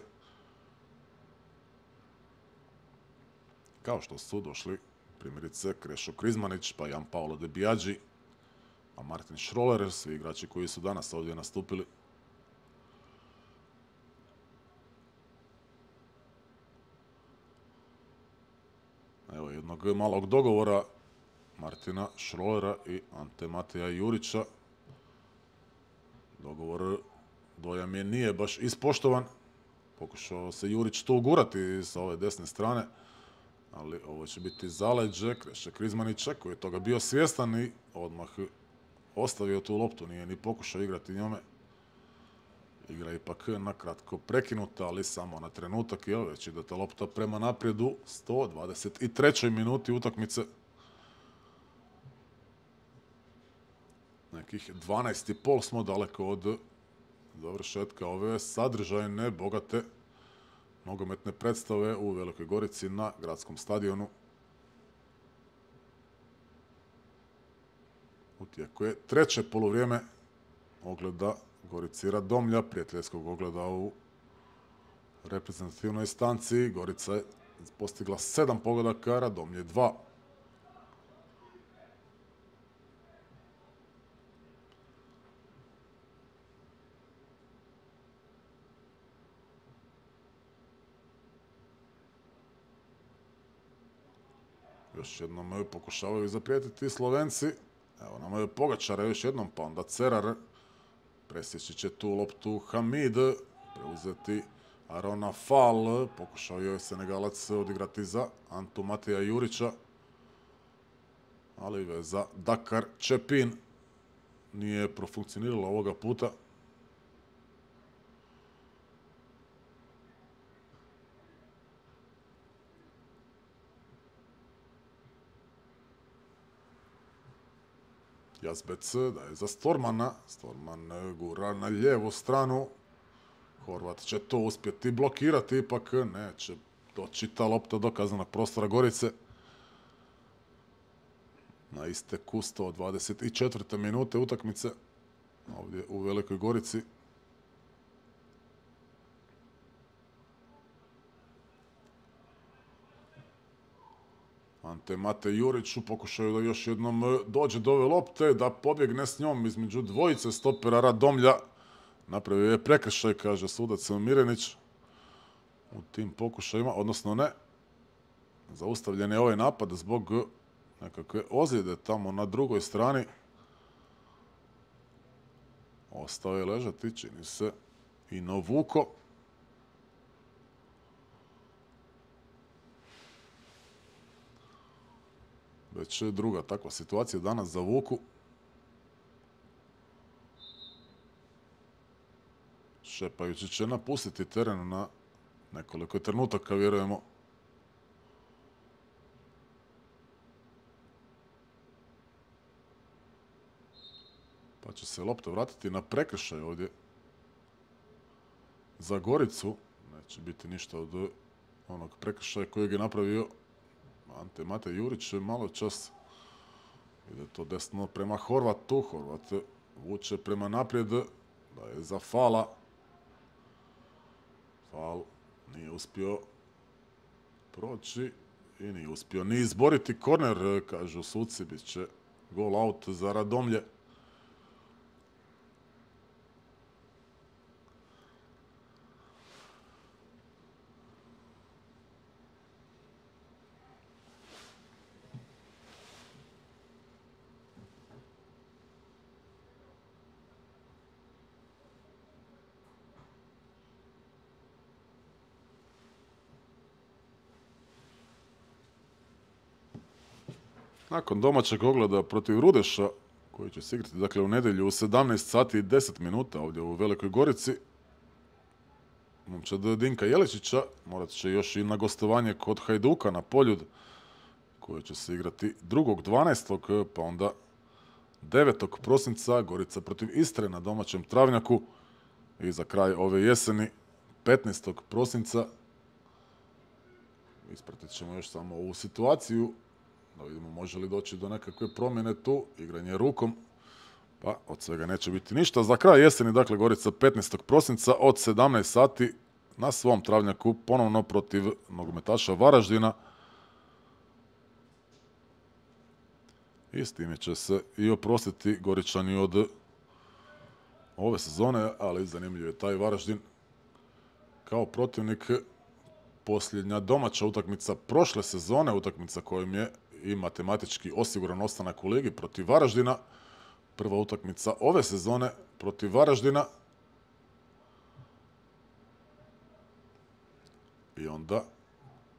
Kao što su došli primjerice Krešo Krizmanić, pa Jan Paolo De Biaggi, a Martin Schroller, svi igrači koji su danas ovdje nastupili. Evo jednog malog dogovora Martina Schrollera i Ante Mateja Jurića. Dogovor, dojam je, nije baš ispoštovan. Pokušao se Jurić to ugurati sa ove desne strane, ali ovo će biti zaleđe Kreše Krizmanića koji je toga bio svjestan i odmah ostavio tu loptu, nije ni pokušao igrati njome. Igra je ipak na kratko prekinuta, ali samo na trenutak, jer već ide ta lopta prema naprijed u sto dvadeset trećoj minuti utakmice. Nekih dvanaest i pol smo daleko od završetka ove sadržajne, bogate nogometne predstave u Velikoj Gorici na gradskom stadionu. U tijeku je treće poluvrijeme ogleda Gorici Radomlja, prijateljskog ogleda u reprezentativnoj stanci. Gorica je postigla sedam pogodaka, Radomlje dva. Još jednom pokušavaju zaprijetiti Slovenci. Evo nam je Pogačara još jednom, pa onda Cerar. Presjeći će tu loptu Hamid, preuzeti Arona Fall. Pokušao je Senegalac odigrati za Antu Mateja Jurića, ali veza Dakar Čepin nije profunkcionirala ovoga puta. Jazbec daje za Stormana. Storman gura na lijevu stranu. Horvat će to uspjeti blokirati, ipak neće doći ta lopta do kaznenog prostora Gorice. Na isteku sto dvadeset četvrte minute utakmice ovdje u Velikoj Gorici. Ante Mate Jurić u pokušaju da još jednom dođe do ove lopte, da pobjegne s njom između dvojice stopera Radomlja. Napravio je prekršaj, kaže sudac Mirenić u tim pokušajima, odnosno ne. Zaustavljen je ovaj napad zbog nekakve ozljede tamo na drugoj strani. Ostao je ležati, čini se, i Novuko. Već druga takva situacija danas za Vuku. Šepajući će napustiti teren na nekoliko trenutaka, vjerujemo. Pa će se lopta vratiti na prekršaj ovdje za Goricu. Neće biti ništa od onog prekršaja kojeg je napravio Ante Mate Jurić malo čas. Ide to desno prema Horvatu. Horvat vuče prema naprijed. Da je za Fala. faul, nije uspio proći i nije uspio ni izboriti korner, kažu suci, bit će gol out za Radomlje. Nakon domaćeg ogleda protiv Rudeša, koji će se igrati dakle, u nedjelju u sedamnaest sati i deset minuta ovdje u Velikoj Gorici, momčad Dinka Jeličića morat će još i na gostovanje kod Hajduka na Poljud, koje će se igrati drugog dvanaestog pa onda devetog prosinca Gorica protiv Istre na domaćem Travnjaku i za kraj ove jeseni petnaestog prosinca. Ispratit ćemo još samo ovu situaciju da vidimo može li doći do nekakve promjene tu, igranje rukom, pa od svega neće biti ništa. Za kraj jeseni, dakle, Gorica petnaestog prosinca od sedamnaest sati na svom Travnjaku ponovno protiv nogometaša Varaždina. I s time će se i oprostiti Goričani od ove sezone, ali zanimljiv je taj Varaždin kao protivnik. Posljednja domaća utakmica prošle sezone, utakmica kojom je i matematički osiguran ostanak u ligi protiv Varaždina. Prva utakmica ove sezone protiv Varaždina. I onda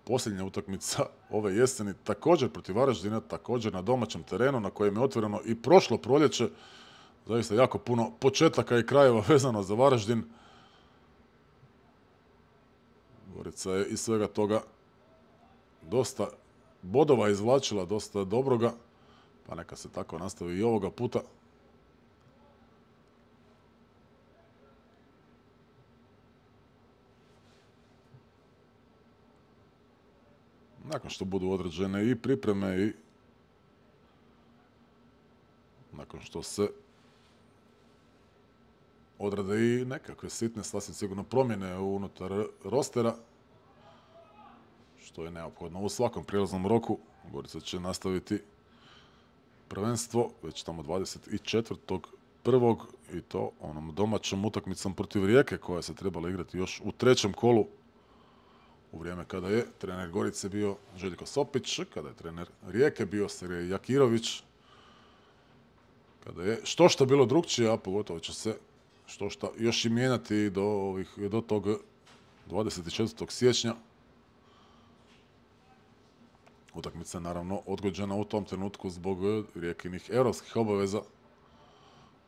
posljednja utakmica ove jeseni također protiv Varaždina, također na domaćem terenu na kojem je otvoreno i prošlo proljeće. Zaista jako puno početaka i krajeva vezano za Varaždin. Gorica je iz svega toga dosta bodova izvlačila, dosta dobroga, pa neka se tako nastavi i ovoga puta. Nakon što budu određene i pripreme i nakon što se odrade i nekakve sitne, sasvim sigurno promjene unutar rostera, što je neophodno u svakom prijelaznom roku. Gorica će nastaviti prvenstvo već tamo dvadeset četvrtog prvog i to onom domaćom utakmicom protiv Rijeke koja se trebala igrati još u trećem kolu u vrijeme kada je trener Gorice bio Željko Sopić, kada je trener Rijeke bio Sergej Jakirović, kada je što što bilo drukčije, a pogotovo će se što što još i mijenjati do, ovih, do tog dvadeset četvrtog siječnja. Utakmica je naravno odgođena u tom trenutku zbog Rijekinih europskih obaveza,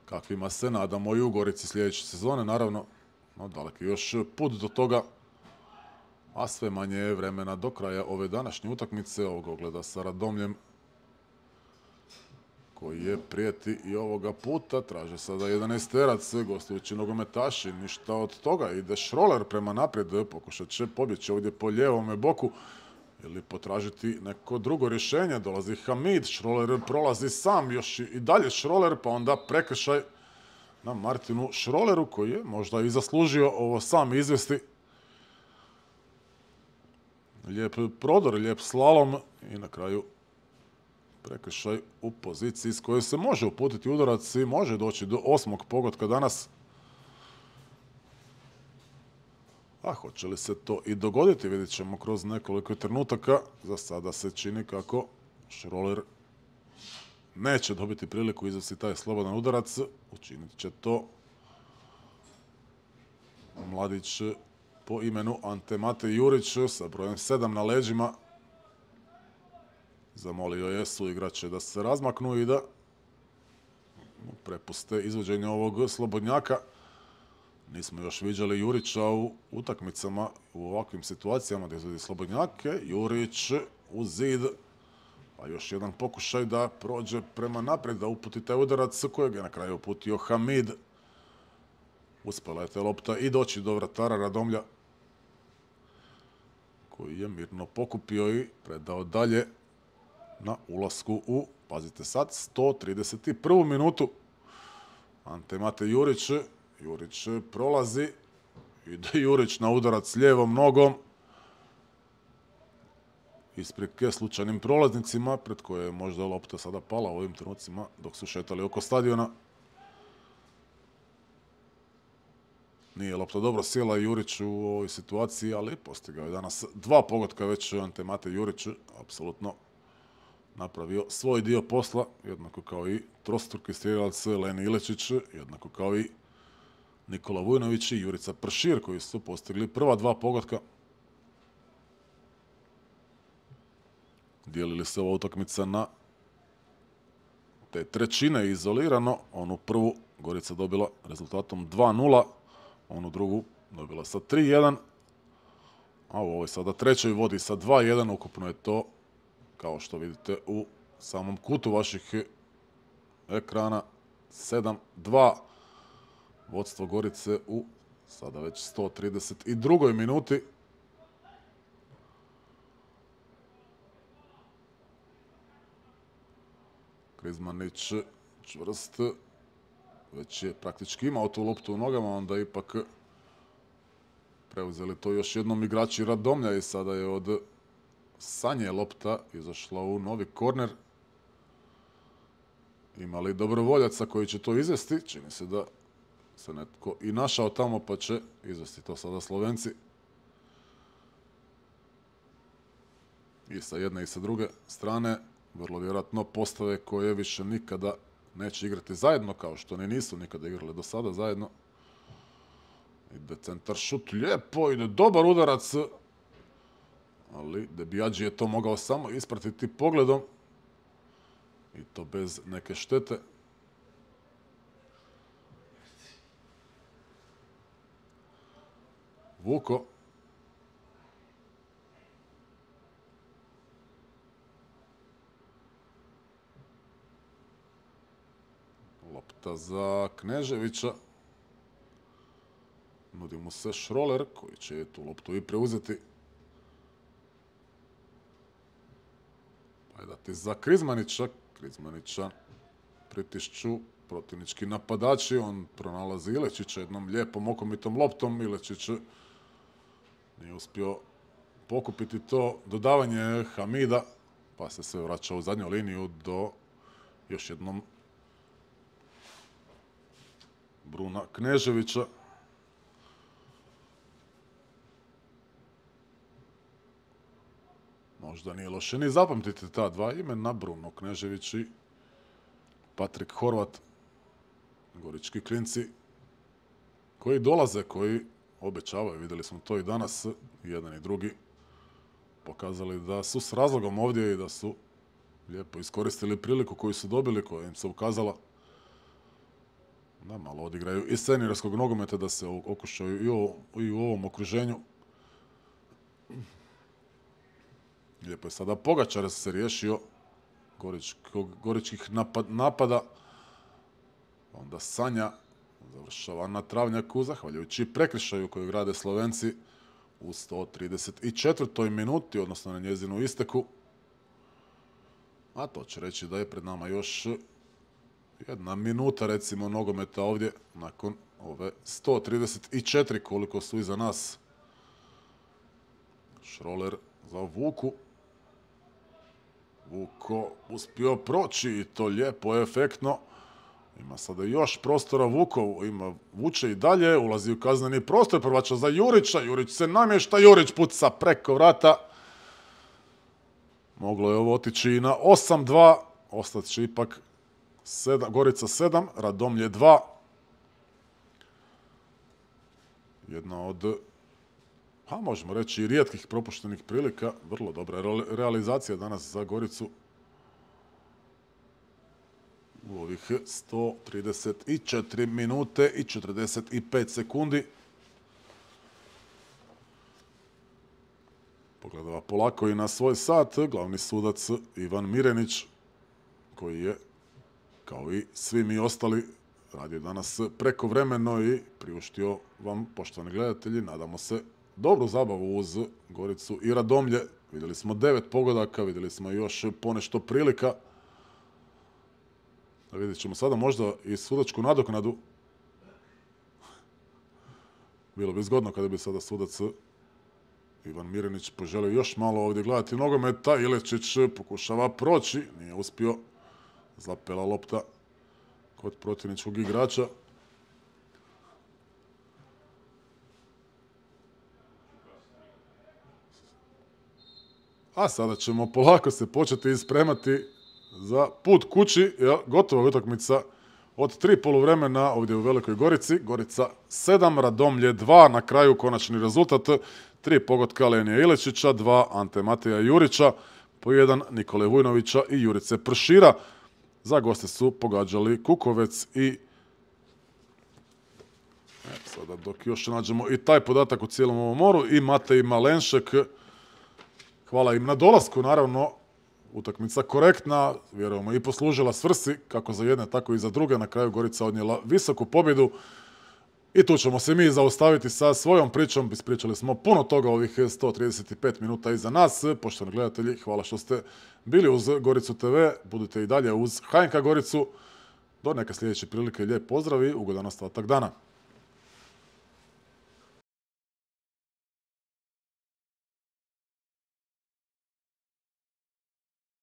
kakvima se nadamo i u Gorici sljedeće sezone, naravno, no daleki još put do toga, a sve manje je vremena do kraja ove današnje utakmice, ovog ogleda sa Radomljem, koji je prijeti i ovoga puta, traže sada jedanaesterac, gostujući nogometaši, ništa od toga, ide Šroler prema naprijed, pokušat će pobjeći ovdje po lijevome boku, ili potražiti neko drugo rješenje. Dolazi Hamid, Šroler prolazi sam, još i dalje Šroler, pa onda prekršaj na Martinu Šroleru, koji je možda i zaslužio ovo sam izvesti. Lijep prodor, lijep slalom i na kraju prekršaj u poziciji s kojoj se može uputiti udarac i može doći do osmog pogotka danas. A hoće li se to i dogoditi, vidjet ćemo kroz nekoliko trenutaka. Za sada se čini kako Šroler neće dobiti priliku izvesti taj slobodan udarac. Učinit će to mladić po imenu Ante Mate Jurić sa brojem sedam na leđima. Zamolio je suigrače da se razmaknu i da prepuste izvođenje ovog slobodnjaka. Nismo još viđali Jurića u utakmicama u ovakvim situacijama gdje izvodi slobodnjake. Jurić u zid. Pa još jedan pokušaj da prođe prema naprijed, da uputi taj udarac kojeg je na kraju uputio Hamid. Uspjela je te lopta i doći do vratara Radomlja, koji je mirno pokupio i predao dalje na ulasku u, pazite sad, sto trideset prvu minutu. Ante Mate Jurić. Jurić prolazi ide Jurić na udarac lijevom nogom. Isprike slučajnim prolaznicima, pred koje je možda lopta sada pala u ovim trenucima dok su šetali oko stadiona. Nije lopta dobro sjela Jurić u ovoj situaciji, ali postigao je danas dva pogotka već Ante Mate Jurić, apsolutno napravio svoj dio posla, jednako kao i trostruki strijelac Leni Ilečić, jednako kao i Nikola Vujnović i Jurica Pršir, koji su postigli prva dva pogotka. Dijelili se ova utakmica na te trećine izolirano. Onu prvu Gorica dobila rezultatom dva nula, onu drugu dobila sa tri jedan, a u ovoj sada trećoj vodi sa dva jedan. Ukupno je to, kao što vidite u samom kutu vaših ekrana, sedam dva. Vodstvo Gorice u sada već sto trideset drugoj minuti. Krizmanić čvrst, već je praktički imao tu loptu u nogama, onda ipak preuzeli to još jednom igrači Radomlja i sada je od Sanje lopta izašla u novi korner. Ima li dobrovoljaca koji će to izvesti? Čini se da se netko i našao tamo, pa će izvesti to sada Slovenci. I sa jedne i sa druge strane vrlo vjerojatno postave koje više nikada neće igrati zajedno, kao što ne nisu nikada igrali do sada zajedno. Ide centar šut, lijepo, ide dobar udarac, ali De Biaggi je to mogao samo ispratiti pogledom i to bez neke štete. Vuko. Lopta za Kneževića. Nudi mu se Šroler koji će tu loptu i preuzeti. Pa je dati za Krizmanića. Krizmanića pritišću protivnički napadači. On pronalazi Ilečića jednom lijepom okomitom loptom. Ilečić nije uspio pokupiti to dodavanje Hamida, pa se sve vraća u zadnju liniju do još jednom Bruna Kneževića. Možda nije loše ni zapamtiti ta dva imena, Bruno Knežević i Patrik Horvat. Gorički klinci koji dolaze, koji obećavaju, vidjeli smo to i danas, jedan i drugi pokazali da su s razlogom ovdje i da su lijepo iskoristili priliku koju su dobili, koja im se ukazala. Da malo odigraju i seniorskog nogometa, da se okušaju i, o, i u ovom okruženju. Lijepo je sada Pogačar se riješio goričkih napad, napada. Onda Sanja završava na travnjaku, zahvaljujući prekršaju koju grade Slovenci u sto trideset četvrtoj minuti, odnosno na njezinu isteku. A to će reći da je pred nama još jedna minuta, recimo, nogometa ovdje, nakon ove sto trideset četiri koliko su iza nas. Šroler za Vuku. Vuko uspio proći i to lijepo, efektno. Ima sada još prostora Vukov, ima vuče i dalje, ulazi u kazneni prostor, prvača za Jurića, Jurić se namješta, Jurić puca preko vrata. Moglo je ovo otići i na osam dva, ostat će ipak sedam, Gorica sedam, Radomlje dva. Jedna od, pa možemo reći, i rijetkih propuštenih prilika, vrlo dobra realizacija danas za Goricu. U ovih sto trideset četiri minute i četrdeset pet sekundi. Pogledava polako i na svoj sat glavni sudac Ivan Mirenić, koji je, kao i svi mi ostali, radio danas prekovremeno i priuštio vam, poštovani gledatelji, nadamo se, dobru zabavu uz Goricu i Radomlje. Vidjeli smo devet pogodaka, vidjeli smo još ponešto prilika. Vidjet ćemo sada možda i sudačku nadoknadu. Bilo bi zgodno kada bi sada sudac Ivan Mirenić poželio još malo ovdje gledati nogometa. Iličić pokušava proći, nije uspio. Zapela lopta kod protivničkog igrača. A sada ćemo polako se početi ispremati za put kući. Gotova utakmica od tri poluvremena ovdje u Velikoj Gorici. Gorica sedam, Radomlje dva, na kraju konačni rezultat. Tri pogotka Alenija Iličića, dva Ante Mateja Jurića, po jedan Nikole Vujnovića i Jurice Pršira. Za goste su pogađali Kukovec i... E, sada dok još nađemo i taj podatak u cijelom ovom moru, i Matej Malenšek. Hvala im na dolasku, naravno. Utakmica korektna, vjerujemo i poslužila svrsi, kako za jedne, tako i za druge. Na kraju Gorica odnijela visoku pobjedu. I tu ćemo se mi zaustaviti sa svojom pričom. Ispričali smo puno toga ovih sto trideset pet minuta iza nas. Poštovani gledatelji, hvala što ste bili uz Goricu te ve. Budite i dalje uz H N K Goricu. Do neke sljedeće prilike, lijep pozdrav i ugodan ostatak dana.